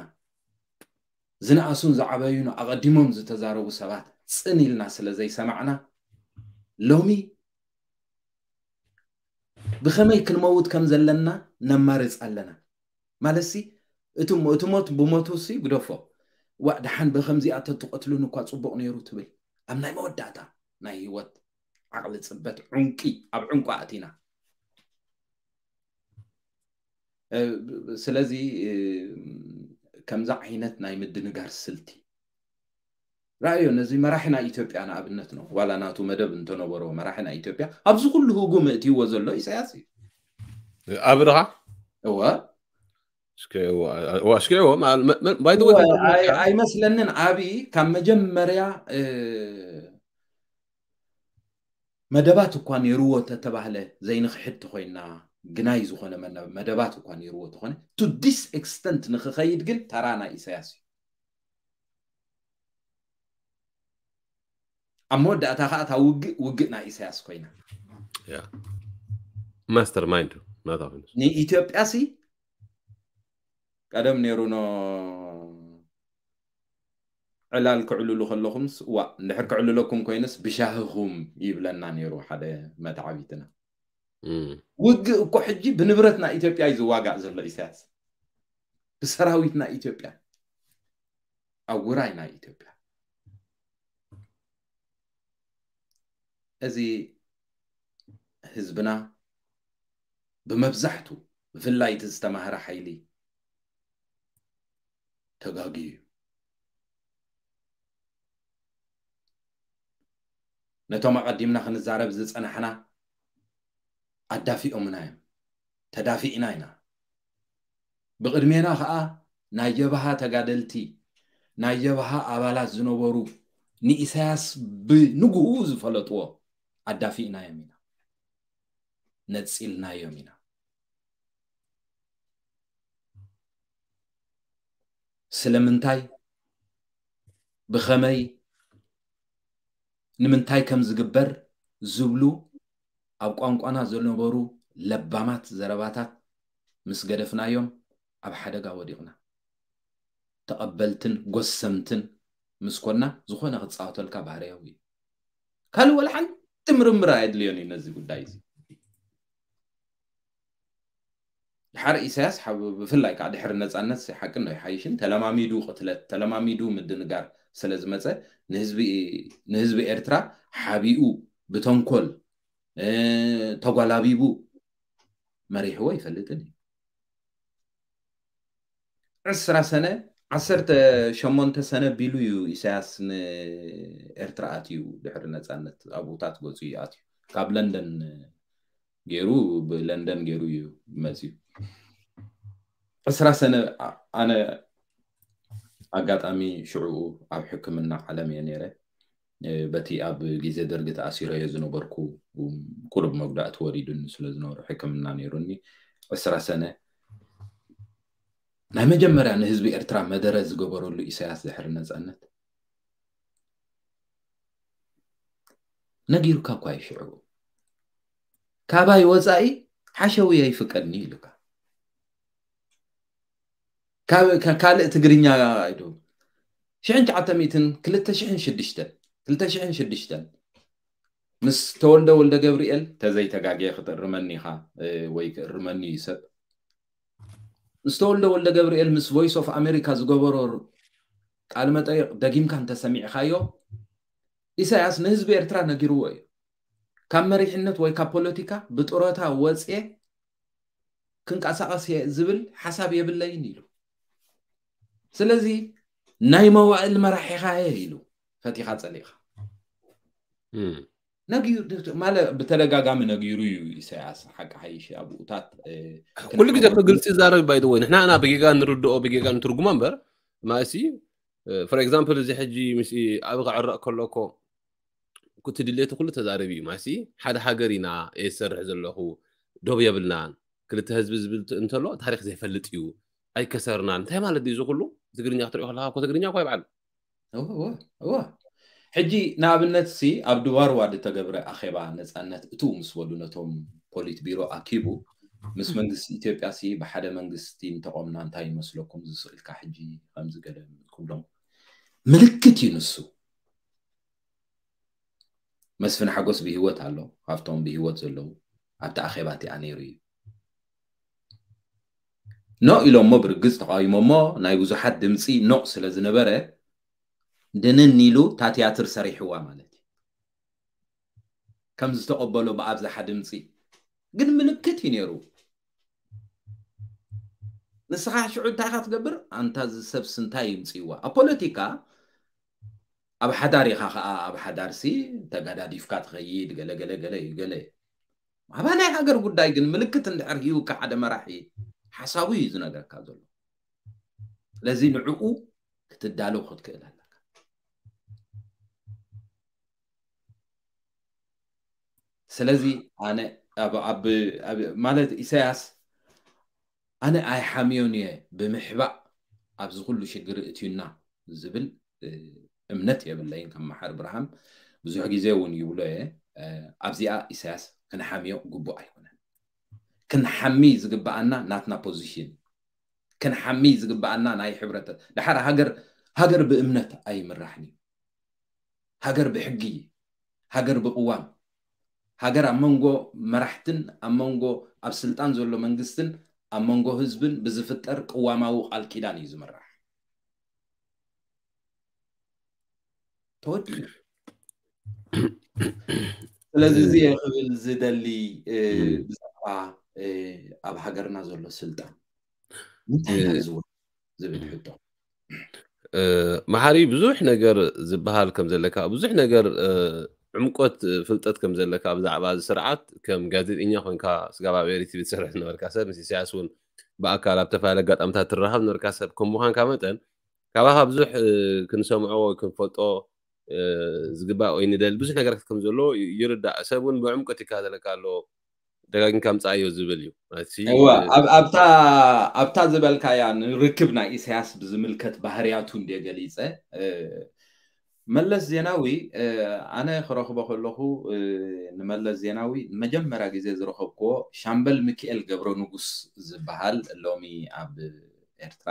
ዝነኣሱን ዝዓበዩን ኣቐዲሞም ዝተዛረቡ ሰባት ጽን ኢልና ስለ ዘይሰማዕና፣ ሎሚ ብኸመይ ክንመውት ከም ዘለና ነማርጽ ኣለና። ማለትሲ፣ እቲ ሞ-፣ እቲ ሞት ብሞቱ ሲ ግደፎ። ዋእ፣ ደሓን ብኸምዚኣ ተትቐትሉን እኳ ጽቡቕ ነይሩ ትብል። ኣብ ናይ መወዳእታ ናይ ህይወት ዓቕሊ ጽበት ዑንቂ፣ ኣብ ዑንቂ ኣእቲና። እ፣ ስለዚ፣ እ፣ ከምዛ ዓይነት ናይ ምድንጋር ስልቲ ረኣዮ። ነዚ መራሒ ናይ ኢትዮጵያ ንኣብነት ነው። ዋላ ናቱ መደብ እንተነበሮ መራሒ ናይ ኢትዮጵያ ኣብዚ ኩሉ ህጉ ምእትይዎ ዘሎ ኢሳያስ እዩ። ኣብ ድኻ? እወ። እስኪ፣ እወ፣ እወ፣ እስኪ፣ እወ፣ ማ-፣ መ-፣ መ-፣ by the way፣ እወ፣ ኣይ-፣ ኣይመስለንን። ኣብይ ካብ መጀመርያ፣ እ፣ መደባት እኳ ነይርዎ ተተባህለ ዘይንኽሕድ ተኾይና፣ ግናይ ዝኾነ መነ-፣ መደባት እኳ ነይርዎ ተኾነ፣ to this extent ንኽኸይድ ግን ተራ ናይ ኢሳያስ እዩ። ኣብ መወዳእታ ከዓ እታ ውግእ፣ ውግእ ናይ ኢሳያስ ኮይና። ያ። ማስተር ማይንድ ናታ ኮይኑ። ንኢትዮጵያ ሲ ቀደም ነይሩ ኖ ዕላል ክዕልሉ ከለኹምስ፣ ዋ፣ እንድሕር ክዕልለኩም ኮይኑስ ብሻህኹም ይብለና ነይሩ ሓደ መተዓቢትና። እም። ውግእ እኮ ሕጂ ብንብረት ናይ ኢትዮጵያ እዩ ዝዋጋእ ዘሎ ኢሳያስ። ብሰራዊት ናይ ኢትዮጵያ። ኣብ ውራይ ናይ ኢትዮጵያ። እዚ ህዝብና ብመብዛሕቱ፣ ብፍላይ እቲ ዝተማህረ ሓይሊ ተጋግዩ እዩ። ነቶም ኣቐዲምና ክንዛረብ ዝጸናሕና ኣዳፊኦምና እዮም። ተዳፊእና ኢና። ብቕድሜና ኸኣ ናይ ጀብሃ ተጋደልቲ፣ ናይ ጀብሃ ኣባላት ዝነበሩ ንኢሳያስ ብንግኡ ዝፈለጥዎ ኣዳፊእናዮም ኢና። ነጺልናዮም ኢና። ስለምንታይ፣ ብኸመይ፣ ንምንታይ ከም ዝግበር ዝብሉ ኣብ ቋንቋና ዝነበሩ ለባማት ዘረባታት ምስ ገደፍናዮም ኣብ ሓደጋ ወዲቕና። ተቐበልትን ጎሰምትን ምስ ኮና ዝኾነ ክጻወተልካ ባህርያዊ እዩ። ካልእ ወላ ሓንቲ ምርምር ኣየድልዮን እዩ ነዚ ጉዳይ እዚ። ድሓር ኢሳያስ ሓብ-፣ ብፍላይ ከዓ ድሕሪ ነጻነት ሲ ሓቂ እንዶ ይሓይሽን ተለማሚዱ ቅትለት፣ ተለማሚዱ ምድንጋር ስለ ዝመጸ ንህዝቢ፣ ንህዝቢ ኤርትራ ሓቢኡ ብተንኮል፣ እ፣ ተጓላቢቡ መሪሕዎ ይፈልጥን እዩ። ዕስራ ሰነ፣ ዓሰርተ ሸሞንተ ሰነ ቢሉ እዩ ኢሳያስ ንኤርትራ ኣትዩ ድሕሪ ነጻነት ኣብኡታት ገጹ እዩ ኣትዩ። ካብ ለንደን ገይሩ፣ ብለንደን ገይሩ እዩ መጽዩ። ዕስራ ሰነ ኣ-፣ ኣነ ኣጋጣሚ ሽዑኡ ኣብ ሕክምና ዓለም እየ ነይረ። እ፣ በቲ ኣብ ግዜ ደርጊ ተኣሲረዮ ዝነበርኩ፣ ቁሩብ መጉዳእቲ ወሪዱኒ ስለ ዝነበሩ ሕክምና ነይሩኒ። ዕስራ ሰነ ናይ መጀመርያ ንህዝቢ ኤርትራ መደረ ዝገበረሉ ኢሳያስ ድሕሪ ነጻነት ነጊሩካ እኳ እዩ ሽዑ። ካባይ ወጻኢ ሓሸውየ ይፍቀድኒ ኢሉካ። ካብ፣ ካ-፣ ካልእ ትግርኛ ኣይዶ። ሽሕን ትሽዓተ ሚእትን ክልተ ሽሕን ሽዱሽተን፣ ክልተ ሽሕን ሽዱሽተን ምስ ተወልደ ወልደ ገብርኤል፣ ተዘይተጋግየ ክትእርመኒ ኢኻ፣ እ፣ ወይ ክእርመኒ እዩ ሰብ። ምስ ተወልደ ወልደ ገብርኤል ምስ ቮይስ ኦፍ ኣሜሪካ ዝገበሮ ቃለ መጠይቕ ደጊምካ እንተሰሚዕካዮ፣ ኢሳያስ ንህዝቢ ኤርትራ ነጊርዎ እዩ። ካብ መሪሕነት ወይ ካብ ፖለቲካ ብጡረታ ወጽኤ ክንቀሳቐስ እየ ዝብል ሓሳብ የብለይን ኢሉ። ስለዚ ናይ መዋእል መራሒኻ እየ ኢሉ፣ ፈቲኻ ጸሊእኻ። እም። ነጊሩ፣ ማለት ብተደጋጋሚ ነጊሩ እዩ ኢሳያስ። ሓቂ ሓይሽ ኣብኡታት፣ እ፣ ኩሉ ግዜ እኮ ግልጺ ዛረብ ባይ ወይ ንሕና እና ብጌጋ ንርድኦ ብጌጋ ንትርጉሞ እምበር ማእሲ for example እዚ ሕጂ ምስ ኣብ ክዕረቕ ከሎ እኮ እቲ ድሌቱ ኩሉ ተዛረቢ እዩ። ማሲ ሓደ ሃገር ኢና እየ ዝሰርሕ ዘለኹ፣ ዶብ የብልናን። ክልተ ህዝቢ ዝብል ት-፣ እንተሎ ታሪኽ ዘይፈልጥ እዩ፣ ኣይከሰርናን። እንታይ ማለት ድዩ እዚ ኩሉ? ትግርኛ ክትሪኦ ከለኻ እኮ ትግርኛ እኮ ይበዓል። እወ፣ እወ፣ እወ። ሕጂ ንኣብነት ሲ ኣብ ድባርዋ ዝተገብረ ኣኼባ ነጻነት እትው ምስ በሉ ነቶም ፖሊት ቢሮ ኣኪቡ፣ ምስ መንግስቲ ኢትዮጵያ ሲ ብሓደ መንግስቲ እንተቆምና እንታይ ይመስለኩም? ዝስእልካ ሕጂ ከምዚ ገለ ክብሎም ምልክት እዩ ንሱ። መስፍን ሓጎስ ብህይወት ኣሎ፣ ካብቶም ብህይወት ዘለዉ ኣብቲ ኣኼባ እቲኣ ነይሩ እዩ። ኖ ኢሎሞ ብርግጽ ተቃዊሞሞ፣ ናይ ብዙሓት ድምጺ ኖ ስለ ዝነበረ፣ ድንን ኢሉ እታ ትያትር ሰሪሕዋ ማለት እዩ። ከም ዝተቐበሎ ብኣብዝሓ ድምጺ። ግን ምልክት እዩ ነይሩ። ንስኻ ሽዑ እንታይ ኢኻ ትገብር? ኣንታ እዚ ሰብስ እንታይ ይምጽእዋ? ኣብ ፖለቲካ ኣብ ሓዳር ኢኻ ኸኣ፣ ኣብ ሓዳርሲ ተጋዳዲፍካ ትኸይድ፣ ገለ ገለ ገለ እዩ፣ ገለ። ኣባናይ ሃገር ጉዳይ ግን ምልክት እንድሕር ሂቡካ ሓደ መራሒ፣ ሓሳቡ እዩ ዝነግረካ ዘሎ። ስለዚ ንዕኡ ክትዳለው ክትክእል ኣለካ። ስለዚ ኣነ ኣብ፣ ኣብ፣ ኣብ፣ ማለት ኢሳያስ ኣነ ኣይሓምዮን እየ ብምሕባእ ኣብዚ ኩሉ ሽግር እትዩና ዝብል፣ እ፣ እምነት የብለይን። ከም መሓር ብርሃን ብዙሕ ግዜ እውን ይብሎ እየ፣ እ፣ ኣብዚኣ ኢሳያስ ክንሓምዮ ግቡእ ኣይኮነን። ክንሓሚ ዝግበኣና ናትና ፖዚሽን፣ ክንሓሚ ዝግበኣና ናይ ሕብረተ-፣ ደሓር ሃገር፣ ሃገር ብእምነት ኣይምራሕን እዩ። ሃገር ብሕጊ፣ ሃገር ብቅዋም፣ ሃገር ኣብ መንጎ መራሕትን ኣብ መንጎ ኣብ ስልጣን ዘሎ መንግስትን ኣብ መንጎ ህዝብን ብዝፍጠር ቅዋማዊ ቃል ኪዳን እዩ ዝምራሕ። ተወዲኡ። ስለዚ እዚ እየ ክብል ዝደሊ፣ እ፣ እም። ብዛዕባ፣ እ፣ ኣብ ሃገርና ዘሎ ስልጣን። እንታይ ኢና እ፣ ዝውር ዝብል ሕቶ። እ፣ መሓሪ ብዙሕ ነገር ዝበሃል ከም ዘለካ፣ ብዙሕ ነገር፣ እ፣ ዕምቆት ፍልጠት ከም ዘለካ ብዛዕባ እዚ ስርዓት ከም ጋዜጠኛ ኮንካ ስጋብ ኣብ ኤሪ ቲቪ ትሰርሕ ዝነበርካ ሰብ፣ ምስ ኢሳያስ እውን ብኣካል ኣብ ተፈላለየ ኣጋጣሚታት ትራኸብ ዝነበርካ ሰብ ከም ምዃንካ መጠን፣ ካባኻ ብዙሕ፣ እ፣ ክንሰምዖ ወይ ክንፈልጦ፣ እ፣ ዝግባእ ወይ ንደሊ ብዙሕ ነገራት ከም ዘሎ ይ-፣ ይርዳእ። ሰብ እውን ብዕምቆት ይከታተለካ ኣሎ፣ ደጋጊምካ ምጻኣዮ ዝብል እዩ። ማለት ሲ-፣ እዋ፣ እ፣ ኣብ-፣ ኣብታ፣ ኣብታ ዝበልካያ ንርክብ ናይ ኢሳያስ ብዝምልከት ባህርያቱ እንድየ ገሊጸ፣ እ፣ መለስ ዜናዊ ኣነ ክረኽቦ ከለኹ ንመለስ ዜናዊ ንመጀመርያ ግዜ ዝረኸብክዎ ሻምበል ሚኪኤል ገብረ ንጉስ ዝበሃል ሎሚ ኣብ ኤርትራ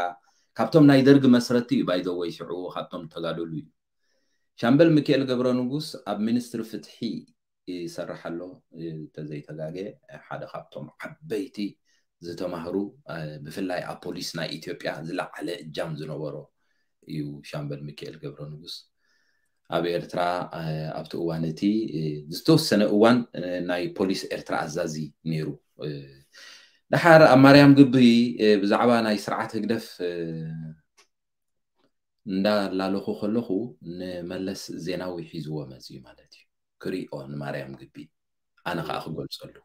ካብቶም ናይ ደርጊ መስረቲ እዩ ባይዘወይ ሽዑ ካብቶም ተጋደሉ እዩ። ሻምበል ሚኪኤል ገብረ ንጉስ ኣብ ሚኒስትሪ ፍትሒ ይሰርሕ ኣሎ ተዘይተጋገ ሓደ ካብቶም ዓበይቲ ዝተማህሩ ብፍላይ ኣብ ፖሊስ ናይ ኢትዮጵያ ዝለዓለ እጃም ዝነበሮ እዩ ሻምበል ሚኪኤል ገብረ ንጉስ። ኣብ ኤርትራ ኣብቲ እዋን እቲ ዝተወሰነ እዋን ናይ ፖሊስ ኤርትራ ኣዛዚ ነይሩ። ድሓር ኣብ ማርያም ግቢ ብዛዕባ ናይ ስርዓት ህግደፍ እንዳላለኹ ከለኹ ንመለስ ዜናዊ ሒዝዎ መፅዩ ማለት እዩ። ክሪኦ ንማርያም ግቢ ኣነ ከዓ ክገልፀሉ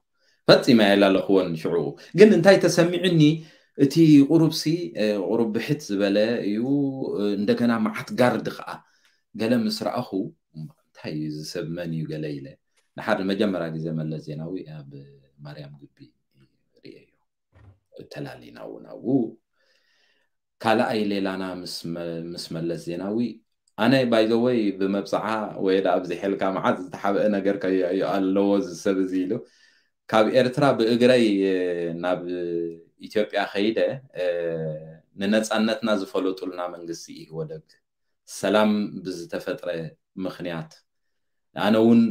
ፈፂመ ኣይላለኽዎን። ሽዑ ግን እንታይ ተሰሚዑኒ፣ እቲ ቁሩብሲ ቁሩብ ብሕት ዝበለ እዩ። እንደገና መዓት ጋርድ ከዓ ገለ ምስ ረኣኹ እንታይ እዩ ዝሰብ መን እዩ ገለ ኢለ ንሓደ መጀመርያ ግዜ መለስ ዜናዊ ኣብ ማርያም ግቢ ርእየዮ። ተላሊና እውን ኣብኡ ካልኣይ ሌላና ምስ መለስ ዜናዊ ኣነ ባይዘወይ ብመብፅዓ ወይ ዳ ኣብዚ ሐልካ መዓት ዝተሓበአ ነገር ኣለዎ ዝሰብ እዚ ኢሉ ካብ ኤርትራ ብእግረይ ናብ ኢትዮጵያ ከይደ ንነፃነትና ዝፈለጡልና መንግስቲ ኢህወደግ ሰላም ብዝተፈጥረ ምኽንያት ኣነ እውን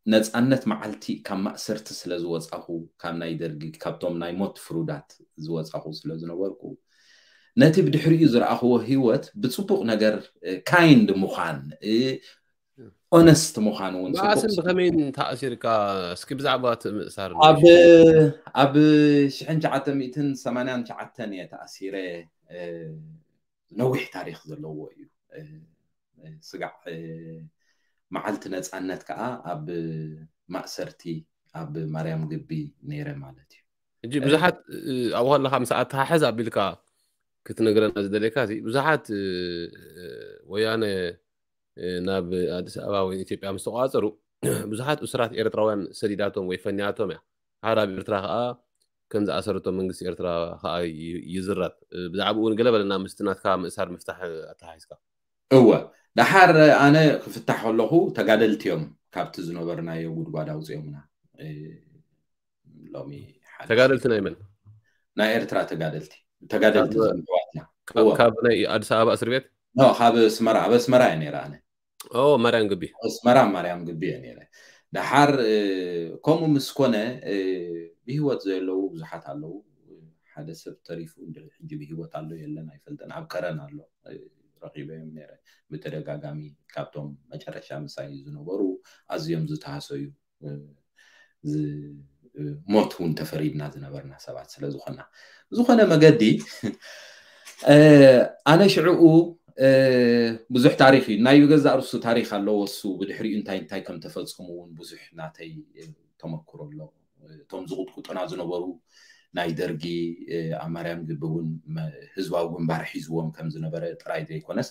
ነፃነት መዓልቲ ካብ ማእሰርቲ ስለ ዝወፃኹ ካብ ናይ ደርጊ ካብቶም ናይ ሞት ፍሩዳት ዝወፃኹ ስለ ዝነበርኩ ነቲ ብድሕሪኡ ዝረኣኽዎ ህይወት ብፅቡቕ ነገር ካይንድ ምዃን ኦነስት ምዃን እውን መዓስን ብኸመይን ተኣሲርካ እስኪ ብዛዕባ እቲ ምእሳር ኣብ ሽሕን ትሽዓተ ሚእትን ሰማንያን ትሽዓተን እየ ተኣሲረ። ነዊሕ ታሪክ ዘለዎ እዩ። ስጋዕ መዓልቲ ነፃነት ከዓ ኣብ ማእሰርቲ ኣብ ማርያም ግቢ ነይረ ማለት እዩ። እጂ ብዙሓት ኣብኡ ከለካ ምስ ኣተሓሕዝ ኣቢልካ ክትነግረና ዝደለካ እዚ ብዙሓት ወያነ ናብ ኣዲስ ኣበባ ወይ ኢትዮጵያ ምስ ተቋፀሩ ብዙሓት እሱራት ኤርትራውያን ሰዲዳቶም ወይ ፈኒያቶም እያ። ሓደ ኣብ ኤርትራ ከዓ ከም ዝኣሰረቶም መንግስቲ ኤርትራ ከዓ ይዝረብ። ብዛዕባኡ እውን ገለ በለና ምስቲ ናትካ ምእሳር ምፍታሕ ኣተሓሒዝካ። እወ፣ ደሓር ኣነ ክፍታሕ ከለኹ ተጋደልቲ እዮም ካብቲ ዝነበርናዮ ጉድጓድ ኣውፅኦምና። ሎሚ ሓድሽ ተጋደልቲ ናይ መን? ናይ ኤርትራ ተጋደልቲ ተጋደልቲ ካብ- ዝምሕዋትና ካብ- ካብ ናይ ኣዲስ ኣበባ እስር ቤት? ኖ፣ ካብ ኣስመራ ኣብ ኣስመራ እየ ነይረ ኣነ። ኦ ማርያም ግቢ። ኣስመራ ማርያም ግቢ እየ ነይረ። ደሓር ከምኡ ምስ ኮነ ብህይወት ዘለዉ ብዙሓት ኣለዉ። ሓደ ሰብ ተሪፉ እንድዒ ሕጂ ብህይወት ኣሎ የለን ኣይፈልጥን። ኣብ ከረን ኣሎ ረኺበዮም ነይረ። ብተደጋጋሚ ካብቶም መጨረሻ ምሳይ ዝነበሩ ኣዝዮም ዝተሃሰዩ ሞት እውን ተፈሪድና ዝነበርና ሰባት ስለ ዝኾና ብዝኾነ መገዲ ኣነ ሽዕኡ ብዙሕ ታሪክ እዩ ናይ ገዛእ ርሱ ታሪክ ኣለዎ። እሱ ብድሕሪኡ እንታይ እንታይ ከም ተፈፀሙ እውን ብዙሕ ናተይ ተመክሮ ኣሎ። እቶም ዝቁጥቁጡና ዝነበሩ ናይ ደርጊ ኣብ ማርያም ግቢ እውን ህዝባዊ ግንባር ሒዝዎም ከም ዝነበረ ጥራይ ዘይኮነስ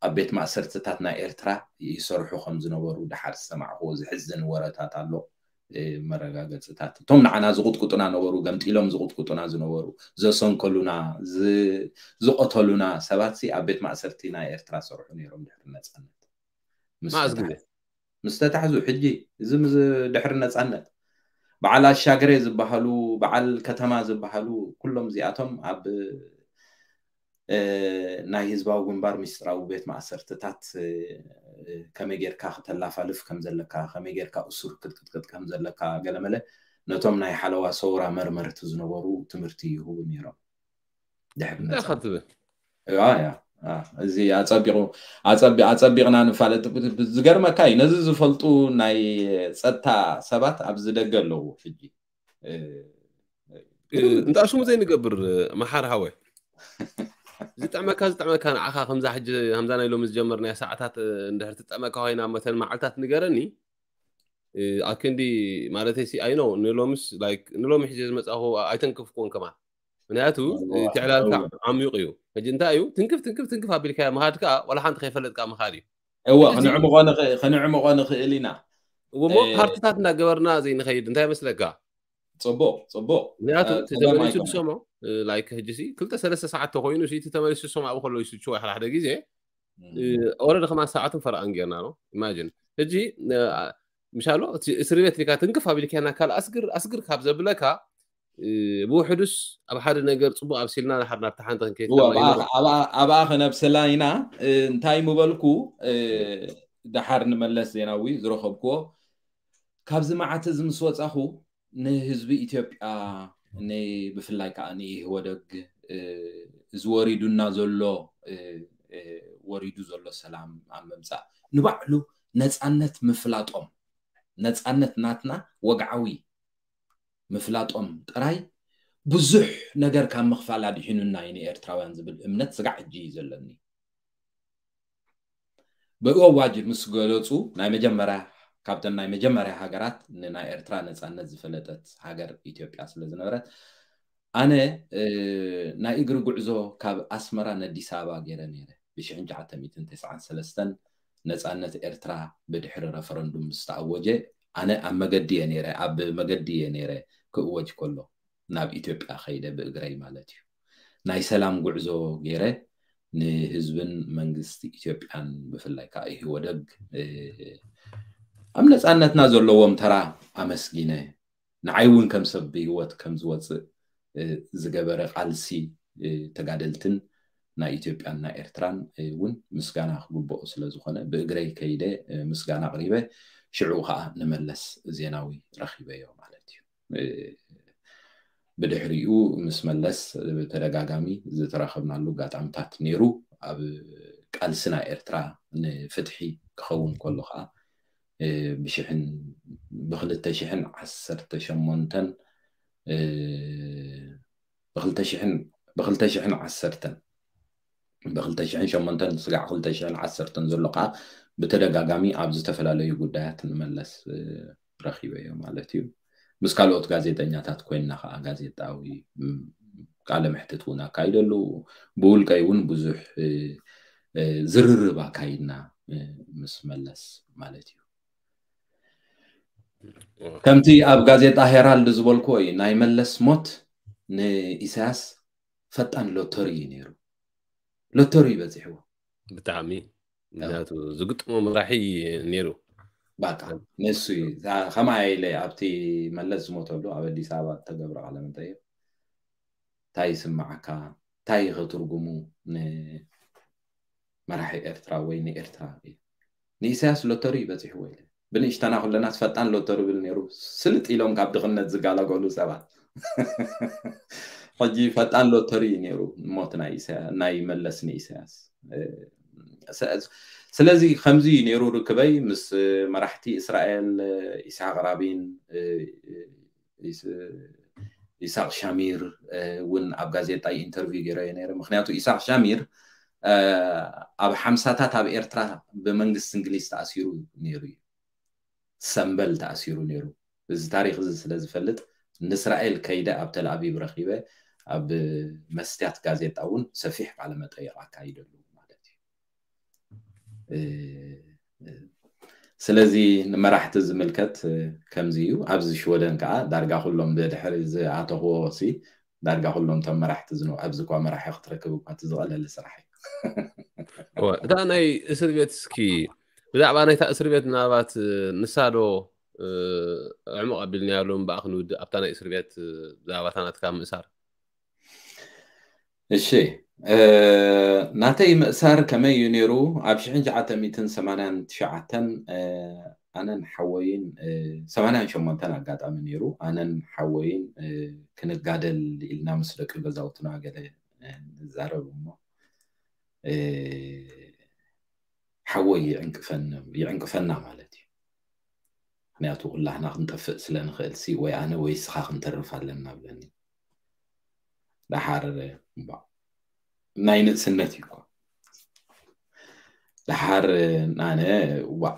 ኣብ ቤት ማእሰርትታት ናይ ኤርትራ ይሰርሑ ከም ዝነበሩ ደሓር ዝሰማዕክዎ ዝሕዝን ወረታት ኣሎ። መረጋገፅታት እቶም ንዓና ዝቁጥቁጡና ነበሩ፣ ገምጢሎም ዝቁጥቁጡና ዝነበሩ፣ ዘሰንከሉና፣ ዝቆተሉና ሰባት ሲ ኣብ ቤት ማእሰርቲ ናይ ኤርትራ ሰርሑ ነይሮም ድሕሪ ነፃነት። መዓዝ ግዜ? ምስ ተታሕዙ ሕጂ እዚ ድሕሪ ነፃነት በዓል ኣሻግሬ ዝበሃሉ በዓል ከተማ ዝበሃሉ ኩሎም እዚኣቶም ኣብ ናይ ህዝባዊ ግንባር ሚስጥራዊ ቤት ማእሰርትታት ከመይ ጌርካ ክተላፋልፍ ከም ዘለካ ከመይ ጌርካ እሱር ክትቅጥቅጥ ከም ዘለካ ገለመለ ነቶም ናይ ሓለዋ ሰውራ መርመርቲ ዝነበሩ ትምህርቲ ይህቡ ነይሮም። ድሕሪ እንታይ ነፃ- ኢኻ ትብል? ያ፣ ያ፣ ያ። እዚ ኣፀቢቑ ኣፀቢ- ኣፀቢቕና ንፋለጥ ዝገርመካ እዩ ነዚ ዝፈልጡ ናይ ፀጥታ ሰባት ኣብዚ ደገ ኣለዉ ሕጂ። እንዳ ሽሙ ዘይንገብር መሓር ሃወ ዝጥዕመካ ዝጥዕመካ ንዓኻ ከምዛ ሕጂ ከምዛ ናይ ሎሚ ዝጀመርናያ ሰዓታት እንድሕር ትጥዕመካ ኮይና መተን መዓልታት ንገረኒ። ኣክንዲ ማለት ሲ ኣይ ነው ንሎምስ ላይክ ንሎሚ ሕጂ ዝመፃኹ ኣይተንክፍኩን ከማን ምክንያቱ እቲ ዕላልካ ዓሚቕ እዩ። ሕጂ እንታይ እዩ ትንክፍ ትንክፍ ትንክፍ ኣቢልካ ምኻድ ከዓ ዋላ ሓንቲ ከይፈለጥካ ምኻድ እዩ። እወ ክንዕምቆ ንኽእል ኢና። እሞ ፓርትታት እናገበርና ዘይንኸይድ እንታይ መስለካ? ፅቡቅ ፅቡቅ ምክንያቱ ተመሊሱ ክሰምዖ ላይክ ሕጂ ክልተ ሰለስተ ሰዓት ተኮይኑ እቲ ተመሊሱ ክሰምዖ ኣብኡ ከሎ ይስችዎ ሓደ ግዜ ኦረዲ ከማ ሰዓትን ፈረቓን ጌርና ነው። ኢማጂን ሕጂ ምሻሎ እቲ እስሪ ቤት ሪካ ትንክፍ ኣቢልካና ካል ኣስግር ኣስግር ካብ ዘብለካ ብውሕዱስ ኣብ ሓደ ነገር ፅቡቅ ኣብሲልና ድሓር ናብቲ ሓንቲ ክንከይድ ኣብኣ ከነብስላ ኢና። እንታይ ምበልኩ፣ ድሓር ንመለስ ዜናዊ ዝረኸብክዎ ካብዚ መዓት እዚ ምስ ወፃኹ ንህዝቢ ኢትዮጵያ ብፍላይ ከዓ ንኢህወደግ እዚ ወሪዱና ዘሎ ወሪዱ ዘሎ ሰላም ኣብ ምምፃእ ንባዕሉ ነፃነት ምፍላጦም ነፃነት ናትና ወግዓዊ ምፍላጦም ጥራይ ብዙሕ ነገር ካብ ምኽፋል ኣድሒኑና እዩ ንኤርትራውያን ዝብል እምነት ስጋዕ ሕጂ እዩ ዘለኒ። ብእዋጅ ምስ ገለፁ ናይ መጀመርያ ካብተን ናይ መጀመርያ ሃገራት ንናይ ኤርትራ ነፃነት ዝፈለጠት ሃገር ኢትዮጵያ ስለ ዝነበረት ኣነ ናይ እግሪ ጉዕዞ ካብ ኣስመራ ነዲስ ኣበባ ገይረ ነይረ ብሽሕን ትሽዓተ ሚእትን ተስዓን ሰለስተን ነፃነት ኤርትራ ብድሕሪ ረፈረንዱም ዝተኣወጀ ኣነ ኣብ መገዲ እየ ነይረ ኣብ መገዲ እየ ነይረ ክእወጅ ከሎ ናብ ኢትዮጵያ ከይደ ብእግረይ ማለት እዩ ናይ ሰላም ጉዕዞ ገይረ ንህዝብን መንግስቲ ኢትዮጵያን ብፍላይ ከዓ ኢህወደግ ኣብ ነፃነትና ዘለዎም ተራ ኣመስጊነ ንዓይ እውን ከም ሰብ ብህይወት ከም ዝወፅእ ዝገበረ ቃልሲ ተጋደልትን ናይ ኢትዮጵያን ናይ ኤርትራን እውን ምስጋና ክግብኦ ስለ ዝኾነ ብእግረይ ከይደ ምስጋና ኣቕሪበ ሽዑ ከዓ ንመለስ ዜናዊ ረኺበዮ ማለት እዩ። ብድሕሪኡ ምስ መለስ ብተደጋጋሚ ዝተራኸብናሉ ኣጋጣምታት ነይሩ። ኣብ ቃልሲ ናይ ኤርትራ ንፍትሒ ክኸውን ከሎ ከዓ ብሽሕን ብክልተ ሽሕን ዓሰርተ ሸሞንተን ብክልተ ሽሕን ዓሰርተን ብክልተ ሽሕን ሸሞንተን ስጋዕ ክልተ ሽሕን ዓሰርተን ዘሎ ከዓ ብተደጋጋሚ ኣብ ዝተፈላለዩ ጉዳያት ንመለስ ረኺበዮ ማለት እዩ። ምስ ካልኦት ጋዜጠኛታት ኮይንና ከዓ ጋዜጣዊ ቃለ መሕትት እውን ኣካይደሉ ብውልቀይ እውን ብዙሕ ዝርርብ ኣካይድና ምስ መለስ ማለት እዩ። ከምቲ ኣብ ጋዜጣ ሄራልድ ዝበልክዎ እዩ ናይ መለስ ሞት ንኢሳያስ ፈጣን ሎተሪ እዩ ነይሩ። ሎተሪ ይበፂሕዎ ብጣዕሚ ምክንያቱ ዝግጥሞ መራሒ ነይሩ። በቃ ንሱ እዩ ከማይ ኢለ ኣብቲ መለስ ዝሞተሉ ኣብ ኣዲስ ኣበባ ተገብረ ቃለ መጠይቅ እንታይ ይስማዓካ እንታይ ከትርጉሙ ንመራሒ ኤርትራ ወይ ንኤርትራ እዩ ንኢሳያስ ሎተሪ ይበፂሕዎ ኢለ ብንእሽተና ኩለናስ ፈጣን ሎተሪ ብል ነይሩ ስልጥ ኢሎም ካብ ድኽነት ዝጋላገሉ ሰባት ሕጂ ፈጣን ሎተሪ እዩ ነይሩ ሞት ናይ መለስ ንኢሳያስ። ስለዚ ከምዚ ነይሩ ርክበይ ምስ መራሕቲ እስራኤል ኢስሓቅ ራቢን ኢሳቅ ሻሚር እውን ኣብ ጋዜጣ ኢንተርቪው ገይረዮ ነይረ። ምክንያቱ ኢሳቅ ሻሚር ኣብ ሓምሳታት ኣብ ኤርትራ ብመንግስቲ እንግሊዝ ተኣሲሩ ነይሩ እዩ። ሰምበል ተኣሲሩ ነይሩ። እዚ ታሪክ እዚ ስለ ዝፈልጥ ንእስራኤል ከይደ ኣብ ተልኣቪቭ ረኪበ ኣብ መስትያት ጋዜጣ እውን ሰፊሕ ቃለ መጠይቅ ኣካይደሉ ማለት እዩ። ስለዚ ንመራሕቲ ዝምልከት ከምዚ እዩ። ኣብዚ ሽወደን ከዓ ዳርጋ ኩሎም ብድሕሪ ዝኣተኽዎ ሲ ዳርጋ ኩሎም ቶም መራሕቲ ዝነ ኣብዚ እኳ መራሒ ክትረክብ እኳ እቲ ዝቐለለ ስራሕ እዩ። እታ ናይ እስር ቤት እስኪ ብዛዕባ ናይታ እስር ቤት ምናልባት ንሳዶ ዕሙቕ ኣቢልናያሉ እምበኣ ክንውድእ ኣብታ ናይ እስር ቤት ብዛዕባታ ናትካ ምእሳር እሺ ናተይ ምእሳር ከመይ እዩ ነይሩ? ኣብ ሽሕን ትሽዓተ ሚእትን ሰማንያን ትሽዓተን ኣነን ሓወይን ሰማንያን ሸሞንተን ኣጋጣሚ ነይሩ ኣነን ሓወይን ክንጋደል ኢልና ምስ ደቂ ገዛውትና ገለ ንዛረብ እሞ ሓወይ ይዕንቅፈና ማለት እዩ። ምክንያቱ ኩላህና ክንጠፍእ ስለ ንኽእል ሲ ወይ ኣነ ወይ ስኻ ክንተርፍ ኣለና ብለኒ። ደሓር ናይ ንእስነት እዩ እኮ ደሓር ኣነ ዋ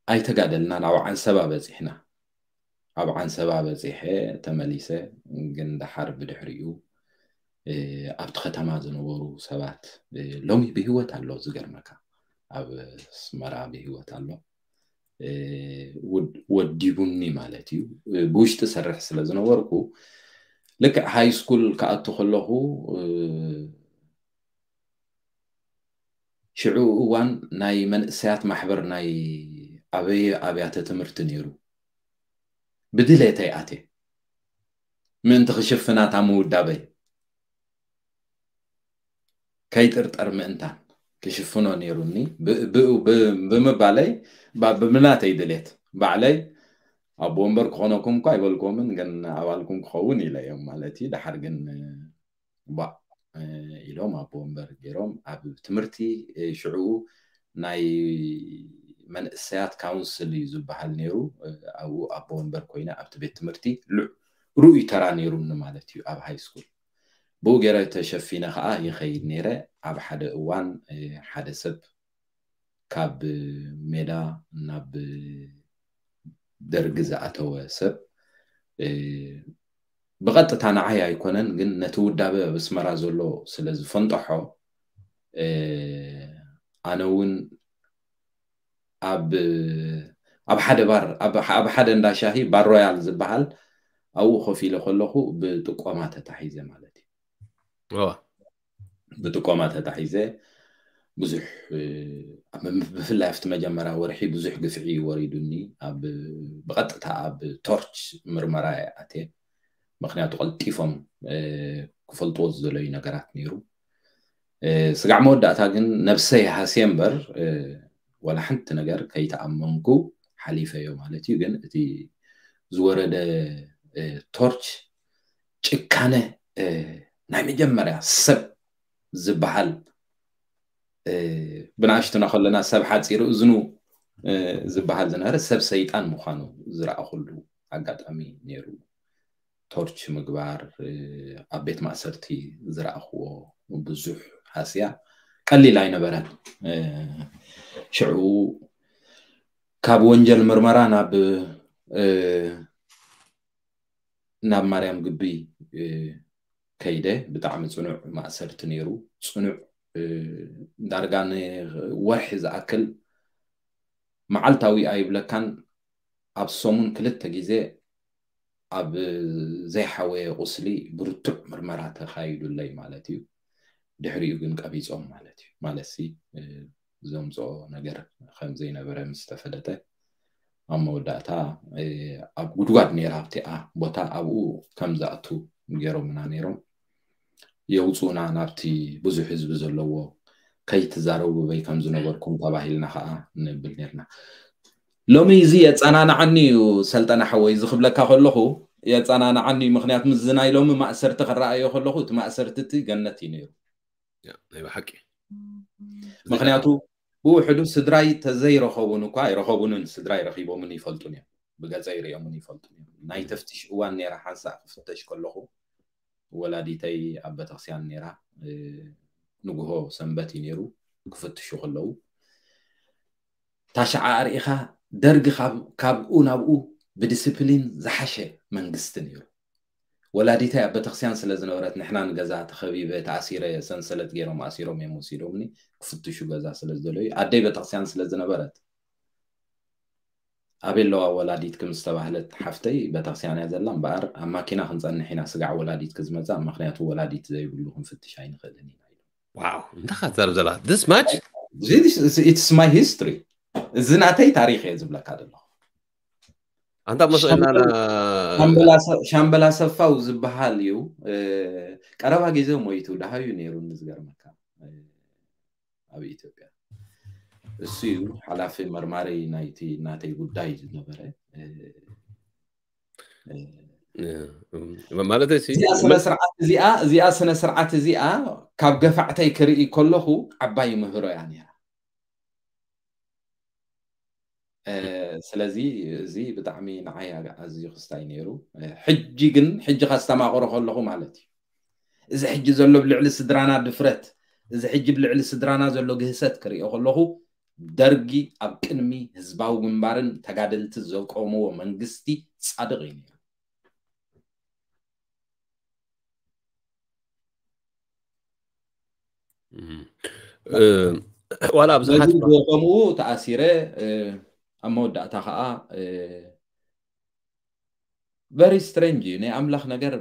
ኣይተጋደልና ናብ ዓንሰባ በፂሕና። ኣብ ዓንሰባ በፂሐ ተመሊሰ ግን ደሓር ብድሕሪኡ ኣብቲ ከተማ ዝነበሩ ሰባት ሎሚ ብህይወት ኣሎ ዝገርመካ ኣብ ኣስመራ ብህይወት ኣሎ ወዲቡኒ ማለት እዩ። ብውሽጢ ሰርሕ ስለ ዝነበርኩ ልክዕ ሃይ ስኩል ክኣቱ ከለኹ ሽዑ እዋን ናይ መንእሰያት ማሕበር ናይ ኣበየ ኣብያተ ትምህርቲ ነይሩ። ብድሌተይ ኣትየ ምእንቲ ክሽፍና እታ ምውዳበይ ከይጥርጠር ምእንታን ክሽፍኖ ነይሩኒ። ብ- ብ- ብ- ብምባለይ ባ- ብናተይ ድሌት ባዕለይ ኣቦ ወንበር ክኾነኩም እኳ ኣይበልኩምን፣ ግን ኣባልኩም ክኸውን ኢለ እዮም ማለት እዩ። ደሓር ግን ባእ ኢሎም ኣቦ ወንበር ገይሮም ኣብ ትምህርቲ ሽዑ ናይ መንእሰያት ካውንስል እዩ ዝበሃል ነይሩ። ኣብኡ ኣቦ ወንበር ኮይነ ኣብቲ ቤት ትምህርቲ ርኡይ ተራ ነይሩኒ ማለት እዩ። ኣብ ሃይ ስኩል ብኡ ገይረ ተሸፊነ ከዓ ይኸይድ ነይረ። ኣብ ሓደ እዋን ሓደ ሰብ ካብ ሜዳ ናብ ደርጊ ዝኣተወ ሰብ ብቐጥታ ንዓይ ኣይኮነን፣ ግን ነቲ ውዳበ ኣብ ኣስመራ ዘሎ ስለ ዝፈንጠሖ ኣነ እውን ኣብ ኣብ ሓደ ባር ኣብ ሓደ እንዳ ሻሂ ባር ሮያል ዝበሃል ኣብኡ ኮፍ ኢለ ከለኹ ብጥቆማ ተታሒዘ ማለት እዩ። ብጥቆማ ተታሒዘ ብዙሕ ብፍላይ ኣብቲ መጀመርያ ወርሒ ብዙሕ ግፍዒ ወሪዱኒ። ኣብ ብቐጥታ ኣብ ቶርች ምርመራ ኣትየ። ምክንያቱ ቀልጢፎም ክፈልጥዎ ዝደለዩ ነገራት ነይሩ። ስጋዕ መወዳእታ ግን ነብሰይ ሃስየ እምበር ወላ ሓንቲ ነገር ከይተኣመንኩ ሓሊፈዮ ማለት እዩ። ግን እቲ ዝወረደ ቶርች ጭካነ ናይ መጀመርያ ሰብ ዝበሃል ብንኣሽቱና ከለና ሰብ ሓፂሩ እዝኑ ዝበሃል ዝነበረ ሰብ ሰይጣን ምዃኑ ዝረኣኹሉ ኣጋጣሚ ነይሩ። ቶርች ምግባር ኣብ ቤት ማእሰርቲ ዝረኣኽዎ ብዙሕ ሃስያ ቀሊል ኣይነበረን። ሽዑ ካብ ወንጀል ምርመራ ናብ ናብ ማርያም ግቢ ከይደ። ብጣዕሚ ፅኑዕ ማእሰርቲ ነይሩ። ፅኑዕ ዳርጋ ንወርሒ ዝኣክል መዓልታዊ ኣይብለካን፣ ኣብ ሰሙን ክልተ ግዜ ኣብ ዘይሓወየ ቁስሊ ብርቱዕ ምርመራ ተኻይዱለይ ማለት እዩ። ድሕሪኡ ግን ቀቢፆም ማለት እዩ። ማለት ሲ ዘምፅኦ ነገር ከም ዘይነበረ ምስ ተፈለጠ ኣብ መወዳእታ ኣብ ጉድጓድ ነይራ ኣብቲኣ ቦታ ኣብኡ ከም ዝኣቱ ገይሮምና ነይሮም። የውፅኡና ናብቲ ብዙሕ ህዝቢ ዘለዎ ከይትዛረቡ በይ ከም ዝነበርኩም ተባሂልና ከዓ ንብል ነርና። ሎሚ እዚ የፀናናዓኒ እዩ ሰልጠነ ሓወይ፣ እዚ ክብለካ ከለኹ የፀናናዓኒ እዩ። ምክንያቱ ምስዚ ናይ ሎሚ ማእሰርቲ ክረኣዮ ከለኹ እቲ ማእሰርቲ እቲ ገነት እዩ ነይሩ። ናይ ብሓቂ ምክንያቱ ብውሕዱ ስድራይ ተዘይረኸቡን እኳ ኣይረኸቡንን፣ ስድራይ ረኺቦምን ይፈልጡን እዮም፣ ብገፀ ይሪኦምን ይፈልጡን እዮም። ናይ ተፍትሽ እዋን ነይራ። ሓንሳእ ክፍተሽ ከለኹ ወላዲተይ ኣብ ቤተክርስትያን ነይራ። ንግሆ ሰንበት እዩ ነይሩ። ክፍትሹ ከለዉ ታሽዓ ኣርኢኻ ደርጊ ካብኡ ናብኡ ብዲስፕሊን ዝሓሸ መንግስቲ ነይሩ። ወላዲተይ ኣብ ቤተክርስትያን ስለ ዝነበረት ንሕና ንገዛ ተኸቢበ ተኣሲረ፣ ሰንሰለት ገይሮም ኣሲሮም እዮም ወሲዶምኒ። ክፍትሹ ገዛ ስለ ዝደለዩ ኣደይ ቤተክርስትያን ስለ ዝነበረት ኣበይ ኣለዋ ወላዲትኪ ምስ ተባህለት ሓፍተይ ቤተክርስትያን እያ ዘላ እምበኣር ኣብ ማኪና ክንፀንሕ ኢና ስጋዕ ወላዲትኪ ዝመፅኣ፣ ምክንያቱ ወላዲት ዘይብሉ ክንፍትሽ ኣይንኽእልን ኢና ኢሎም። ዋው እንታይ ካትዛረብ ዘላ this much it's my history። እዚ ናተይ ታሪክ እየ ዝብለካ ዘለኹ። ኣንታ መስለና ሻምበል ኣሰፋው ዝበሃል እዩ። ቀረባ ግዜ ሞይቱ ደሃዩ ነይሩ ዝገርመካ ኣብ ኢትዮጵያ። እሱ እዩ ሓላፊ መርማሪ ናይቲ ናተይ ጉዳይ ዝነበረ። ማለት ስነስርዓት እዚኣ እዚኣ ስነስርዓት እዚኣ ካብ ገፋዕተይ ክርኢ ከለኹ ዓባይ ምህሮ እያ ነይራ። ስለዚ እዚ ብጣዕሚ ንዓይ ኣዝዩ ክስታይ ነይሩ። ሕጂ ግን ሕጂ ከስተማቕሮ ከለኹ ማለት እዩ እዚ ሕጂ ዘሎ ብልዕሊ ስድራና ድፍረት፣ እዚ ሕጂ ብልዕሊ ስድራና ዘሎ ግህሰት ክሪኦ ከለኹ ደርጊ ኣብ ቅድሚ ህዝባዊ ግንባርን ተጋደልቲ ዘቆምዎ መንግስቲ ፃድቕ እዩ ነይሩ። ዋላ ብዙሓት ከምኡ ተኣሲረ ኣብ መወዳእታ ከዓ very strange እዩ ናይ ኣምላኽ ነገር።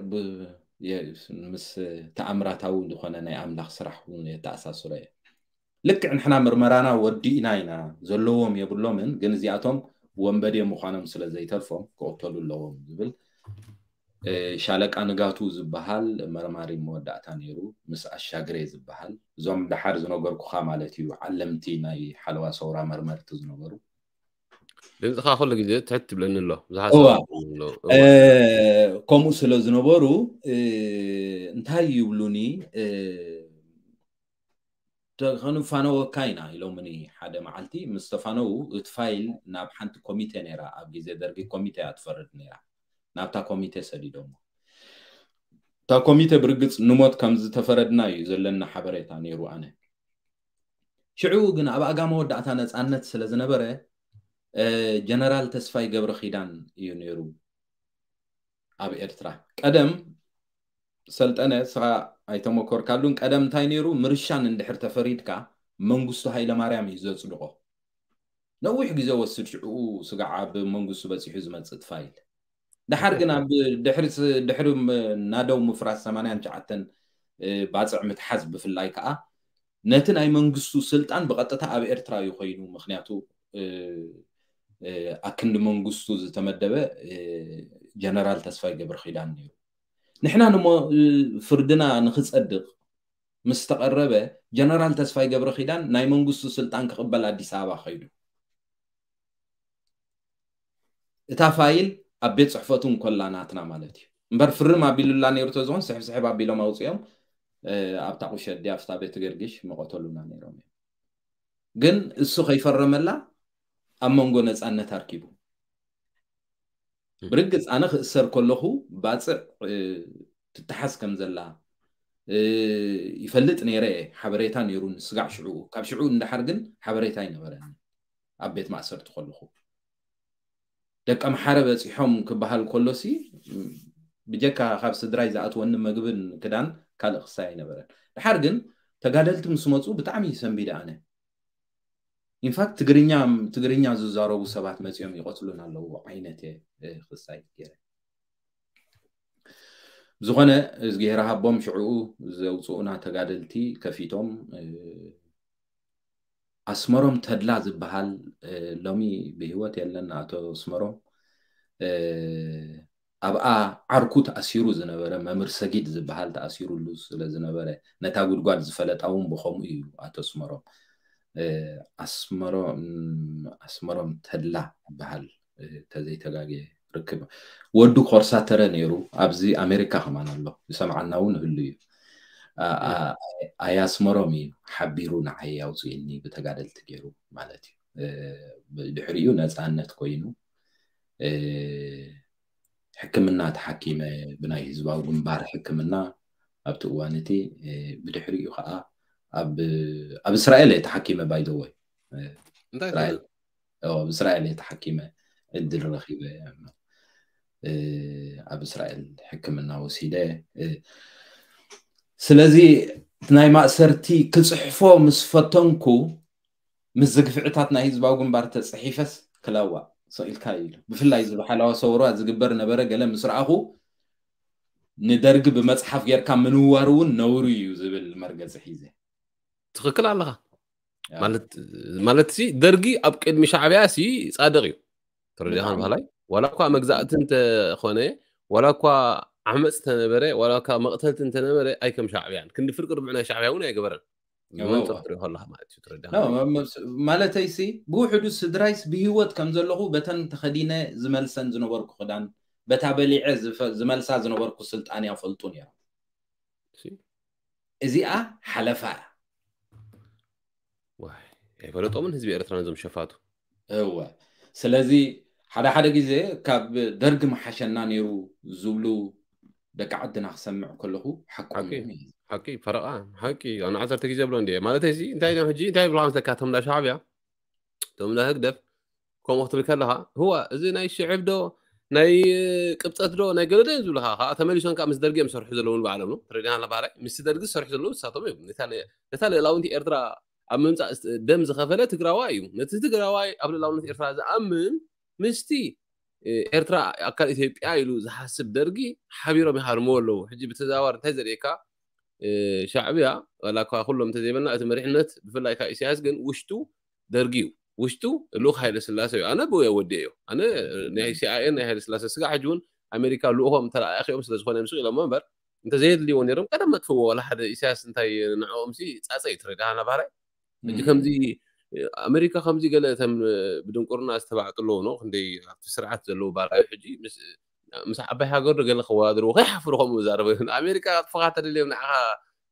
ምስ ተኣምራታዊ ዝኾነ ናይ ኣምላኽ ስራሕ እውን የተኣሳስሮ እየ። ልክዕ ንሕና ምርመራና ወዲእና ኢና፣ ዘለዎም የብሎምን፣ ግን እዚኣቶም ወንበዴ ምዃኖም ስለ ዘይተርፎም ክቕተሉ ኣለዎም ዝብል ሻለቃ ንጋቱ ዝበሃል መርማሪ መወዳእታ ነይሩ፣ ምስ ኣሻግሬ ዝበሃል፣ እዞም ደሓር ዝነገርኩኻ ማለት እዩ፣ ዓለምቲ ናይ ሓለዋ ሰውራ መርመርቲ ዝነበሩ። ድምፅኻ ኩሉ ግዜ ትሕት ትብለኒ ኣሎ። ከምኡ ስለ ዝነበሩ እንታይ ይብሉኒ፣ ተኸንፋነወካ ኢና ኢሎምኒ። ሓደ መዓልቲ ምስ ተፋነዉ፣ እቲ ፋይል ናብ ሓንቲ ኮሚቴ ነይራ፣ ኣብ ግዜ ደርጊ ኮሚቴ እያ ትፈርድ ነይራ። ናብታ ኮሚቴ ሰዲዶሞ። እታ ኮሚቴ ብርግፅ ንሞት ከም ዝተፈረድና እዩ ዘለና ሓበሬታ ነይሩ። ኣነ ሽዑ ግን ኣብ ኣጋ መወዳእታ ነፃነት ስለ ዝነበረ፣ ጀነራል ተስፋይ ገብረ ኪዳን እዩ ነይሩ ኣብ ኤርትራ። ቀደም ሰልጠነ፣ ስኻ ኣይተመኮርካሉን፣ ቀደም እንታይ ነይሩ? ምርሻን እንድሕር ተፈሪድካ መንግስቱ ሃይለማርያም እዩ ዘጽድቆ። ነዊሕ ግዜ ወስድ ሽዑ ስጋዕ ኣብ መንግስቱ በጺሑ ዝመጽእ ፋይል። ደሓር ግን ኣብ ድሕሪ ድሕሪ ናደው ምፍራስ ሰማንያን ትሽዓተን ባጽዕ ምትሓዝ ብፍላይ ከዓ ነቲ ናይ መንግስቱ ስልጣን ብቐጥታ ኣብ ኤርትራ እዩ ኮይኑ። ምክንያቱ ኣክንዲ መንግስቱ ዝተመደበ ጀነራል ተስፋይ ገብረ ኪዳን ነይሩ። ንሕና ንሞ ፍርድና ንክጸድቕ ምስ ተቐረበ፣ ጀነራል ተስፋይ ገብረ ኪዳን ናይ መንግስቱ ስልጣን ክቕበል ኣዲስ ኣበባ ከይዱ። እታ ፋይል ኣብ ቤት ጽሕፈቱ እንኮላ ናትና ማለት እዩ። እምበር ፍርም ኣቢሉላ ነይሩ ተዝኾን፣ ስሕብ ስሕብ ኣቢሎም ኣውፅኦም ኣብታ ቁሸዲ ኣብታ ቤት ገርግሽ መቐተሉና ነይሮም እዮም። ግን እሱ ከይፈረመላ ኣብ መንጎ ነፃነት ኣርኪቡ። ብርግፅ ኣነ ክእሰር ከለኹ ባፅዕ ትተሓዝ ከም ዘላ ይፈልጥ ነይረ። ሓበሬታ ነይሩን ስጋዕ ሽዑ፣ ካብ ሽዑ እንዳሓር ግን ሓበሬታ ኣይነበረን። ኣብ ቤት ማእሰርቲ ከለኹ ደቀ መሓረ በፂሖም ክበሃል ከሎሲ ብጀካ ካብ ስድራይ ዝኣትወኒ መግብን ክዳን ካልእ ክሳይ ኣይነበረን። ድሓር ግን ተጋደልቲ ምስ መፁ ብጣዕሚ ሰንቢደ ኣነ። ኢንፋክት ትግርኛ ትግርኛ ዝዛረቡ ሰባት መፂኦም ይቐትሉን ኣለዉ ዓይነት ክሳይ ገይረ። ብዝኾነ እዝግሄር ሃቦም ሽዕኡ ዘውፅኡና ተጋደልቲ ከፊቶም ኣስመሮም ተድላ ዝበሃል ሎሚ ብህይወት የለን። ኣቶ ኣስመሮም ኣብኣ ዓርኩ ተኣሲሩ ዝነበረ መምህር ሰጊድ ዝበሃል ተኣሲሩሉ ስለ ዝነበረ ነታ ጉድጓድ ዝፈለጣ እውን ብኸምኡ እዩ። ኣቶ ኣስመሮም ኣስመሮም ኣስመሮም ተድላ ዝበሃል ተዘይተጋግየ ርክብ ወዱ ኮርሳተረ ነይሩ። ኣብዚ ኣሜሪካ ከማን ኣሎ፣ ይሰምዓና እውን ይህሉ እዩ። ኣያስመሮም እዩ ሓቢሩ ንዓይ ኣውፅእኒ ብተጋደልቲ ገይሩ ማለት እዩ። ድሕሪኡ ነፃነት ኮይኑ ሕክምና ተሓኪመ፣ ብናይ ህዝባዊ ግንባር ሕክምና ኣብቲ እዋን እቲ። ብድሕሪኡ ከዓ ኣብ እስራኤል እየ ተሓኪመ። ባይደወይ ኣብ እስራኤል እየ ተሓኪመ፣ ዕድል ረኪበ ኣብ እስራኤል ሕክምና ወሲደ። ስለዚ ናይ ማእሰርቲ ክፅሕፎ ምስ ፈተንኩ፣ ምስ ዝግፍዕታት ናይ ህዝባዊ ግንባር ተፅሒፈስ ክለዋ ሰኢልካ ኢሉ። ብፍላይ እዚ ብሓላዋ ሰውራ ዝግበር ነበረ ገለ ምስ ረኣኹ፣ ንደርጊ ብመፅሓፍ ጌርካ ምንዋር እውን ነውሪ እዩ ዝብል መርገፂ ሒዘ። ትኽክል ኣለኻ። ማለት ሲ ደርጊ ኣብ ቅድሚ ሻዕብያ ሲ ፃድቕ እዩ። ተረዲኻ ባህላይ ዋላ እኳ መግዛእቲ እንተኾነ፣ ዋላ እኳ ዓመፅ እንተነበረ፣ ዋላ እኳ መቕተልቲ እንተነበረ፣ ኣይከም ሻዕብያን ክንዲ ፍርቂ ርብዕ ናይ ሻዕብያ እውን ኣይገበረን። ብመንፅር ትሪኦ ከለኻ ማለት እዩ። ተረዲኻ ማለተይ ሲ ብውሕዱ ስድራይስ ብህይወት ከም ዘለኹ በተን ተኸዲነ ዝመልሰን ዝነበርኩ ክዳን፣ በታ በሊዐ ዝመልሳ ዝነበርኩ ስልጣን ያፈልጡ ነይሮም። እዚኣ ሓለፋ እያ። ኣይፈለጦምን ህዝቢ ኤርትራ ነዞም ሸፋቱ። እወ። ስለዚ ሓደ ሓደ ግዜ ካብ ደርጊ መሓሸና ነይሩ ዝብሉ ደቂ ዓድና ክሰምዕ ከለኹ ሓቆም እዩ። ሓቂ ፈረቓ ሓቂ ኣነ ዓሰርተ ግዜ ብሎ እንዲ ማለት እዚ እንታይ ዶ ሕጂ እንታይ ብሎ መስለካ እቶም እንዳ ሻዕብያ እቶም እንዳ ህግደፍ ከምኡ ክትብል ከለኻ ህዋ እዚ ናይ ሽዕብ ዶ ናይ ቅብፀት ዶ ናይ ገለ ዶ እዮም ዝብልኻ ከዓ ተመሊሶም ከዓ ምስ ደርጊ እዮም ዝሰርሑ ዘለዉ ንባዕሎም ነው ተረዲና ኣለባህላይ ምስ ደርጊ ዝሰርሑ ዘለዉ ንሳቶም እዮም ነታ ልእላውንቲ ኤርትራ ኣብ ምምፃእ ደም ዝኸፈለ ትግራዋይ እዩ። ነቲ ትግራዋይ ኣብ ልእላውነት ኤርትራ ዝኣምን ምስቲ ኤርትራ ኣካል ኢትዮጵያ ኢሉ ዝሓስብ ደርጊ ሓቢሮም ይሃርምዎ ኣለዉ። ሕጂ ብተዘዋዋሪ እንታይ ዘርእየካ እ፣ ሻዕብያ ዋላ እኳ ኩሎም እንተዘይበልና፣ እቲ መሪሕነት ብፍላይ ካብ ኢሳያስ ግን ውሽጡ ደርጊ እዩ። ውሽጡ ልኡኽ ሃይለ ስላሴ እዩ። ኣነ ብኡ ወዲ እዮ። ኣነ ናይ ሲኣይኤ ናይ ሃይለ ስላሴ ስጋዕ ሕጂ እውን ኣሜሪካ ልኡኾም ተለኣኺኦም ስለ ዝኾነ እዮም ስቕ ኢሎም እምበር፣ እንተዘየድልይዎ ነይሮም ቀደም መጥፍዎ። ዋላ ሓደ ኢሳያስ እንታይ ንዕኦም ሲ ጻጸ እዩ ትረዳሃና ባህራይ። ሕጂ ከምዚ ኣሜሪካ ከምዚ ገለ እተም ብድንቁርና ዝተባዕጡ ኣለዉ ነው ክንደይ ኣብቲ ስርዓት ዘለዉ ባራዩ ሕጂ ምስ ምስ ዓባይ ሃገር ዶ ገለ ከወዳድርዎ ከይሓፍሩ ከምኡ ዛረበ። ኣሜሪካ ክትፈኻ ተደልዮም ንዓኻ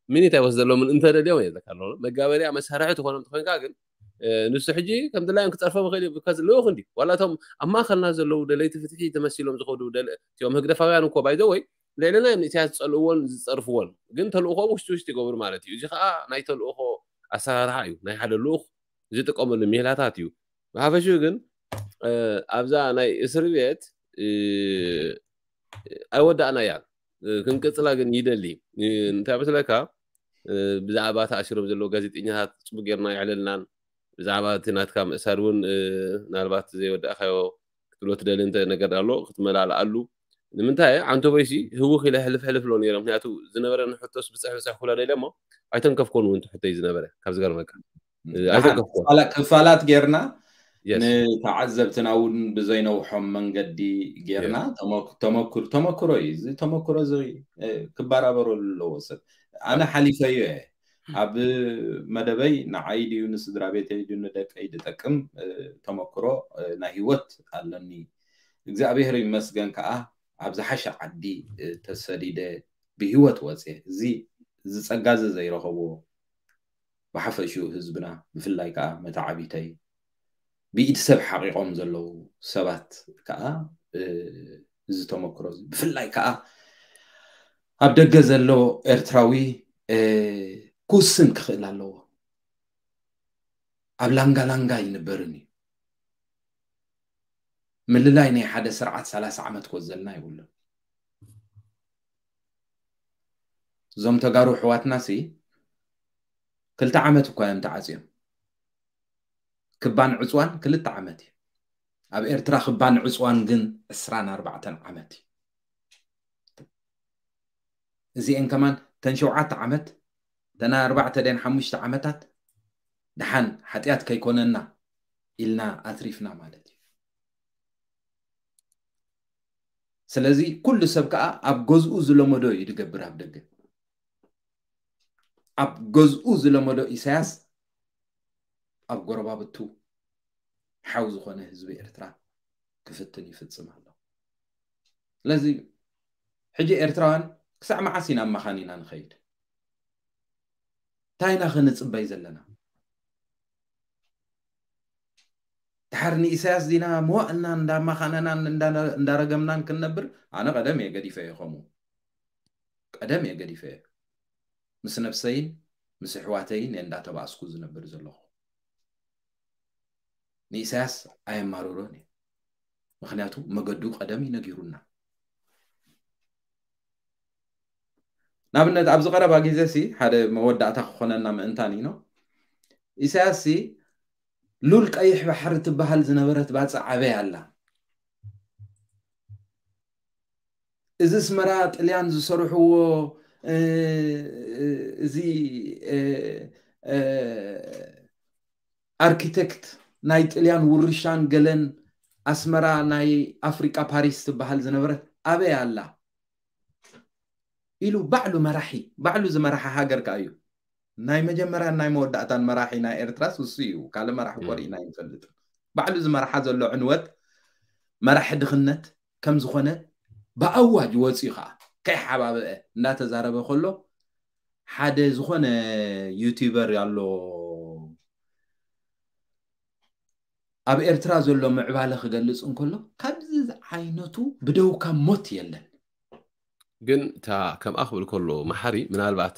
ሚኒት ኣይወስደሎምን እንተደልዮም እየ ዘካ ኣለዉ መጋበርያ መሳርሒ ትኾኖም ትኾንካ ግን እ፣ ንሱ ሕጂ ከም ድላዮም ክጸርፎም ይኽእል እዩ ብከዚ ልኡኽ እንዲ ዋላ እቶም ኣብ ማእኸልና ዘለዉ ደለይቲ ፍትሒ ተመሲሎም ዝኸዱ ደለ- እቲኦም ህግደፋውያን እኮ ባይዘወይ ልዕልና እዮም ንእስያስ ዝጸልእዎን ዝጸርፍዎን ግን ተልእኾም ውሽጢ ውሽጢ ይገብሩ ማለት እዩ። እዚ ከዓ ናይ ተልእኾ ኣሰራርሓ እዩ ናይ ሓደ ልኡኽ ዝጥቀመሉ ሜላታት እዩ። ብሓፈሽኡ ግን እ፣ ኣብዛ ናይ እስር ቤት እ፣ ኣይወዳእናያን እ፣ ክንቅጽላ ግን ይደሊ እ፣ እንታይ መስለካ እ፣ ብዛዕባ ተኣሲሮም ዘለዉ ጋዜጠኛታት ጽቡቅ ጌርና ይዕለልናን ብዛዕባ እቲ ናትካ ምእሳር እውን እ፣ ምናልባት ዘይወዳእካዮ ክትብሎ ትደሊ እንተ ነገር ኣሎ ክትመላልኣሉ ንምንታይ ዓንቶ በይሲ ህውኽ ኢለ ሕልፍ ሕልፍ ኣሎ ነይረ ምክንያቱ ዝነበረ ንሕቶስ ብፅሕ ብፅሕ ኩላ ደለ እሞ ኣይተንከፍኮን እውን ትሕተይ ዝነበረ ካብ ዝገርመካ እ፣ ኣይተንከፍኮን ክፋላት ጌርና ንተዓዘብትና እውን ብዘይነውሖም መንገዲ ጌርና ተመኩ- ተመኩር ተመክሮ እዩ። እዚ ተመክሮ እዚ እ፣ ክበራበረሉ ኣለዎ ሰብ። ኣነ ሓሊፈዮ እየ። ኣብ መደበይ ንዓይ ድዩ ንስድራ ቤተይ ድዩ ንደቀይ ድጠቅም እ፣ ተመክሮ እ፣ ናይ ህይወት ኣለኒ። እግዚኣብሔር ይመስገን ከዓ ኣብ ዝሓሸ ዓዲ እ፣ ተሰዲደ ብህይወት ወፅየ። እዚ እዚ ጸጋ እዚ ዘይረኸብዎ ብሓፈሽኡ ህዝብና ብፍላይ ከዓ መተዓቢተይ ብኢድ ሰብ ሓቂቖም ዘለዉ ሰባት ከዓ እ፣ እዚ ተመክሮ እዚ ብፍላይ ከዓ ኣብ ደገ ዘሎ ኤርትራዊ እ፣ ክውስን ክኽእል ኣለዎ። ኣብ ላንጋ ላንጋ ይንበርን እዩ። ምልላይ ናይ ሓደ ስርዓት ሰላሳ ዓመት ክወዘልና ይብሉን። እዞም ተጋሩ ኣሕዋትና ሲ ክልተ ዓመት እኳ እዮም ተዓፅዮም። ክባን ዕፅዋን ክልተ ዓመት እዩ። ኣብ ኤርትራ ክባን ዕፅዋን ግን ዕስራን ኣርባዕተን ዓመት እዩ። እዚኤን ከማን ተን ሸውዓተ ዓመት ተን ኣርባዕተ ደን ሓሙሽተ ዓመታት ደሓን ሓጢኣት ከይኮነና ኢልና ኣትሪፍና ማለት እዩ። ስለዚ ኩሉ ሰብ ከዓ ኣብ ገዝኡ ዝለመዶ እዩ ዝገብር ኣብ ደገ። ኣብ ገዝኡ ዝለመዶ ኢሳያስ ኣብ ጎረባብቱ ሓው ዝኾነ ህዝቢ ኤርትራ ክፍትን ይፍጽም ኣሎ። ስለዚ ሕጂ ኤርትራውያን ክሳዕ መዓስ ኢና ኣብ መኻን ኢና ንኸይድ? እንታይ ኢና ክንጽበይ ዘለና? ድሓር ንኢሳያስ ዲና መዋእልና እንዳማኻነናን እንዳ- እንዳረገምናን ክንነብር ኣነ ቀደም እየ ገዲፈ እየ። ከምኡ ቀደም እየ ገዲፈ እየ። ምስ ነብሰይን ምስ ኣሕዋተይን እየ እንዳተባእስኩ ዝነብር ዘለኹ። ንኢሳያስ ኣየማርሮን እየ። ምክንያቱ መገዱ ቀደም እዩ ነጊሩና። ንኣብነት ኣብዚ ቀረባ ግዜ ሲ ሓደ መወዳእታ ክኾነና ምእንታን እዩ። ኢሳያስ ሲ ሉል ቀይሕ ባሕሪ ትበሃል ዝነበረት ባጽዕ ኣበይ ኣላ? እዚ ኣስመራ ጥልያን ዝሰርሕዎ እ፣ እዚ እ፣ እ፣ ኣርኪቴክት ናይ ጥልያን ውርሻን ገለን ኣስመራ ናይ ኣፍሪቃ ፓሪስ ትበሃል ዝነበረት ኣበይ ኣላ ኢሉ ባዕሉ መራሒ ባዕሉ ዝመራሓ ሃገር ከኣ እዩ። ናይ መጀመርያን ናይ መወዳእታን መራሒ ናይ ኤርትራስ እሱ እዩ። ካልእ መራሒ እኮ ርኢና ኣይንፈልጥን። ባዕሉ ዝመርሓ ዘሎ ዕንወት መራሒ ድኽነት ከም ዝኾነ ብኣዋጅ ወፂኡ ከዓ ከይሓባበአ እንዳተዛረበ ከሎ ሓደ ዝኾነ ዩቲዩበር ኣሎ ኣብ ኤርትራ ዘሎ ምዕባለ ክገልፅ እንከሎ ካብዚ ዓይነቱ ብደውካ ሞት የለን። ግን እታ ከምኣ ክብል ከሎ መሓሪ ምናልባት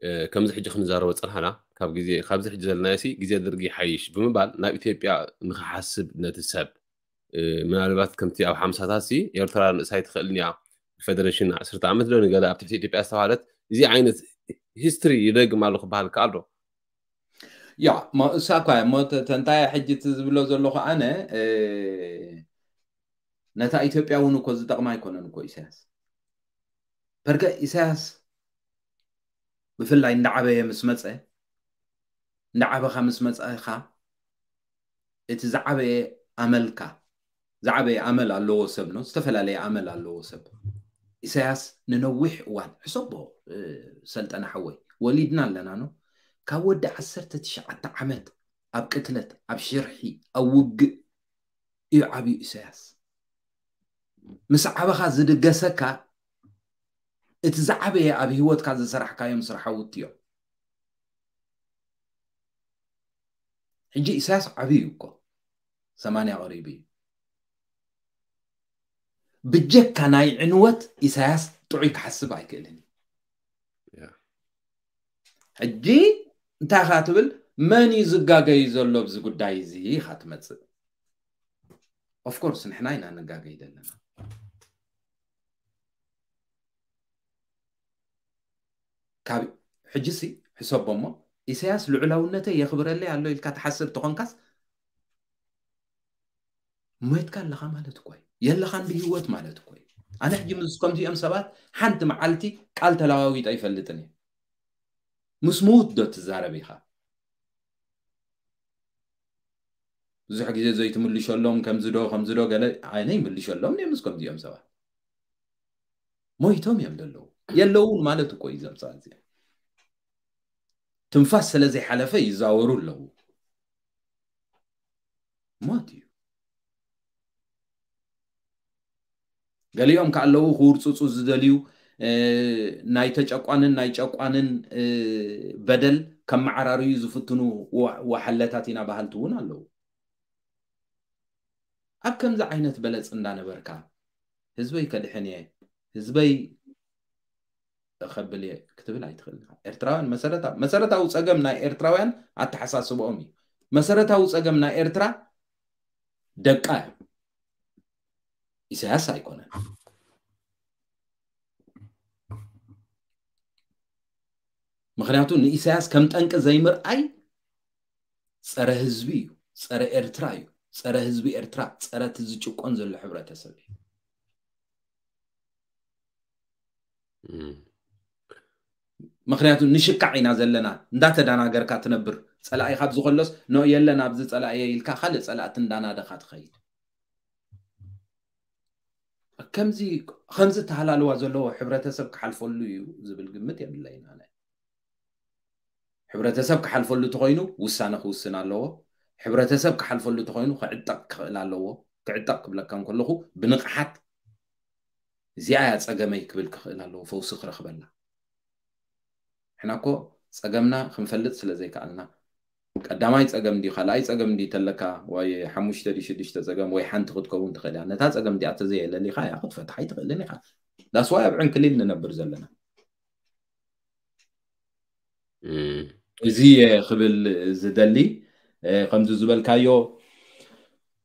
እ፣ ከምዚ ሕጂ ክንዛረቦ ፀንሓና ካብ ግዜ ካብዚ ሕጂ ዘለናዮ ሲ ግዜ ደርጊ ይሓይሽ ብምባል ናብ ኢትዮጵያ ንክሓስብ ነቲ ሰብ እ፣ ምናልባት ከምቲ ኣብ ሓምሳታት ሲ ኤርትራ ንእሳ ኣይትኽእልን እያ ብፌደሬሽን ዓሰርተ ዓመት ዶ ንገለ ኣብ ትሕቲ ኢትዮጵያ ዝተባሃለት እዚ ዓይነት ሂስትሪ ይደግም ኣሎ ክበሃል ከኣል ዶ? ያ ሞ እሳ እኳ እሞ ተንታያ ሕጂ እቲ ዝብሎ ዘለኹ ኣነ እ፣ ነታ ኢትዮጵያ እውን እኮ ዝጠቕማ ኣይኮነን እኮ ኢሳያስ በርከ ኢሳያስ ብፍላይ እንዳዓበየ ምስ መፀ እንዳዓበኻ ምስ መፀኻ እቲ ዝዓበየ ኣመልካ ዝዓበየ ኣመል ኣለዎ ሰብ ነው ዝተፈላለየ ኣመል ኣለዎ ሰብ ኢሳያስ ንነዊሕ እዋን ሕሰቦ ሰልጠነ ሓወይ ወሊድና ኣለና ነው ካብ ወዲ ዓሰርተ ትሽዓተ ዓመት ኣብ ቅትለት ኣብ ሽርሒ ኣብ ውግእ እዩ ዓብዩ ኢሳያስ ምስ ዓበኻ ዝድገሰካ እቲ ዝዓበየ ኣብ ህይወትካ ዝሰራሕካዮም ስራሓውቲ እዮም ሕጂ ኢሳያስ ዓብዩ እዩ እኮ ሰማንያ ቀሪቡ እዩ ብጀካ ናይ ዕንወት ኢሳያስ ጥዑይ ክሓስብ ኣይክእልን እዩ ሕጂ እንታይ ኻ ትብል መን እዩ ዝጋገዩ ዘሎ ኣብዚ ጉዳይ እዚ ኢኻ ትመፅእ ኦፍኮርስ ንሕና ኢና ንጋገይ ዘለና ካብ ሕጂሲ ሕሰቦ እሞ ኢሳያስ ልዑላውነተይ የኽብረለይ ኣሎ ኢልካ ትሓስብ ተኾንካስ ሞይትካ ኣለኻ ማለት እኮ የለኻን ብህይወት ማለት እኮ ኣነ ሕጂ ምስ ከምዚኦም ሰባት ሓንቲ መዓልቲ ቃል ተለዋዊጠ ኣይፈልጥን እየ ምስ ምዉት ዶ ትዛረብ ኢኻ ብዙሕ ግዜ ዘይትምልሸሎም ከምዚ ዶ ከምዚ ዶ ገለ ኣነ ይምልሸሎም እየ ምስ ከምዚኦም ሰባት ሞይቶም እዮም ዘለዉ የለውን ማለት እኮ እዩ ዘምፃ እዚኦም ትንፋስ ስለ ዘይሓለፈ ይዛወሩ ኣለዉ ሞት እዩ ገሊኦም ከ ኣለዉ ክውርፅፁ ዝደልዩ ናይ ተጨቋንን ናይ ጨቋንን በደል ከመዓራርዩ ዝፍትኑ ዋሓለታት ኢና በሃልቲ እውን ኣለዉ ኣብ ከምዚ ዓይነት በለፅ እንዳነበርካ ህዝበይ ከድሕን እየ ህዝበይ ከብል እየ ክትብል ኣይትኽእል ኤርትራውያን መሰረታዊ ጸገም ናይ ኤርትራውያን ኣተሓሳስበኦም እዩ መሰረታዊ ጸገም ናይ ኤርትራ ደቃ እዮም ኢሳያስ ኣይኮነን ምክንያቱ ንኢሳያስ ከም ጠንቂ ዘይምርኣይ ጸረ ህዝቢ እዩ ጸረ ኤርትራ እዩ ጸረ ህዝቢ ኤርትራ ጸረ እቲ ዝጭቆን ዘሎ ሕብረተሰብ እዩ ምክንያቱ ንሽካዕ ኢና ዘለና እንዳተዳናገርካ ትነብር ጸላኢ ካብ ዝኸሎስ ኖ የለን ኣብዚ ጸላኢ ኢልካ ካልእ ጸላእቲ እንዳናደኻ ትኸይድ ከምዚ ከምዚ ተሃላልዋ ዘለዎ ሕብረተሰብ ክሓልፈሉ እዩ ዝብል ግምት የብለይን ኣነ ሕብረተሰብ ክሓልፈሉ ተኮይኑ ውሳነ ክውስን ኣለዎ ሕብረተሰብ ክሓልፈሉ ተኮይኑ ክዕጠቅ ክኽእል ኣለዎ ክዕጠቅ ክብለካ እንከለኹ ብንቕሓት እዚኣ እያ ጸገመይ ክብል ክኽእል ኣለዎ ፈውሲ ክረኽበላ ሕና እኮ ጸገምና ክንፈልጥ ስለ ዘይከኣልና ቀዳማይ ጸገም ድዩ ካልኣይ ጸገም ድዩ ተለካ ወይ ሓሙሽተ ድዩ ሽዱሽተ ጸገም ወይ ሓንቲ ክትከውን ትኽእል እያ ነታ ጸገም እዚኣ ተዘየለሊኻ እያ ክትፈትሓ ኣይትኽእልን ኢኻ ዳስዋይ ኣብ ዕንክሊል ንነብር ዘለና እዚ ክብል ዝደሊ ከምዚ ዝበልካዮ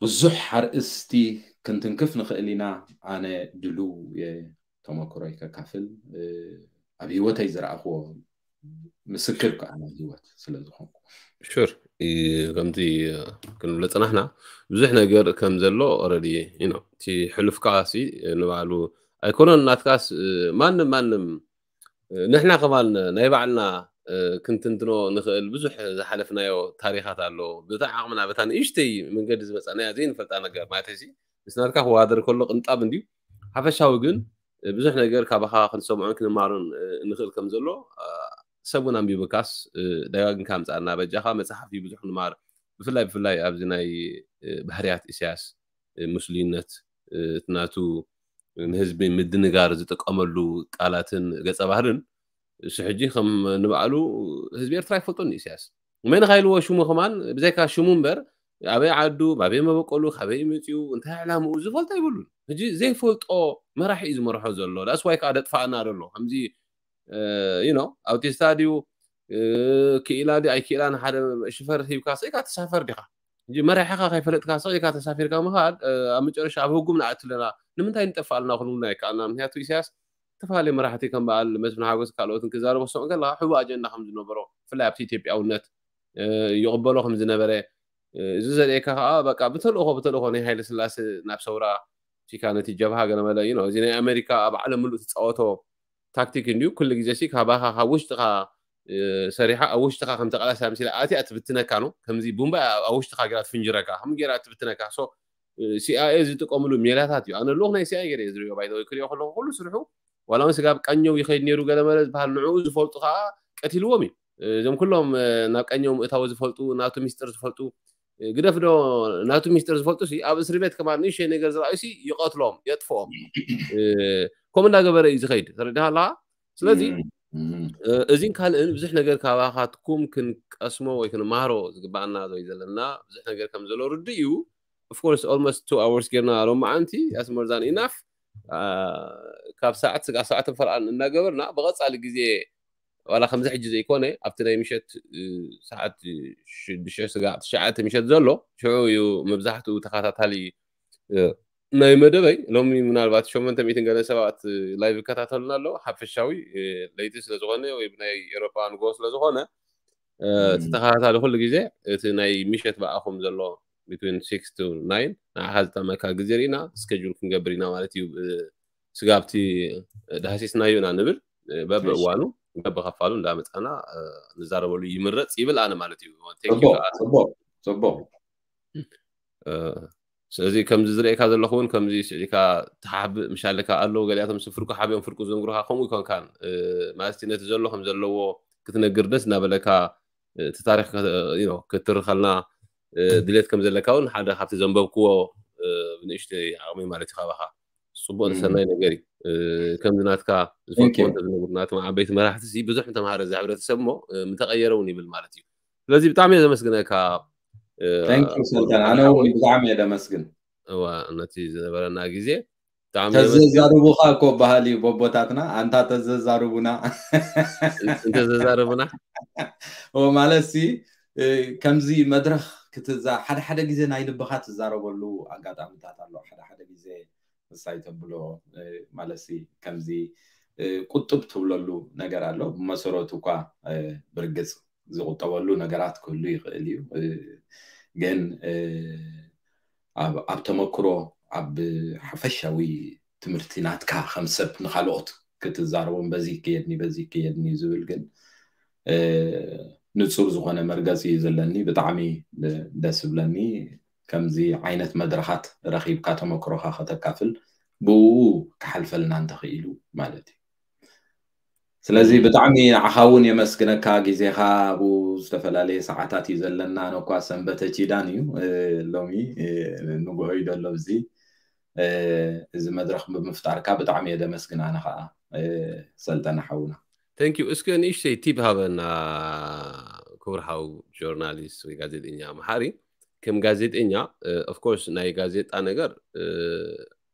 ብዙሕ ኣርእስቲ ክንትንክፍ ንኽእል ኢና ኣነ ድሉ ተመክሮይ ከካፍል ኣብ ህይወተይ ዝረኣኽዎ ምስክር ከዓ ናይ ህይወት ስለ ዝኾንኩ ሹር ከምቲ ክንብሎ ፅናሕና ብዙሕ ነገር ከም ዘሎ ረዲ እቲ ሕሉፍካ ንባዕሉ ኣይኮነን ናትካስ ማንም ማንም ንሕና ከማን ናይ ባዕልና ክንትንትኖ ንኽእል ብዙሕ ዝሓለፍናዮ ታሪኻት ኣሎ ብታ ዓቕምና በታ ንእሽተይ መንገዲ ዝመፃናያ ዘይንፈልጣ ነገር ማለት ሲ ምስ ናትካ ክዋደር ከሎ ቅንጣብ እንድዩ ሓፈሻዊ ግን ብዙሕ ነገር ካባኻ ክንሰምዖን ክንማሮን ንኽእል ከም ዘሎ ሰብ እውን ኣንቢብካስ ደጋግምካ ምፃና በጃኻ መፅሓፍ እዩ ብዙሕ ንማር ብፍላይ ብፍላይ ኣብዚ ናይ ባህርያት ኢሳያስ ሙስሊነት እቲ ናቱ ንህዝቢ ምድንጋር ዝጥቀመሉ ቃላትን ገፀ ባህርን እሱ ሕጂ ከም ንባዕሉ ህዝቢ ኤርትራ ይፈልጦ ንኢሳያስ መን ካ ኢልዎ ሽሙ ከማን ብዘይካ ሽሙ እምበር ኣበይ ዓዱ ኣበይ መበቆሉ ካበይ መፅኡ እንታይ ዕላምኡ ዝፈልጦ ኣይብሉን ሕጂ ዘይፈልጦ መራሒ እዩ ዝመርሖ ዘሎ ዳስዋይ ከዓ ደጥፋእና ደሎ ከምዚ you know ኣውቲስታ ድዩ ክኢላ ድዩ ኣይክኢላን ሓደ ሽፈር ሂብካ ስኢካ ተሳፈር ዲኻ ሕጂ መራሒኻ ከይፈለጥካ ስኢካ ተሳፊርካ ምኻድ ኣብ መጨረሻ ኣብ ህጉም ንኣትለና ንምንታይ ንጠፍእ ኣለና ክንብልና ኣይከኣልና ምክንያቱ ኢሳያስ ዝተፈላለዩ መራሕቲ ከም በዓል መስፍን ሓጎስ ካልኦትን ክዛረቡ ክሰምዑ ከለካ ሕቡእ ኣጀንዳ ከም ዝነበሮ ብፍላይ ኣብቲ ኢትዮጵያውነት ይቕበሎ ከም ዝነበረ እዚ ዘርእየካ ከዓ በቃ ብተልእኮ ብተልእኮ ናይ ሃይለ ስላሴ ናብ ሰውራ ፊካ ነቲ ጀብሃ ገለ መለ እዩ እዚ ናይ ኣሜሪካ ኣብ ዓለም ምሉእ ትፃወቶ ታክቲክ እንድዩ ኩሉ ግዜ ሲ ካባኻ ካብ ውሽጥኻ ሰሪሓ ኣብ ውሽጥካ ከም ተቃላሳይ ኣምሲላ ኣትያ ትብትነካ ነው። ከምዚ ቡምባ ኣብ ውሽጥካ ገይራ ትፍንጅረካ ከም ገይራ ትብትነካ። So ሲኣይኤ ዝጥቀምሉ ሜላታት እዩ። ኣነ ልኡኽ ናይ ሲኣይኤ ገይረ ዝሪኦ ባይዘወይ ክሪኦ ከለኩ ኩሉ ስርሑ ዋላ እውን ስጋብ ቀኘው ይኸይድ ነይሩ ገለመለ ዝበሃል ንዕኡ ዝፈልጡ ከዓ ቀቲልዎም እዩ። እዞም ኩሎም ናብ ቀኘው ምእታዊ ዝፈልጡ ናቱ ሚስጥር ዝፈልጡ ግደፍ ዶ ናቱ ሚስጥር ዝፈልጡ ሲ ኣብ እስሪ ቤት ከማን ንእሽተይ ነገር ዝረኣዩ ሲ ይቐትሎም የጥፍኦም። ከምኡ እንዳገበረ እዩ ዝኸይድ ተረዲኻ ኣለካ። ስለዚ እዚን ካልእን ብዙሕ ነገር ካባኻትኩም ክንቀስሞ ወይ ክንማሃሮ ዝግባኣና ወይ ዘለና ብዙሕ ነገር ከም ዘሎ ርዱ እዩ። Of course almost two hours ጌርና ሎማዓንቲ that's more than enough። ካብ ሰዓት ስጋዕ ሰዓት ፈርኣን እናገበርና ብቐፃሊ ግዜ ዋላ ከምዚ ሕጂ ዘይኮነ ኣብቲ ናይ ምሸት ሰዓት ሽዱሽተ ስጋዕ ትሽዓተ ምሸት ዘሎ ሽዑ እዩ መብዛሕትኡ ተኸታታሊ ናይ መደበይ። ሎሚ ምናልባት ሸሞንተ ሚእትን ገለ ሰባት ላይቭ ይከታተሉና ኣለዉ። ሓፈሻዊ ለይቲ ስለዝኾነ ወይ ብናይ ኤሮፓ ንጎ ስለዝኾነ እቲ ተኸታታሊ ኩሉ ግዜ እቲ ናይ ምሸት ብኣኹም ዘሎ between six to nine ንዓኻ ዝጠመካ ግዜ ርኢና ስኬጁል ክንገብር ኢና ማለት እዩ። ስጋብቲ ዳህሲስናዮ ኢና ንብል። በብእዋኑ በብኸፋሉ እንዳመፃና ንዛረበሉ ይምረፅ ይብል ኣነ ማለት እዩ። ጽቡቅ። ስለዚ ከምዚ ዝርእካ ዘለኹ እውን ከምዚ ስዒካ ተሓብእ ምሻለካ ኣለዉ። ገሊኣቶም ፍርቁ ሓቢኦም ፍርቁ ዝነግሩካ ከምኡ ይኮንካን ማለት ነቲ ዘሎ ከም ዘለዎ ክትነግር ደስ እናበለካ እቲ ታሪክ ክትርኸልና ድሌት ከም ዘለካ እውን ሓደ ካብቲ ዘንበብክዎ ብንእሽተይ ዓቕሚ ማለት እዩ ካባኻ። ጽቡቕ ሰናይ ነገር እዩ። ከምዚ ናትካ ዝፈልጥዎ እንተዝነግሩና እቶም ዓበይቲ መራሕቲ ብዙሕ ምተምሃረ እዚ ሕብረተሰብ እሞ ምተቐየረ እውን ይብል ማለት እዩ። ስለዚ ብጣዕሚ እየ ዘመስግነካ። ሰልጠን ኣነ እውን ብጣዕሚ እየ ደመስግን። እዋ ነቲ ዝነበረና ግዜ ተዘዛርቡኻ እኮ ባህል እዩ ቦቦታትና ኣንታ ተዘዛርቡና እንተዘዛርቡና ማለት ሲ ከምዚ መድረኽ ክትዛ ሓደ ሓደ ግዜ ናይ ልብኻ ትዛረበሉ ኣጋጣሚታት ኣሎ። ሓደ ሓደ ግዜ ምሳይ ተብሎ ማለት ሲ ከምዚ ቁጥብ ትብለሉ ነገር ኣሎ። ብመሰረቱ እኳ ብርግፅ ዝቁጠበሉ ነገራት ክህሉ ይኽእል እዩ። ግን ኣብ ተመክሮ ኣብ ሓፈሻዊ ትምህርቲ ናትካ ከም ሰብ ንካልኦት ክትዛረቦም በዚ ከየድኒ በዚ ከየድኒ ዝብል ግን ንፁር ዝኾነ መርገፂ እዩ ዘለኒ። ብጣዕሚ ደስ ዝብለኒ ከምዚ ዓይነት መድረኻት ረኺብካ ተመክሮኻ ከተካፍል ብኡ ክሓልፈልና እንተኽኢሉ ማለት እዩ። ስለዚ ብጣዕሚ ንዓኻ እውን የመስግነካ። ግዜኻ ኣብኡ ዝተፈላለየ ሰዓታት እዩ ዘለና። ኣነ እኳ ሰንበተ ኪዳን እዩ ሎሚ ንጉሆ እዩ ዘሎ። እዚ እዚ መድረኽ ብምፍጣርካ ብጣዕሚ እየ ደመስግን። ኣነ ከዓ ሰልጠነ ሓውና Thank you። እስከ ንእሽተይ ቲፕ ሃበና ክቡር ሓው ጆርናሊስት ወይ ጋዜጠኛ መሓሪ። ከም ጋዜጠኛ of course ናይ ጋዜጣ ነገር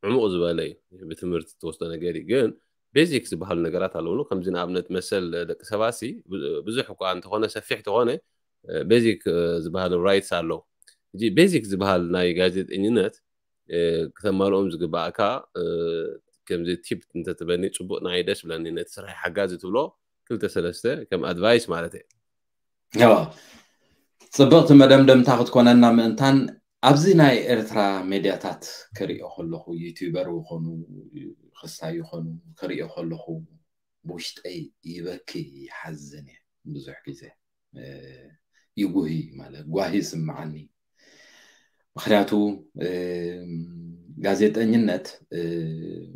ዕሙቕ ዝበለ እዩ። ብትምህርቲ ትወስዶ ነገር እዩ። ግን ቤዚክ ዝበሃሉ ነገራት ኣለውሉ። ከምዚ ንኣብነት መሰል ደቂ ሰባት ሲ ብዙሕ እኳ እንተኾነ ሰፊሕ ተኾነ ቤዚክ ዝበሃሉ ራይትስ ኣለዉ። እዚ ቤዚክ ዝበሃል ናይ ጋዜጠኝነት ክተማልኦም ዝግባእካ ከምዚ ቲፕ እንተትበኒ ፅቡቅ ናይ ደስ ብለኒ ነቲ ስራሕ ሓጋዚ ትብሎ ክልተ ሰለስተ ከም ኣድቫይስ ማለት እየ። ጽብቕቲ መደምደምታ ክትኮነና ምእንታን ኣብዚ ናይ ኤርትራ ሜድያታት ክሪኦ ከለኹ ዩቲዩበር ይኾኑ ክሳይ ይኾኑ ክሪኦ ከለኹ ብውሽጠይ ይበኪ ይሓዝን እየ ብዙሕ ግዜ ይጉሂ ማለት ጓሂ ይስምዓኒ። ምክንያቱ ጋዜጠኝነት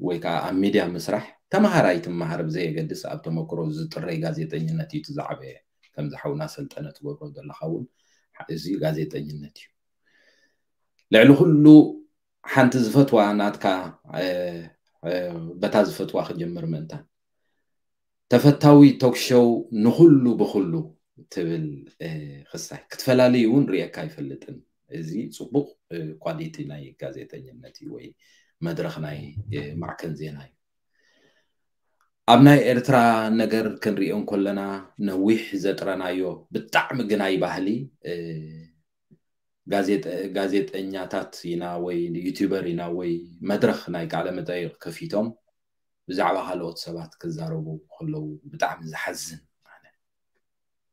ወይ ከዓ ኣብ ሚድያ ምስራሕ ተምሃራይ ትምሃር ብዘየገድስ ኣብ ተመክሮ ዝጥረይ ጋዜጠኝነት እዩ እቲ ዝዓበየ። ከምዚ ሓውና ሰልጠነ ትገብሮ ዘለካ እውን እዚ ጋዜጠኝነት እዩ። ልዕሊ ኩሉ ሓንቲ ዝፈትዋ ናትካ በታ ዝፈትዋ ክጀምር ምእንታን ተፈታዊ ቶክሾው ንኩሉ ብኩሉ ትብል ክሳይ ክትፈላልዩ እውን ሪኤካ ኣይፈልጥን። እዚ ፅቡቅ ኳሊቲ ናይ ጋዜጠኝነት እዩ ወይ መድረክ ናይ ማዕከን ዜና እዩ። ኣብ ናይ ኤርትራ ነገር ክንሪኦ እንከለና ነዊሕ ዘጥረናዮ ብጣዕሚ ግናይ ባህሊ ጋዜጠኛታት ኢና ወይ ዩቲዩበር ኢና ወይ መድረክ ናይ ቃለ መጠይቅ ከፊቶም ብዛዕባ ካልኦት ሰባት ክዛረቡ ከለዉ ብጣዕሚ ዝሓዝን።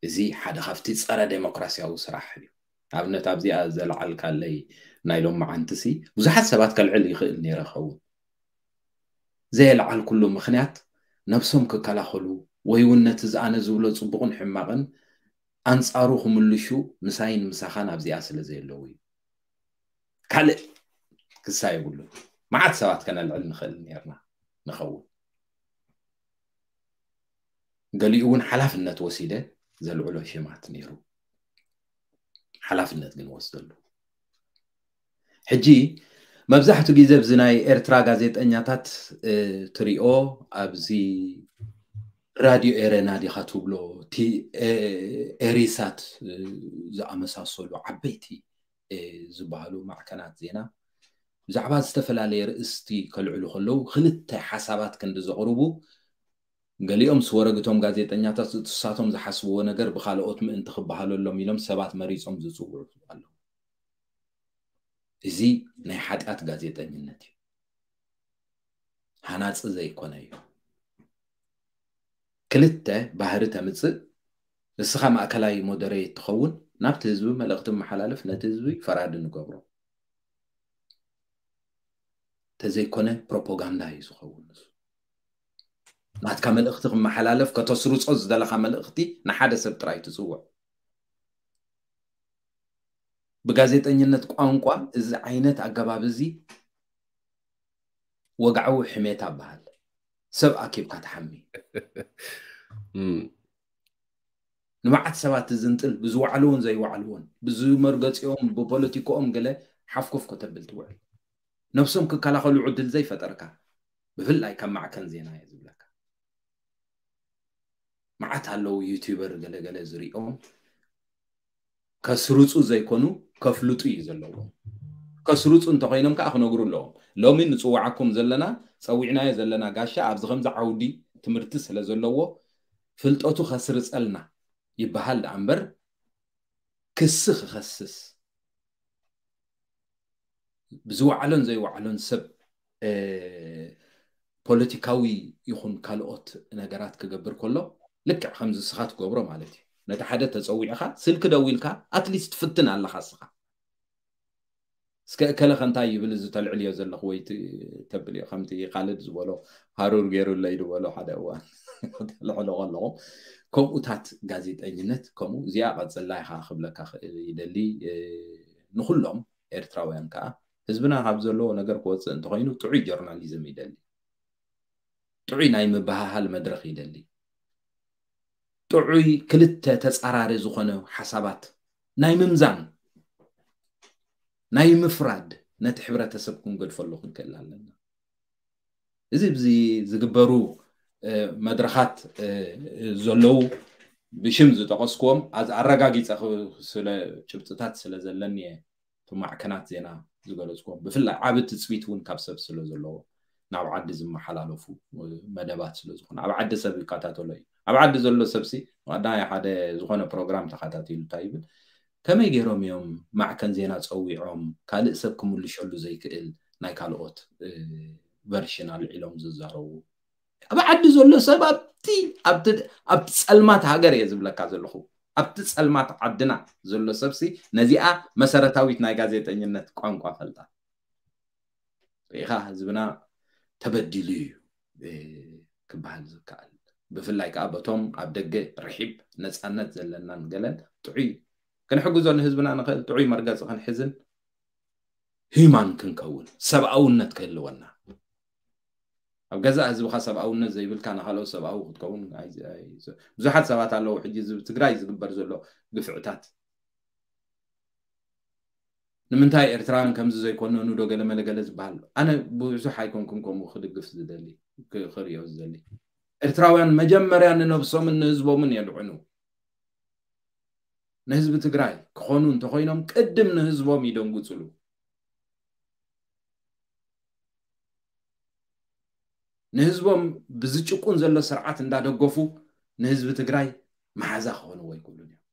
እዚ ሓደ ካብቲ ፀረ ዴሞክራሲያዊ ስራሕ እዩ። ኣብነት ኣብዚኣ ዘልዓልካለይ ናይ ሎማዓንትሲ ብዙሓት ሰባት ከልዕል ይኽእል ነይረ ኸውን። ዘየልዓልኩሉ ምኽንያት ነብሶም ክከላኸሉ ወይ እውን ነቲ ዝኣነ ዝብሎ ጽቡቕን ሕማቕን ኣንጻሩ ክምልሹ ምሳይን ምሳኻን ኣብዚኣ ስለ ዘየለዉ እዩ። ካልእ ክሳ የብሉ። መዓት ሰባት ከነልዕል ንኽእል ነርና ንኸውን። ገሊኡ እውን ሓላፍነት ወሲደ ዘልዕሎ ሽማት ነይሩ። ሓላፍነት ግን ወስደሉ። ሕጂ መብዛሕትኡ ግዜ ኣብዚ ናይ ኤርትራ ጋዜጠኛታት ትሪኦ ኣብዚ ራድዮ ኤረና ዲኻ ትብሎ፣ ኤሪሳት ዝኣመሳሰሉ ዓበይቲ ዝበሃሉ ማዕከናት ዜና ብዛዕባ ዝተፈላለየ ርእስቲ ከልዕሉ ከለዉ ክልተ ሓሳባት ክንዲ ዘቕርቡ፣ ገሊኦም ስወረግቶም ጋዜጠኛታት እሳቶም ዝሓስብዎ ነገር ብካልኦት ምእንቲ ክበሃለሎም ኢሎም ሰባት መሪጾም ዝጽውዑ ኣለዉ። እዚ ናይ ሓጢኣት ጋዜጠኝነት እዩ። ሃናጺ ዘይኮነ እዩ። ክልተ ባህሪ ተምጽእ። ንስኻ ማእከላይ ሞደሬት ትኸውን፣ ናብቲ ህዝቢ መልእኽቲ መሓላለፍ፣ ነቲ ህዝቢ ፈራዲ ንገብሮ። ተዘይኮነ ፕሮፓጋንዳ እዩ ዝኸውን። ንሱ ናትካ መልእኽቲ ክመሓላለፍ ከተስርጾ ዝደለኻ መልእኽቲ ንሓደ ሰብ ጥራይ ትጽውዕ። ብጋዜጠኝነት ቋንቋ እዚ ዓይነት ኣገባብ እዚ ወግዓዊ ሕሜታ በሃል። ሰብ ኣኪብካ ትሓሚ። ንመዓት ሰባት ዝንጥል ብዝወዓልዎን ዘይወዓልዎን ብዝመርገፂኦም ብፖለቲካኦም ገለ ሓፍኮፍ ከተብል ትውዕል። ነብሶም ክከላኸሉ ዕድል ዘይፈጠርካ፣ ብፍላይ ካብ ማዕከን ዜና እየ ዝብለካ። መዓት ኣለዉ ዩቲዩበር ገለገለ ዝሪኦም ከስርፁ ዘይኮኑ ከፍልጡ እዩ ዘለዎም። ከስርፁ እንተኮይኖም ከዓ ክነግሩ ኣለዎም። ሎሚ ንፅዋዓኩም ዘለና፣ ፀዊዕናዮ ዘለና ጋሻ ኣብዚ ከምዚ ዓውዲ ትምህርቲ ስለ ዘለዎ ፍልጠቱ ከስርፀልና ይበሃል ደኣ እምበር ክሲ ክኸስስ ብዝወዓሎን ዘይወዓሎን ሰብ ፖለቲካዊ ይኹን ካልኦት ነገራት ክገብር ከሎ ልክዕ ከምዚ ንስኻ ትገብሮ ማለት እዩ። ነቲ ሓደ ተፀዊዕኻ ስልኪ ደዊልካ ኣትሊስት ትፍትን ኣለኻ ንስኻ። እስከ እከለ ከ እንታይ ይብል እዚ ተልዕልዮ ዘለኹ ወይ ተብልዮ ከምቲ ካልድ ዝበሎ ሃሩር ገይሩለይ ዝበሎ ሓደ እዋን ተልዕሎ ከለኹም ከምኡታት ጋዜጠኝነት ከምኡ እዚኣ ቀፅላ ኢኻ ክብለካ ይደሊ። ንኩሎም ኤርትራውያን ከዓ ህዝብና ካብ ዘለዎ ነገር ክወፅእ እንተኮይኑ ጥዑይ ጆርናሊዝም ይደሊ። ጥዑይ ናይ ምብሃሃል መድረኽ ይደሊ። ጥዑይ ክልተ ተፃራሪ ዝኾነ ሓሳባት ናይ ምምዛን ናይ ምፍራድ ነቲ ሕብረተሰብ ክንገድፈሉ ክንክእል ኣለና። እዚ ብዚ ዝግበሩ መድረኻት ዘለዉ ብሽም ዝጠቐስክዎም ኣረጋጊፀ ስለ ጭብጥታት ስለ ዘለኒ እየ። እቶም ማዕከናት ዜና ዝገለፅክዎም ብፍላይ ዓቢ ትፅቢት እውን ካብ ሰብ ስለ ዘለዎ ናብ ዓዲ ዝመሓላለፉ መደባት ስለ ዝኾነ ኣብ ዓዲ ሰብ ይከታተሎ እዩ። ኣብ ዓዲ ዘሎ ሰብሲ ቀዳማይ ሓደ ዝኾነ ፕሮግራም ተኸታቲሉ እንታይ ይብል፣ ከመይ ገይሮም እዮም ማዕከን ዜና ፀዊዖም ካልእ ሰብ ክምልሸሉ ዘይክእል ናይ ካልኦት ቨርሽን ኣልዒሎም ዝዛረቡ? ኣብ ዓዲ ዘሎ ሰብ ኣብቲ ኣብቲ ኣብቲ ጸልማት ሃገር እየ ዝብለካ ዘለኹ። ኣብቲ ጸልማት ዓድና ዘሎ ሰብሲ ነዚኣ መሰረታዊት ናይ ጋዜጠኝነት ቋንቋ ፈልጣ። ርኢኻ ህዝብና ተበዲሉ እዩ ክበሃል ዝከኣል። ብፍላይ ከዓ በቶም ኣብ ደገ ርሒብ ነፃነት ዘለናን ገለን ጥዑይ እዩ። ክንሕግዞ ንህዝብና ንኽእል ጥዑይ መርገፂ ክንሕዝን ሂማን ክንከውን ሰብኣውነት ክህልወና ኣብ ገዛእ ህዝብኻ ሰብኣውነት ዘይብልካ ንኻልኦት ሰብኣዊ ክትከውን ብዙሓት ሰባት ኣለዉ። ሕጂ እዚ ትግራይ ዝግበር ዘሎ ግፍዕታት ንምንታይ ኤርትራውያን ከምዚ ዘይኮነኑ ዶ ገለ መለገለ ዝበሃል ኣነ ብዙሕ ኣይኮንኩም ከምኡ ክድግፍ ዝደሊ ክሪኦ ዝደሊ። ኤርትራውያን መጀመርያ ንነብሶምን ንህዝቦምን የድዕኑ። ንህዝቢ ትግራይ ክኾኑ እንተኾይኖም ቅድም ንህዝቦም ይደንጉፅሉ። ንህዝቦም ብዝጭቁን ዘሎ ስርዓት እንዳደገፉ ንህዝቢ ትግራይ መሓዛ ክኾንዎ ኣይክእሉን እዮም።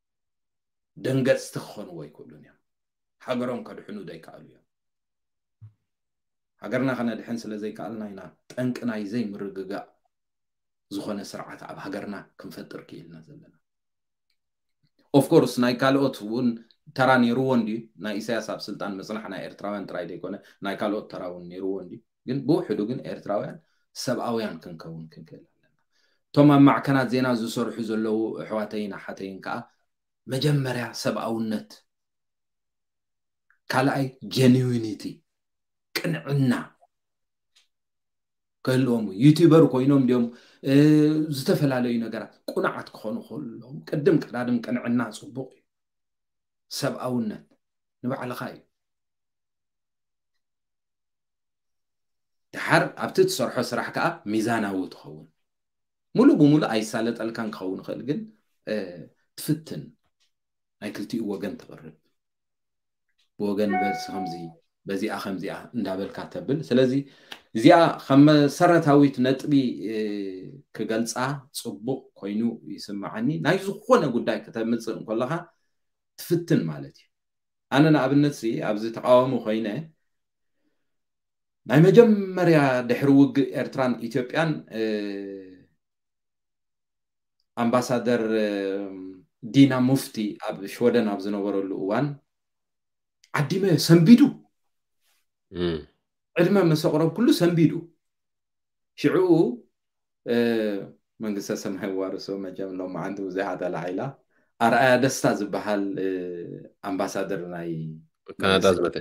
ደንገፅቲ ክኾንዎ ኣይክእሉን እዮም። ሃገሮም ከድሕኑ ዘይከኣሉ እዮም። ሃገርና ከነድሕን ስለ ዘይከኣልና ኢና ጠንቂ ናይ ዘይምርግጋእ ዝኾነ ስርዓት ኣብ ሃገርና ክንፈጥር ክኢልና ዘለና። ኦፍኮርስ ናይ ካልኦት እውን ተራ ነይርዎ እንድዩ። ናይ ኢሳያስ ኣብ ስልጣን ምፅናሕ ናይ ኤርትራውያን ጥራይ ዘይኮነ ናይ ካልኦት ተራ እውን ነይርዎ እንድዩ። ግን ብውሕዱ ግን ኤርትራውያን ሰብኣውያን ክንከውን ክንክእል ኣለና። እቶም ኣብ ማዕከናት ዜና ዝሰርሑ ዘለዉ ኣሕዋተይን ኣሓተይን ከዓ መጀመርያ ሰብኣውነት፣ ካልኣይ ጀኒዊኒቲ፣ ቅንዕና ክህልዎም እዩ። ዩቲዩበር ኮይኖም ድዮም ዝተፈላለዩ ነገራት ቁናዓት ክኾኑ ከሎም ቅድም ቀዳድም ቅንዕና ፅቡቅ እዩ። ሰብኣውነት ንባዕልኻ እዩ። ድሓር ኣብቲ ትሰርሖ ስራሕ ከዓ ሚዛናዊ ትኸውን። ሙሉእ ብሙሉእ ኣይሳለጠልካን ክኸውን ይኽእል፣ ግን ትፍትን ናይ ክልቲኡ ወገን ትቕርብ። ብወገን በዚ ከምዚ በዚኣ ከምዚኣ እንዳበልካ ተብል። ስለዚ እዚኣ ከም መሰረታዊት ነጥቢ ክገልፃ ፅቡቕ ኮይኑ ይስምዓኒ። ናይ ዝኾነ ጉዳይ ክተምፅእ እንከለኻ ትፍትን ማለት እዩ። ኣነ ንኣብነት ሲ ኣብዚ ተቃዋሚ ኮይነ ናይ መጀመርያ ድሕሪ ውግእ ኤርትራን ኢትዮጵያን ኣምባሳደር ዲና ሙፍቲ ኣብ ሽወደን ኣብ ዝነበረሉ እዋን ዓዲመ ሰንቢዱ፣ ዕድመ መሰቕረብ ኩሉ ሰንቢዱ። ሽዕኡ መንግስተ ሰማይ ዋርሶ መቸም ሎማዓንቲ ብዙሓት ኣላዒላ ኣርኣያ ደስታ ዝበሃል ኣምባሳደር ናይ ካናዳ ዝመተ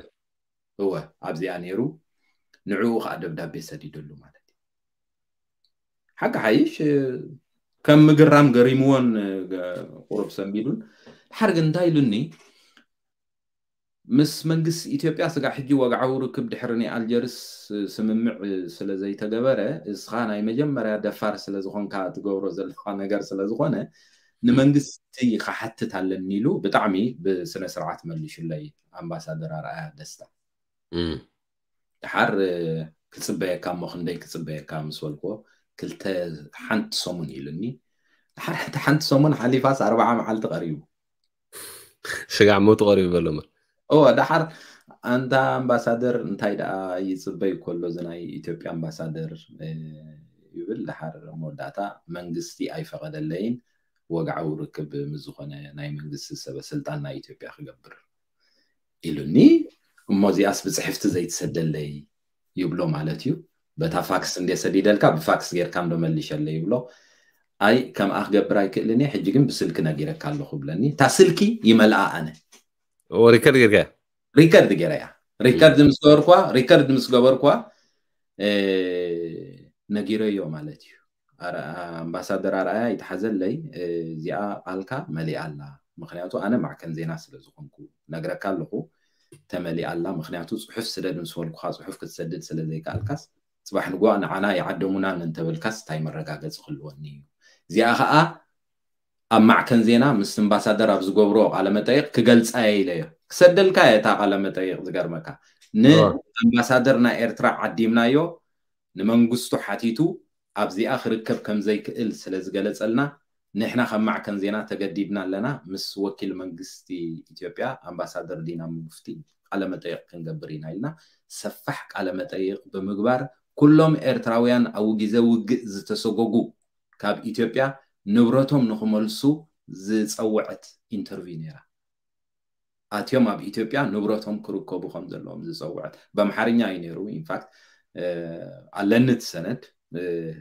እወ ኣብዚኣ ነይሩ። ንዕኡ ከዓ ደብዳቤ ሰዲደሉ ማለት እዩ። ሓቂ ሓይሽ ከም ምግራም ገሪምዎን ቁሩብ ሰንቢዱን። ድሓር ግን እንታይ ኢሉኒ፣ ምስ መንግስቲ ኢትዮጵያ ስጋዕ ሕጂ ወግዓዊ ርክብ ድሕሪ ናይ ኣልጀርስ ስምምዕ ስለ ዘይተገበረ፣ እስኻ ናይ መጀመርያ ደፋር ስለ ዝኾንካ ትገብሮ ዘለኻ ነገር ስለ ዝኾነ ንመንግስቲ ክሓትት ኣለኒ ኢሉ ብጣዕሚ ብስነ ስርዓት መሊሹለይ ኣምባሳደር ኣርኣያ ደስታ። ድሓር ክፅበየካ እሞ ክንደይ ክፅበየካ ምስ በልክዎ ክልተ ሓንቲ ሰሙን ኢሉኒ። ድሓር እቲ ሓንቲ ሰሙን ሓሊፋስ ኣርባዓ መዓልቲ ቀሪቡ ስጋዕ ሞቱ ቀሪቡ በሎ እምበር እወ ድሓር ኣንታ ኣምባሳደር እንታይ ደኣ ይፅበይ ከሎ እዚ ናይ ኢትዮጵያ ኣምባሳደር ይብል። ድሓር መወዳእታ መንግስቲ ኣይፈቐደለይን ወግዓዊ ርክብ ምስ ዝኾነ ናይ መንግስቲ ሰበ ስልጣን ናይ ኢትዮጵያ ክገብር ኢሉኒ። እሞ እዚኣስ ብፅሕፍቲ ዘይትሰደለይ ይብሎ ማለት እዩ። በታ ፋክስ እንደ ሰዲደልካ ብፋክስ ጌርካ እንዶ መሊሸለይ ይብሎ። ኣይ ከምኣ ክገብር ኣይክእልን እየ፣ ሕጂ ግን ብስልኪ ነጊረካ ኣለኹ ብለኒ። እታ ስልኪ ይመልኣ ኣነ ሪከርድ ጌርካ ሪከርድ ጌረያ ሪከርድ ምስ ገበርኳ ሪከርድ ምስ ገበርኳ ነጊረዮ ማለት እዩ። ኣምባሳደር ኣርኣያ ይትሓዘለይ፣ እዚኣ ቃልካ መሊኣ ኣላ። ምክንያቱ ኣነ ማዕከን ዜና ስለ ዝኾንኩ ነግረካ ኣለኹ፣ ተመሊኣ ኣላ። ምክንያቱ ፅሑፍ ስደድ ምስ በልኩካ ፅሑፍ ክትሰድድ ስለ ዘይከኣልካስ ፅባሕ ንግሆ ንዓና ይዓደሙናን እንተበልካስ እንታይ መረጋገፂ ክህልወኒ እዩ? እዚኣ ከዓ ኣብ ማዕከን ዜና ምስ ኣምባሳደር ኣብ ዝገብርዎ ቃለመጠይቕ ክገልፃ እየ ኢለዮ። ክሰደልካ እየ እታ ቃለመጠይቕ። ዝገርመካ ንኣምባሳደር ናይ ኤርትራ ዓዲምናዮ ንመንግስቱ ሓቲቱ ኣብዚኣ ክርከብ ከም ዘይክእል ስለ ዝገለጸልና ንሕና ከም ማዕከን ዜና ተገዲድና ኣለና ምስ ወኪል መንግስቲ ኢትዮጵያ ኣምባሳደር ዲና ሙፍቲ ቃለ መጠይቕ ክንገብር ኢና ኢልና ሰፋሕ ቃለ መጠይቕ ብምግባር ኩሎም ኤርትራውያን ኣብ ግዜ ውግእ ዝተሰጎጉ ካብ ኢትዮጵያ ንብረቶም ንክመልሱ ዝጸወዐት ኢንተርቪው ነይራ። ኣትዮም ኣብ ኢትዮጵያ ንብረቶም ክርከቡ ከም ዘለዎም ዝፀውዐት በምሓርኛ እዩ ነይሩ። ኢንፋክት ኣለኒ እቲ ሰነድ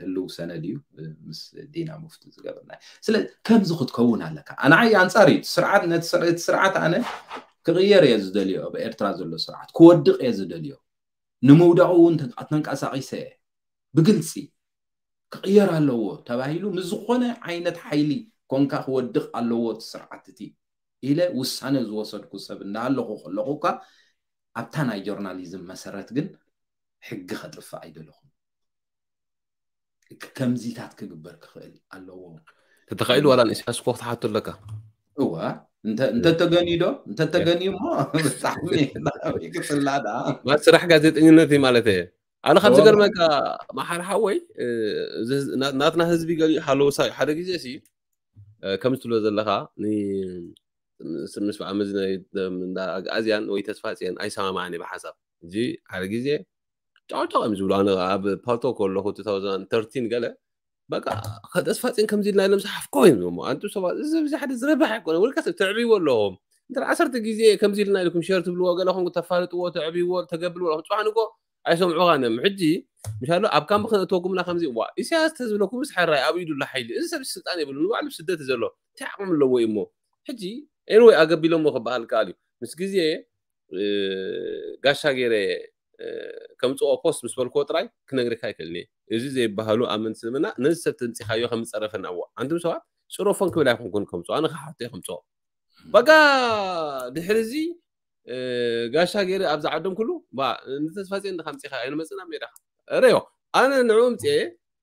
ህልው ሰነድ እዩ ምስ ዲና ሙፍቲ ዝገበርና። ስለ ከምዚ ክትከውን ኣለካ። ኣንዓይ ኣንፃር እዩ ስርዓት ነቲ ስርዓት ኣነ ክቕየር እየ ዝደልዮ። ኣብ ኤርትራ ዘሎ ስርዓት ክወድቕ እየ ዝደልዮ። ንምውዳቑ እውን ተንቀሳቒሰ እየ ብግልፂ ክቕየር ኣለዎ ተባሂሉ ምስ ዝኾነ ዓይነት ሓይሊ ኮንካ ክወድቕ ኣለዎ እቲ ስርዓት እቲ ኢለ ውሳነ ዝወሰድኩ ሰብ እንዳሃለኹ ከለኹ እኳ ኣብታ ናይ ጆርናሊዝም መሰረት ግን ሕጊ ከጥፍእ ኣይደለኹን። ከምዚታት ክግበር ክኽእል ኣለዎ። ተተኻኢሉ ዋላ ንኢሳያስ እኮ ክትሓቶ ኣለካ። እዋ እንተተገንዩ ዶ እንተተገንዩ እሞ ብጣዕሚ ክፅላእ ደኣ ማለት ስራሕ ጋዜጠኝነት እዩ ማለት እየ። ኣነ ካብ ዝገርመካ መሓር ሓወይ ናትና ህዝቢ ገሊኡ ሃለውሳ ሓደ ግዜ ሲ ከም ትብሎ ዘለካ ምስ ብዓመዚ ኣግኣዝያን ወይ ተስፋፅየን ኣይሰማማዕን ብሓሳብ እዚ ሓደ ግዜ ጫውጫው እዮም ዝብሉ። ኣነ ኣብ ፓልቶ ከለኹ two thousand thirteen ገለ በቃ ከተስፋፅን ከምዚ ኢልና ኢሎም ዝሓፍኮ እዮም ዝሞ ኣንቱ ሰባት እዚ ብዚ ሓደ ዝረብሕ ኣይኮነ ውልቀ ሰብ ተዕብይዎ ኣለዎም እንተ ዓሰርተ ግዜ ከምዚ ኢልና ኢልኩም ሸር ትብልዎ ገለ ኹም ተፋልጥዎ ተዕብይዎ ተገብልዎ ኣለኹም ፅባሕ ንጎ ኣይሰምዑኻን እዮም። ሕጂ ምሻሎ ኣብ ካምፕ ክነእትወኩምና ከምዚ ዋ ኢሳያስ ተዝብለኩምስ ሕራይ ኣብ ኢዱ ኣሎ ሓይሊ። እዚ ሰብ ስልጣን የብሉ፣ ንባዕሉ ስደት ዘሎ እንታይ ዓቕሚ ኣለዎ እዩ እሞ። ሕጂ anyway ኣገቢሎሞ ክበሃል ከኣል እዩ። ምስ ግዜ እ፣ ጋሻ ገይረ እ፣ ከምፅኦ ፖስት ምስ በልክዎ ጥራይ ክነግርካ ኣይክእልን እየ። እዚ ዘይበሃሉ ኣመንቲ እስልምና ነዚ ሰብ ተምፂኻዮ ከም ዝፀረፈና እዋ ኣንቱም ሰባት ፅረፎን ክብል ኣይኮንኩን ከምፅኦ ኣነ ክሓቶ እየ ከምፅኦ በጋ ድሕሪ እዚ እ፣ ጋሻ ገይረ ኣብዛ ዓዶም ኩሉ ባ ንተስፋፅዮን እንድኻ ምፂኻ ኣይንመፅና ሜዳኻ ረዮ ኣነ ንዕኡ ምፅኤ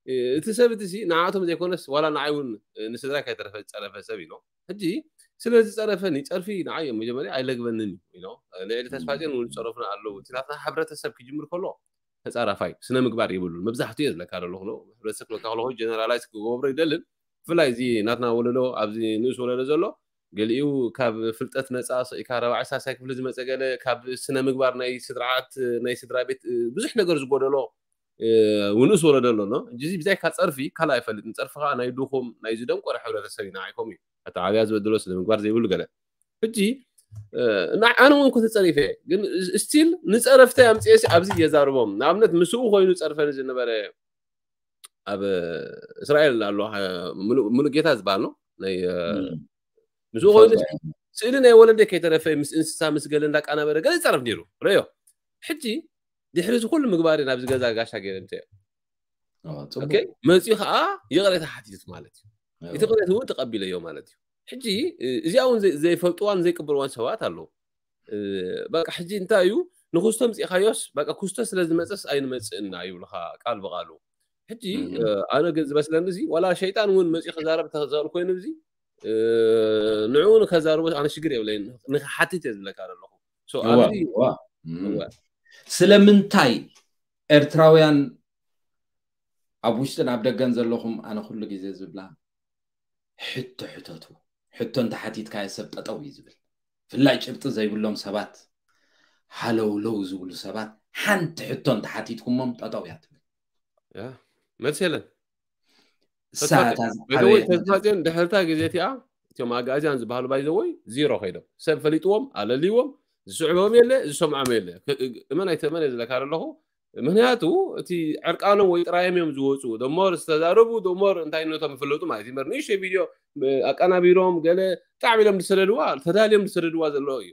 እ፣ እቲ ሰብ እቲ ሲ ንዓቶም ዘይኮነስ ዋላ ንዓይ እውን እ፣ ንስድራ ከይተረፈ ዝፀረፈ ሰብ እዩ ሕጂ ስለ ዝፀረፈኒ ፀርፊ ንዓይ እዮም መጀመርያ ኣይለግበንን እዩ ልዕሊ ተስፋፅዮን እውን ዝፀረፉና ኣለዉ እቲ ናትና ሕብረተሰብ ክጅምር ከሎ ተፃራፋይ ስነ ምግባር የብሉን መብዛሕትኡ እየ ዝለካ ዘለኹ ሕብረተሰብ ክለካ ከለኹ ጀነራላይዝ ክገብሮ ይደልን ብፍላይ እዚ ናትና ወለዶ ኣብዚ ንእስ ወለዶ ዘሎ ገሊኡ ካብ ፍልጠት ነፃ ስኢካ ረባዒ ሳልሳይ ክፍሊ ዝመፀ ገለ ካብ ስነ ምግባር ናይ ስድርዓት ናይ ስድራ ቤት እ፣ ብዙሕ ነገር ዝጎደሎ እ፣ ንእስ ወለዶ ኣሎ ኖ? ሕጂ እዚ ብዛይካ ፀርፊ ካልእ ኣይፈልጥን ፀርፊ ከዓ ናይ ድኹም ናይ ዝደንቆረ ሕብረተሰብ ኢና ኣይኮም እዩ ኣተዓብያ ዝበድሎ ስነ ምግባር ዘይብሉ ገለ ሕጂ እ፣ እና ኣነ እውን ኮ ተፀሪፈ እየ። ግን ስቲል ንፀረፍተይ ኣምፅኤ ሲ ኣብዚ የዛርቦም ንኣብነት ምስኡ ኮይኑ ፀርፈኒ ዝነበረ ኣብ እስራኤል ኣሎ እ፣ ሙሉ- ሙሉጌታ ዝበሃል ነው ናይ እ፣ ምስኡ ኮይኑ ስእሊ ናይ ወለደ ከይተረፈ ምስ እንስሳ ምስ ገለ እንዳቃናበረ ገለ ይፀረፍ ነይሩ ረዮ ሕጂ ድሕሪ እዚ ኩሉ ምግባር ናብዚ ገዛ ጋሻ ገይረ ምተ ኦኬ፣ መፂኡ ከዓ ይቕሬታ ሓቲቱት ማለት እዩ። እቲ ቅሬታ እውን ተቐቢለዮ ማለት እዩ። ሕጂ እ፣ እዚኣ እውን ዘይ- ዘይፈልጥዋን ዘይቅበልዋን ሰባት ኣለዉ። እ፣ በቃ ሕጂ እንታይ እዩ ንክስቶ ምፂእካዮስ በቃ ክስቶ ስለ ዝመፀስ ኣይንመፅእና ይብሉካ ቃል ብቃሉ። ሕጂ እ፣ ኣነ ግን ዝመስለኒ እዚ ዋላ ሸይጣን እውን መፂኡ ክዛረብ ተዘል ኮይኑ እዚ እ፣ ንዕኡ ንከዛርቦ ኣነ ሽግር የብለይን ንክሓትት እየ ዝብለካ ዘለኹ። So፣ እዋ፣ ኣብዚ እዋ። እም። እዋ። ስለምንታይ ኤርትራውያን ኣብ ውሽጥን ኣብ ደገን ዘለኹም ኣነ ኩሉ ግዜ ዝብላ ሕቶ ሕተቱ ሕቶ እንተሓቲትካዮ ሰብ ጠጠው እዩ ዝብል ፍላይ ጭብጢ ዘይብሎም ሰባት ሃለውለው ዝብሉ ሰባት ሓንቲ ሕቶ እንተሓቲትኩሞም ጠጠው እያ ትብል ያ፣ መልሲ የለን። እሳ እታ ዝዓበየት ተስፋፅዮን ድሕርታ ግዜ እቲኣ እቶም ኣጋእዝያን ዝበሃሉ ባይዘወይ ዚሮ ከይዶም ሰብ ፈሊጥዎም ኣለልይዎም ዝስዕቦም የለ ዝሰምዖም የለ እመን ኣይተመን እየ ዝለካ ኣለኹ ምክንያቱ እቲ ዕርቃኖም ወይ ጥራዮም እዮም ዝወፁ ደሞር ዝተዛረቡ ደሞር እንታይ ነቶም ይፍለጡ ማለት እዩ ንእሽተይ ቪድዮ ኣቀናቢሮም ገለ ጣዕሚ ኢሎም ዝሰደድዋ ተዳልዮም ዝሰደድዋ ዘለዎ እዩ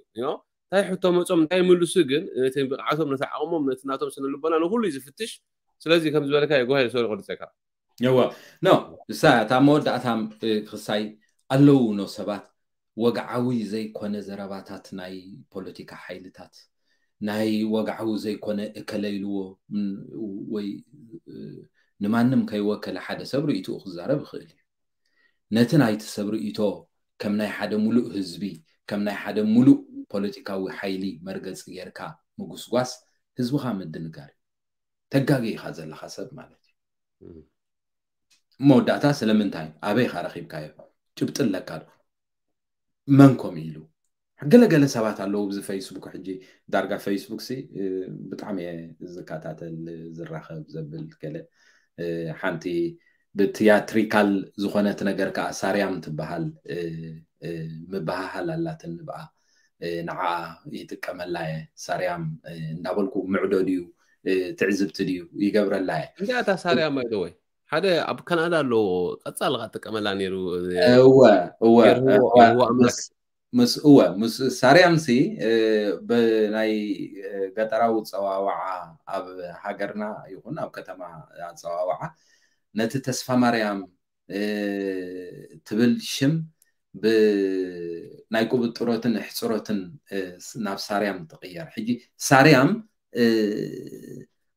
እንታይ ሕቶ መፆም እንታይ ምልሱ ግን ነቲ ብቕዓቶም ነቲ ዓቕሞም ነቲ ናቶም ስነ ልቦና ንኩሉ እዩ ዝፍትሽ ስለዚ ከም ዝበለካ የጓሂ ሰሪ ቆርፀካ እወ ኖ እሳ እታ መወዳእታ ክሳይ ኣለዉ ኖ ሰባት ወግዓዊ ዘይኮነ ዘረባታት ናይ ፖለቲካ ሓይልታት ናይ ወግዓዊ ዘይኮነ እከለ ኢልዎ ወይ ንማንም ከይወከለ ሓደ ሰብ ርእይትኡ ክዛረብ ይኽእል እዩ ነቲ ናይቲ ሰብ ርእይቶ ከም ናይ ሓደ ሙሉእ ህዝቢ ከም ናይ ሓደ ሙሉእ ፖለቲካዊ ሓይሊ መርገፂ ጌርካ ምጉስጓስ ህዝብኻ ምድንጋር እዩ ተጋጊኻ ዘለኻ ሰብ ማለት እዩ መወዳእታ ስለምንታይ ኣበይኻ ረኺብካዮ ጭብጢ ኣለካ ዶ መን ኮም ኢሉ ገለገለ ሰባት ኣለዉ ብዚ ፌስቡክ ሕጂ ዳርጋ ፌስቡክ ሲ ብጣዕሚ እየ ዝከታተል ዝራኸብ ዘብል ገለ ሓንቲ ብትያትሪካል ዝኾነት ነገር ከዓ ሳርያም ትበሃል ምበሃሃል ኣላትን ብኣ ንዓ ይጥቀመላ እየ ሳርያም እንዳበልኩ ምዕዶ ድዩ ትዕዝብቲ ድዩ ይገብረላ እየ እንታይ ኣታ ሳርያም ኣይደወይ ሓደ ኣብ ካናዳ ኣሎ ቀፃሊ ካ ትጥቀመላ ነይሩ እወ እወ ምስ እወ ምስ ሳርያም ሲ ብናይ ገጠራዊ ፀዋዋዓ ኣብ ሃገርና ይኹን ኣብ ከተማ ኣፀዋዋዓ ነቲ ተስፋ ማርያም ትብል ሽም ብናይ ቁብጥሮትን ሕፅሮትን ናብ ሳርያም ትቕየር ሕጂ ሳርያም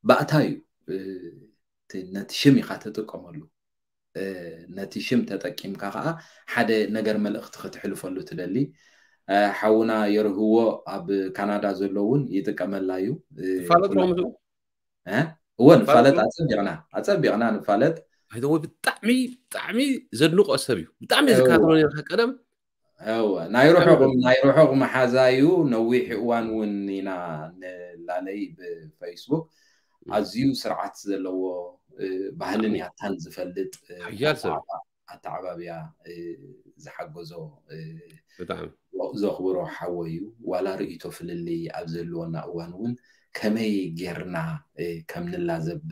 ባእታ እዩ ነቲ ሽም ኢኻ ትጥቀመሉ ነቲ ሽም ተጠቂምካ ከዓ ሓደ ነገር መልእክቲ ክትሕልፈሉ ትደሊ ሓውና የርህዎ ኣብ ካናዳ ዘሎ እውን ይጥቀመላ እዩ እወ ንፋለጥ ኣፀቢቕና ኣፀቢቕና ንፋለጥ ብጣዕሚ ብጣዕሚ ዘድንቆ ሰብ እዩ ብጣዕሚ ዝካተሎ ነርካ ቀደም ናይ ርሑቕ ናይ ርሑቕ መሓዛ እዩ ነዊሕ እዋን እውን ኢና ንላለይ ብፌስቡክ ኣዝዩ ስርዓት ዘለዎ ባህልን ያታን ዝፈልጥ ኣተዓባብያ ዝሓገዞ ዘኽብሮ ሓወይ እዩ። ዋላ ርእይቶ ፍልልይ ኣብ ዘልወና እዋን እውን ከመይ ጌርና ከም ንላዘብ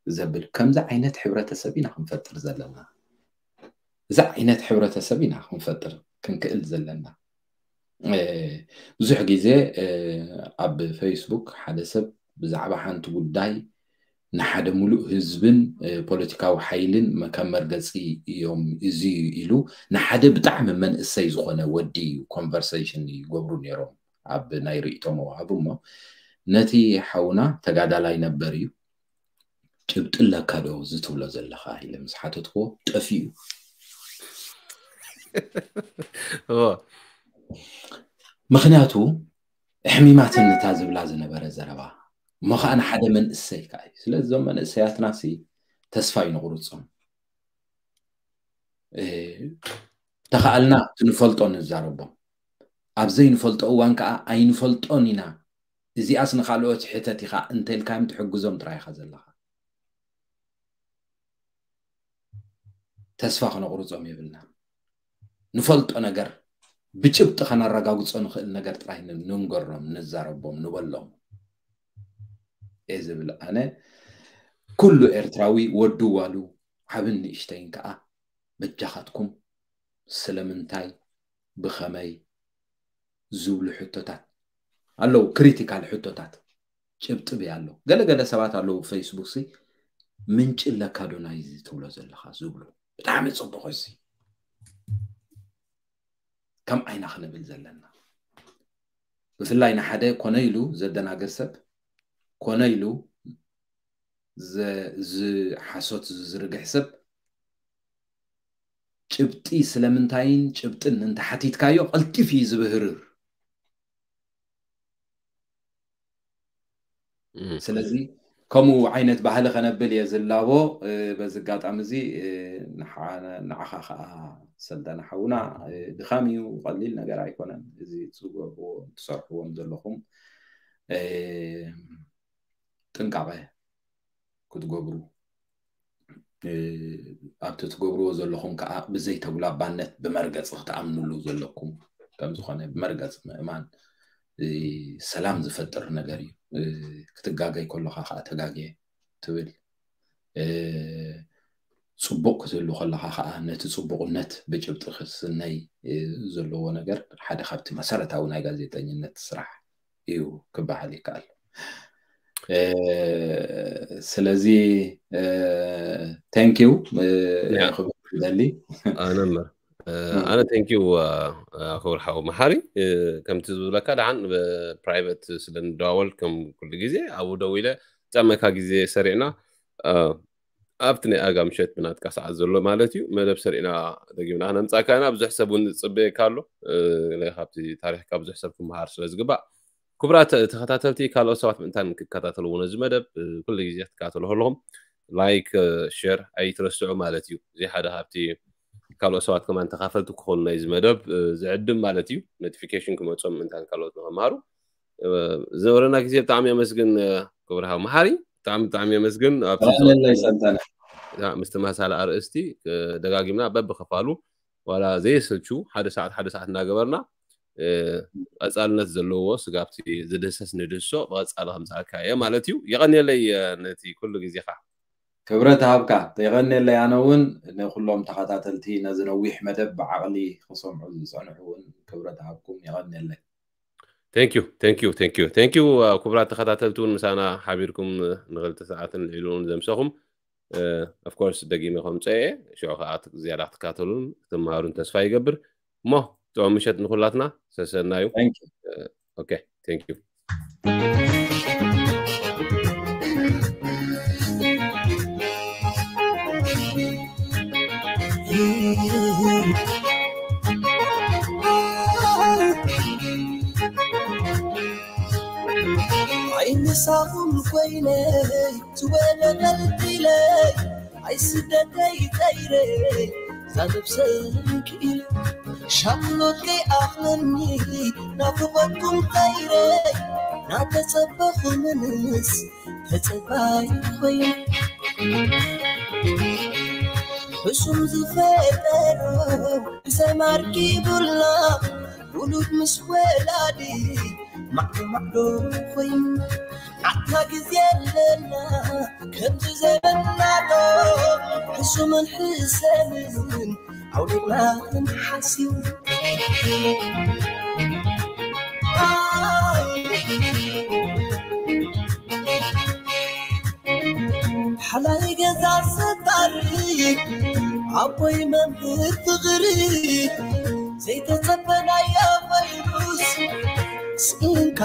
ዘብል ከምዚ ዓይነት ሕብረተሰብ ኢና ክንፈጥር ዘለና። እዚ ዓይነት ሕብረተሰብ ኢና ክንፈጥር ክንክእል ዘለና። ብዙሕ ግዜ ኣብ ፌስቡክ ሓደ ሰብ ብዛዕባ ሓንቲ ጉዳይ ንሓደ ሙሉእ ህዝብን ፖለቲካዊ ሓይልን ከም መርገፂ እዮም እዚ ኢሉ ንሓደ ብጣዕሚ መንእሰይ ዝኾነ ወዲ ኮንቨርሴሽን ይገብሩ ነይሮም ኣብ ናይ ርእይቶ መዋሃቢ። እሞ ነቲ ሓውና ተጋዳላይ ነበር እዩ። ጭብጢ ኣለካ ዶ እዚ ትብሎ ዘለኻ ኢለ ምስ ሓተትክዎ ጠፊኡ። ምክንያቱ ኣሕሚማትኒ እታ ዝብላ ዝነበረ ዘረባ። እሞ ከዓ ንሓደ መንእሰይ ከዓ እዩ። ስለዚ እዞም መንእሰያትና ሲ ተስፋ ይንቁርጾም። ተኸኣልና ትንፈልጦ ንዛረቦም። ኣብ ዘይንፈልጦ እዋን ከዓ ኣይንፈልጦን ኢና። እዚኣስ ንኻልኦት ሕተት ኢኻ እንተልካዮም ትሕግዞም ጥራይ ኢኻ ዘለኻ። ተስፋ ክነቑርጾም የብልና። ንፈልጦ ነገር ብጭብጢ ከነረጋግጾ ንኽእል ነገር ጥራይ ን- ንንገሮም፣ ንዛረቦም፣ ንበሎም እየ ዝብል። ኣነ ኩሉ ኤርትራዊ ወዱ ዋሉ ዓብን ንእሽተይን ከዓ በጃኻትኩም ስለምንታይ ብኸመይ ዝብሉ ሕቶታት ኣለዉ፣ ክሪቲካል ሕቶታት ጭብጢ ብያ ኣለዉ። ገለገለ ሰባት ኣለዉ ፌስቡክ ሲ ምንጪ ኣለካ ዶ ናይዚ ትብሎ ዘለኻ ዝብሉ። ብጣዕሚ ፅቡቕ እዚ ከም ዓይና ክንብል ዘለና ብፍላይ ንሓደ ኮነ ኢሉ ዘደናግር ሰብ ኮነ ኢሉ ዝሓሶት ዝዝርግሕ ሰብ ጭብጢ ስለምንታይን ጭብጥን እንተሓቲትካዮ ቀልጢፍ እዩ ዝብህርር። ስለዚ ከምኡ ዓይነት ባህሊ ከነብል እየ ዝላቦ። በዚ ኣጋጣሚ እዚ ንዓኻ ከዓ ሰልጠነ ሓውና ድኻም እዩ፣ ቀሊል ነገር ኣይኮነን። እዚ ትገብርዎ ትሰርሕዎም ዘለኹም ጥንቃቐ ክትገብሩ ኣብቲ ትገብርዎ ዘለኹም ከዓ ብዘይተጉላባነት ብመርገፂ ክትኣምንሉ ዘለኩም ከምዝኾነ ብመርገፂ ምእማን ሰላም ዝፈጥር ነገር እዩ። ክትጋገይ ከለኻ ከዓ ተጋግየ ትብል ፅቡቕ ክትህሉ ከለኻ ከዓ ነቲ ፅቡቕነት ብጭብጢ ክስነይ ዘለዎ ነገር ሓደ ካብቲ መሰረታዊ ናይ ጋዜጠኝነት ስራሕ እዩ ክበሃል ይከኣል። ስለዚ thank you ክብል ደሊ ኣነ እምበር ኣነ thank you ክቡር ሓው መሓሪ። ከምቲ ዝብለካ ደሓን ፕራይቨት ስለ ንደዋወል ከም ኩሉ ግዜ ኣብኡ ደው ኢለ ጨመካ ግዜ ሰሪዕና ኣብቲ ናይ ኣጋ ምሸት ብናትካ ሰዓት ዘሎ ማለት እዩ መደብ ሰሪዕና ደጊምና ክነምፃካ ኢና። ብዙሕ ሰብ እውን ዝፅበየካ ኣሎ። ካብቲ ታሪክካ ብዙሕ ሰብ ክመሃር ስለ ዝግባእ ክቡራት ተኸታተልቲ ካልኦት ሰባት ምእንታን ክከታተልዎ ነዚ መደብ ኩሉ ግዜ ክትከታተሉ ከለኹም ላይክ ሸር ኣይትረስዑ ማለት እዩ። እዚ ሓደ ካብቲ ካልኦት ሰባት ከማን ተኻፈልቲ ክኾኑ ናይዚ መደብ ዝዕድም ማለት እዩ። ኖቲፊኬሽን ክመፆም ምእንታን ካልኦት ንኸምሃሩ ዝነበረና ግዜ ብጣዕሚ የመስግን። ክቡር ሓው መሓሪ ብጣዕሚ ብጣዕሚ የመስግን። ኣብለይ ሰልጠነ ምስ ተመሳሳሊ ኣርእስቲ ደጋጊምና በብኸፋሉ ዋላ ዘየሰልቹ ሓደ ሰዓት ሓደ ሰዓት እናገበርና ቀፃልነት ዘለዎ ስጋብቲ ዝድህሰስ ንድህሶ ብቐፃሊ ከምዝኣካ እየ ማለት እዩ። የቐንየለይ ነቲ ኩሉ ግዜኻ። ክብረት ሃብካ። የቐንየለይ። ኣነ እውን ንኩሎም ተኸታተልቲ ነዚ ነዊሕ መደብ ብዓቕሊ ክሰምዑ ዝፀንሑ እውን ክብረት ሃብኩም። የቐንየለይ። Thank you thank you thank you thank you። ክቡራት ተኸታተልቲ እውን ምሳና ሓቢርኩም ንክልተ ሰዓትን ልዕሊ እውን ዘምሰኹም of course ደጊመ ከምፀ እየ። ሽዑ ከዓ ዝያዳ ክትከታተሉን ክትመሃሩን ተስፋ ይገብር። እሞ ጥዑም ምሸት ንኩላትና። ሰሰናዩ። Okay thank you። ኣይምሳኹም ኮይነይ ዝወለበልክለይ ኣይስደተይ ጠይረይ ዛነብሰን ክኢለ ሻቕሎት ከይኣኽለኒ ናፍቖትኩም ጠይረይ ናተጸበኹ ምንስ ተጸባይ ኮይኑ ሕሱም ዝፈጠሮ ብሰማርኪ ቡላ ውሉድ ምስ ወላዲ ማዕዶ ማዕዶ ኮይኑ፣ ኣታ ግዜ ኣለና ከምዚ ዘበናዶ ሕሱምን ሕሰምን ኣውሊቕና ክንሓስብ። ሓላይ ገዛ ስታሪ ኣቦይ መምህር ፍቕሪ ዘይተጸበናዮ ቫይሩስ ስኢንካ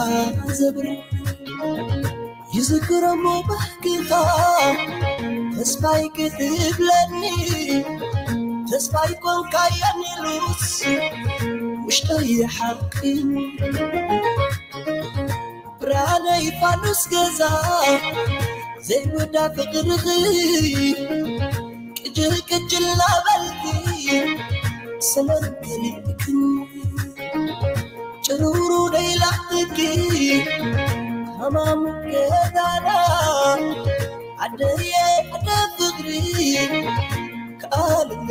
ዘብሪ ይዝክረሞ ባህግኻ ተስፋይ ክትብለኒ ተስፋይ ኮንካየኒ ሉስ ውሽጠይ ሓቂ ብርሃነይ ፋኑስ ገዛ ዘይውዳ ፍቕርኺ ቅጅል ቅጅል ናበልኪ ሰላም ከሊእክኒ ጭሩሩ ደይላኽኪ ሃማሙ ገዛና ዓደየ ዓደ ፍቕሪ ከኣልለ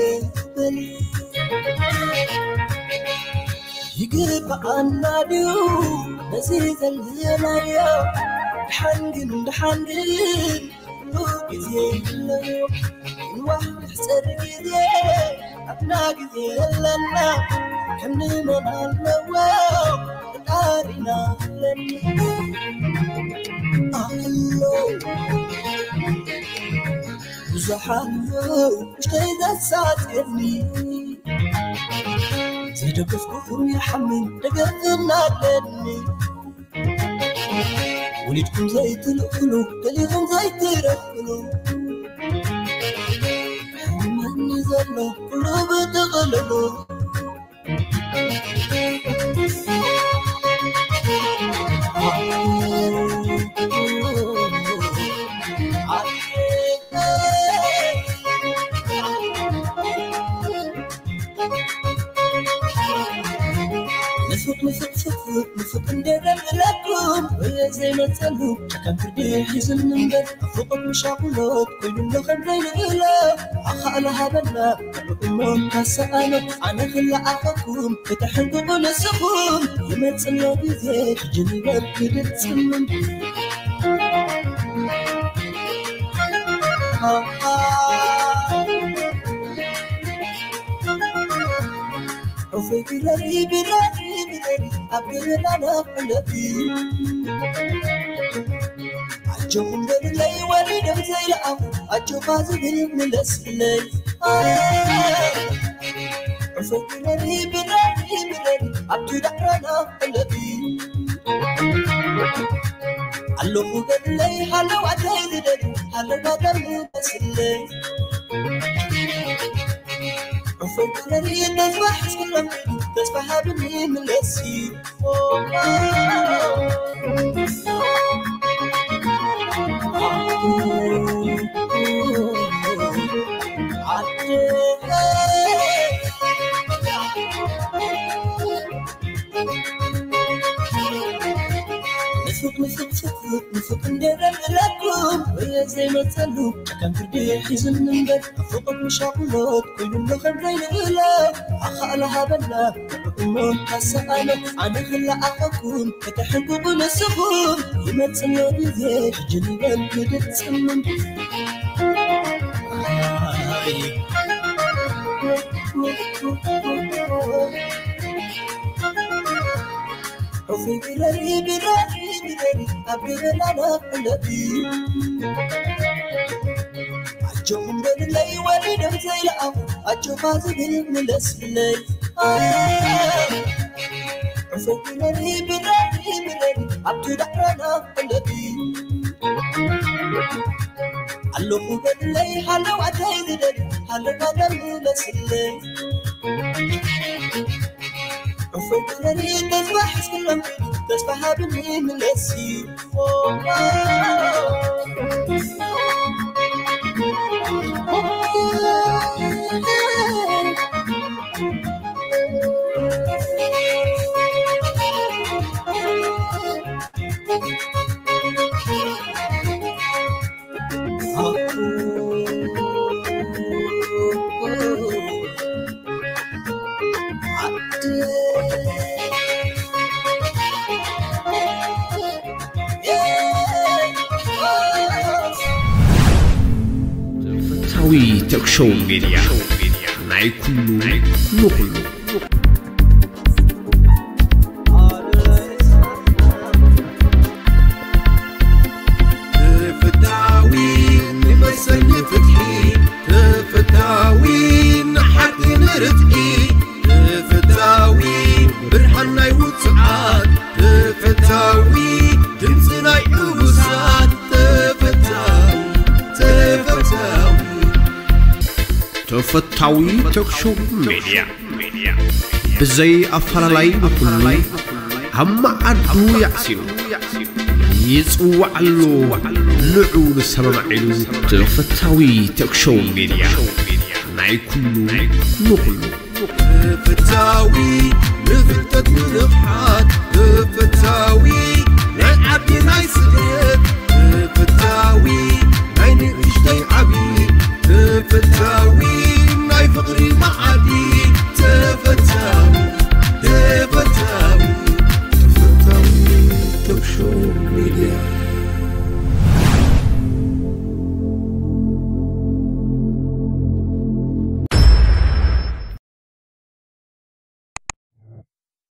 በሊ ይግባኣና ድዩ ነዚ ዘለናዮ ድሓን ግን ድሓን ግን ግዜ ኣለዎ ንዋሕ ንሕፀር ግዜ ኣብና ግዜ ኣለና ከምንመን ኣለዎ ፈጣሪና ኣለና ኣሎ ብዙሕ ኣሎ ውሽተይ ዘሳፅየኒ ዘይደገፍኩኹም ይሓምን ደገፍና ኣለኒ ወሊድኩም ዘይትልእኽሉ ገሊኹም ዘይትረኽሉ ሕመኒ ዘሎ ኩሉ ብጥቕልሉ ንፍቕ ንፍቕ ፍቕ ንፍቕ እንደ ደምለኩም ወየ ዘይመጸሉ ከም ፍርዲ ሒዝን እምበር ፍቕር ምሻቑሎት ኮይኑሎ ከም ዘይንእሎ ኣኻእሎ ሃበና እሞ ካሰኣሎ ኣነ ክለኣኸኩም ከተሕንቅቑ ንስኹም ይመጽሎ ግዜ ሕጂ ንበር ክድጽምን ዑፈይ ግረሪ ግረሪ ግረሪ ኣብ ገበናና ዕለቲ ኣጆኹም በሉለይ ወሪዶም ዘይለኣኹ ኣጆኻ ዝብል ምለስለይ ዑፈይ ግረሪ ግረሪ ግረሪ ኣብቲ ዳዕራና ዕለቲ ኣለኹ በሉለይ ሃለዋተይ ዝደሊ ሃለዋተይ ምለስለይ ዕፎይ ክረሪ ተስፋ ሕስክሎም ተስፋ ሃብኒ ምለሲ ንፍቕ ንፍቕ ፍቕፍቕ ንፍቕ እንዴ ደልለኩም ወየ ዘይመጸሉ ከም ፍርዲ ሒዝን እምበር ፍቕት ምሻቕሎት ኮይኑሎ ከም ዘይንእሎ ኣኻእሎ ሃበና እሞ ካሰኣሎ ኣነ ክለኣኸኩም ከተሕንቅቑ ንስኹም ይመጽሎ ግዜ ሕጂ ንበል ክድጽምን ሑፊ ግረሪ ግረሪ ግረሪ ኣብ ገበናና ዕለቲ ኣጆኹም በልለይ ወሊዶም ዘይለኣኹ ኣጆኻ ዝብል ምለስለይ ሑፊ ግረሪ ግረሪ ግረሪ ኣብቲ ዳዕራና ዕለቲ ኣለኹ በልለይ ሃለዋተይ ዝደሊ ሃለዋተይ ምለስለይ ዕፎይ ክረሪ ተስፋ ሕስክሎም ተስፋ ሃብኒ ምለሲ ተፈታዊ ቶክ ሾው ሜድያ፣ ናይ ኩሉ ንኹሉ። ተፈታዊ ንመሰል ንፍትሒ፣ ተፈታዊ ንሓቂ ንርትዒ፣ ተፈታዊ ብርሃን ናይ ውጹዓት፣ ተፈታዊ ድምጺ ናይ ዕቡሳት፣ ተፈታዊ፣ ተፈታዊ። ተፈታዊ ቶክ ሾው ሜድያ፣ ብዘይ ኣፈላላይ ንኹሉ ኣብ መዓዱ የዕሲሉ፣ ይጽዋዕ ኣሎ ንዑ ንሰማማዕ ኢሉ። ተፈታዊ ቶክ ሾው ሜድያ፣ ናይ ኩሉ ንኹሉ። ተፈታዊ